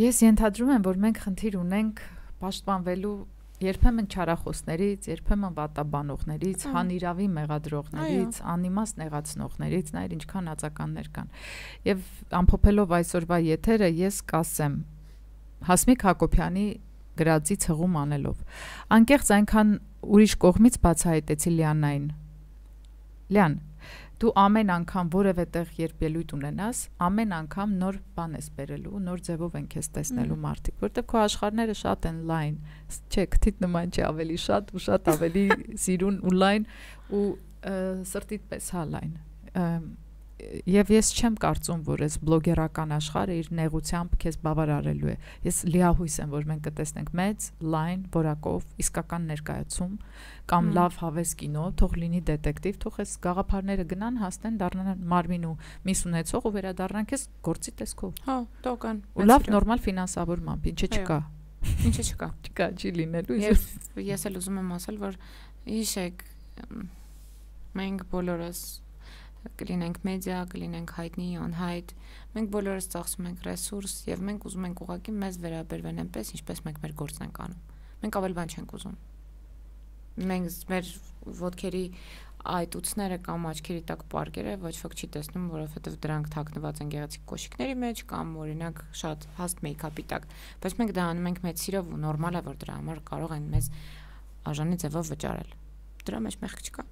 Ես ենթադրում եմ, որ մենք խնդիր ունենք պաշտպանվելու երբեմն չարախոսներից, երբեմն վատաբանողներից, հանիրավի մեղադրողներից, անիմաստ նեղացնողներից, նայր ինչքան ածականներ կան։ Եվ ամփոփելով այսօրվա եթերը ես կասեմ Հասմիկ Հակոբյանի գրածի ցղում անելով։ Անկեղծ այնքան ուրիշ կողմից բացահայտեցի Լիանային։ Լիան, Դու ամեն անգամ որևէ տեղ երբ ելույթ ունենաս, ամեն անգամ նոր բան ես բերելու, նոր ձևով են քեզ տեսնելու մարդիկ, որտեղ քո աշխարհները շատ են լայն, չէ, քթիդ նման չի, ավելի շատ ու շատ ավելի սիրուն ու լայն ու սրտիդ պես հա լայն։ Եվ ես չեմ կարծում, որ այս բլոգերական աշխարհը իր նեղությամբ քեզ բավարարելու է։ Ես լիահույս եմ, որ մենք կտեսնենք մեծ, լայն, որակով, իսկական ներկայացում կամ լավ հավես կինո, թող լինի դետեկտիվ, թող այս գաղափարները գնան, հասնեն, դառնան մարմին ու միս ունեցող ու վերադառնան քեզ գործի տեսքով։ Հա, դա կան։ Ու լավ նորմալ ֆինանսավորմամբ, ինչը չկա։ Ինչը չկա։ Չկա, չի լինելու։ Եվ ես էլ ուզում եմ ասել, որ հիշեք, մենք բոլորս կլինենք մեդիա, կլինենք հայտնի, անհայտ, մենք բոլորս ծախսում ենք ռեսուրս եւ մենք ուզում ենք ուղղակի մեզ վերաբերվեն այնպես, ինչպես մենք մեր գործն ենք անում։ Մենք ավելի բան չենք ուզում։ Մենք մեր ոտքերի այտուցները կամ աչքերի տակ պարկերը ոչ ոք չի տեսնում, որովհետեւ դրանք թաքնված են գեղեցիկ կոշիկների մեջ կամ օրինակ շատ հաստ մեյքափի տակ, բայց մենք դա անում ենք մեծ սիրով ու նորմալ է, որ դրա համար կարող են մեզ արժանի ձևով վճարել։ Դրա մեջ մեղք չկա։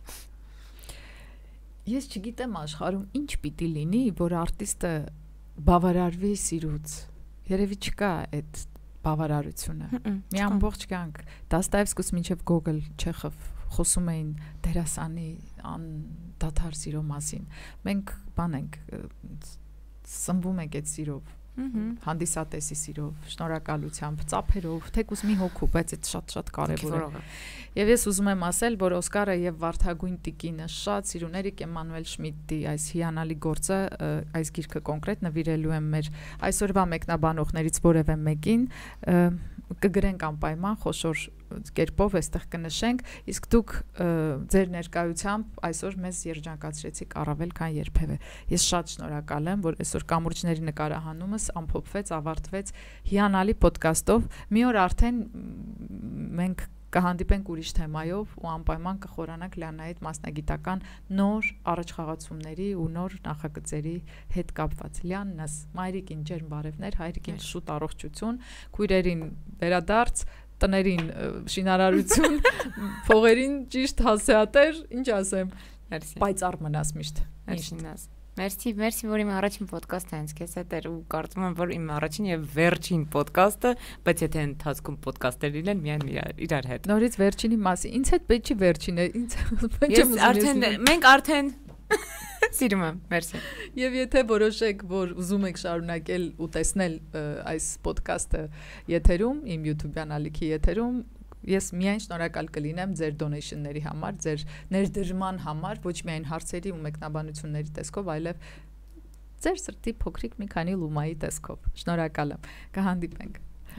Ես չգիտեմ աշխարհում ինչ պիտի լինի, որ արտիստը բավարարվի սիրուց։ Երևի չկա այդ բավարարությունը։ Մի ամբողջ կյանք Դաստայևսկուց մինչև Գոգոլ, Չեխով խոսում էին դերասանի անդադար սիրո մասին։ Մենք բան ենք սնվում ենք այդ սիրով։ Հանդիսատեսի սիրով, շնորհակալությամբ, ծափերով, թեկուզ մի հոգու, բայց այդ շատ-շատ կարևոր է։ Եվ ես ուզում եմ ասել, որ Օսկարը եւ Վարդագույն տիկինը շատ սիրուն Էրիկ Էմանուել Շմիդտի այս հիանալի գործը, այս գիրքը կոնկրետ նվիրելու եմ մեր այսօրվա մեկնաբանողներից որևէ մեկին, կգրենք անպայման խոշոր կերպով այստեղ կնշենք, իսկ դուք ձեր ներկայությամբ այսօր մեզ երջանկացրեցիք առավել քան երբևէ։ Ես շատ շնորհակալ եմ, որ այսօր կամուրջների նկարահանումս ամփոփվեց, ավարտվեց հիանալի ոդկասթով։ Մի օր արդեն մենք կհանդիպենք ուրիշ թեմայով ու անպայման կխորանանք Լիանայի հետ մասնագիտական նոր առաջխաղացումների ու նոր նախագծերի հետ կապված։ Լիաննաս, մայրիկին ջերմ բարևներ, հայրիկին շուտ առողջություն, քույրերին վերադարձ, տներին շինարարություն, փողերին ճիշտ հասեատեր, ինչ ասեմ, պայծառ մնաս միշտ։ Միշտ։ Մերսի, մերսի, որ իմ առաջին ոդկասթը հենց քեզ հետ էր ու կարծում եմ, որ իմ առաջին եւ վերջին ոդկասթը, բայց եթե ընթացքում ոդկասթեր լինեն, միայն իրար հետ։ Նորից վերջինի մասի, ինձ հետ պետք չի վերջինը, ինձ Ես արդեն մենք արդեն սիրում եմ, մերսի։ Եվ եթե որոշեք, որ ուզում եք շարունակել ու տեսնել այս ոդկասթը եթերում, իմ YouTube-յան ալիքի եթերում, ես միայն շնորհակալ կլինեմ ձեր դոնեյշնների համար, ձեր ներդրման համար, ոչ միայն հարցերի ու մեկնաբանությունների տեսքով, այլև ձեր սրտի փոքրիկ մի քանի լումայի տեսքով։ Շնորհակալ եմ։ Կհանդիպենք։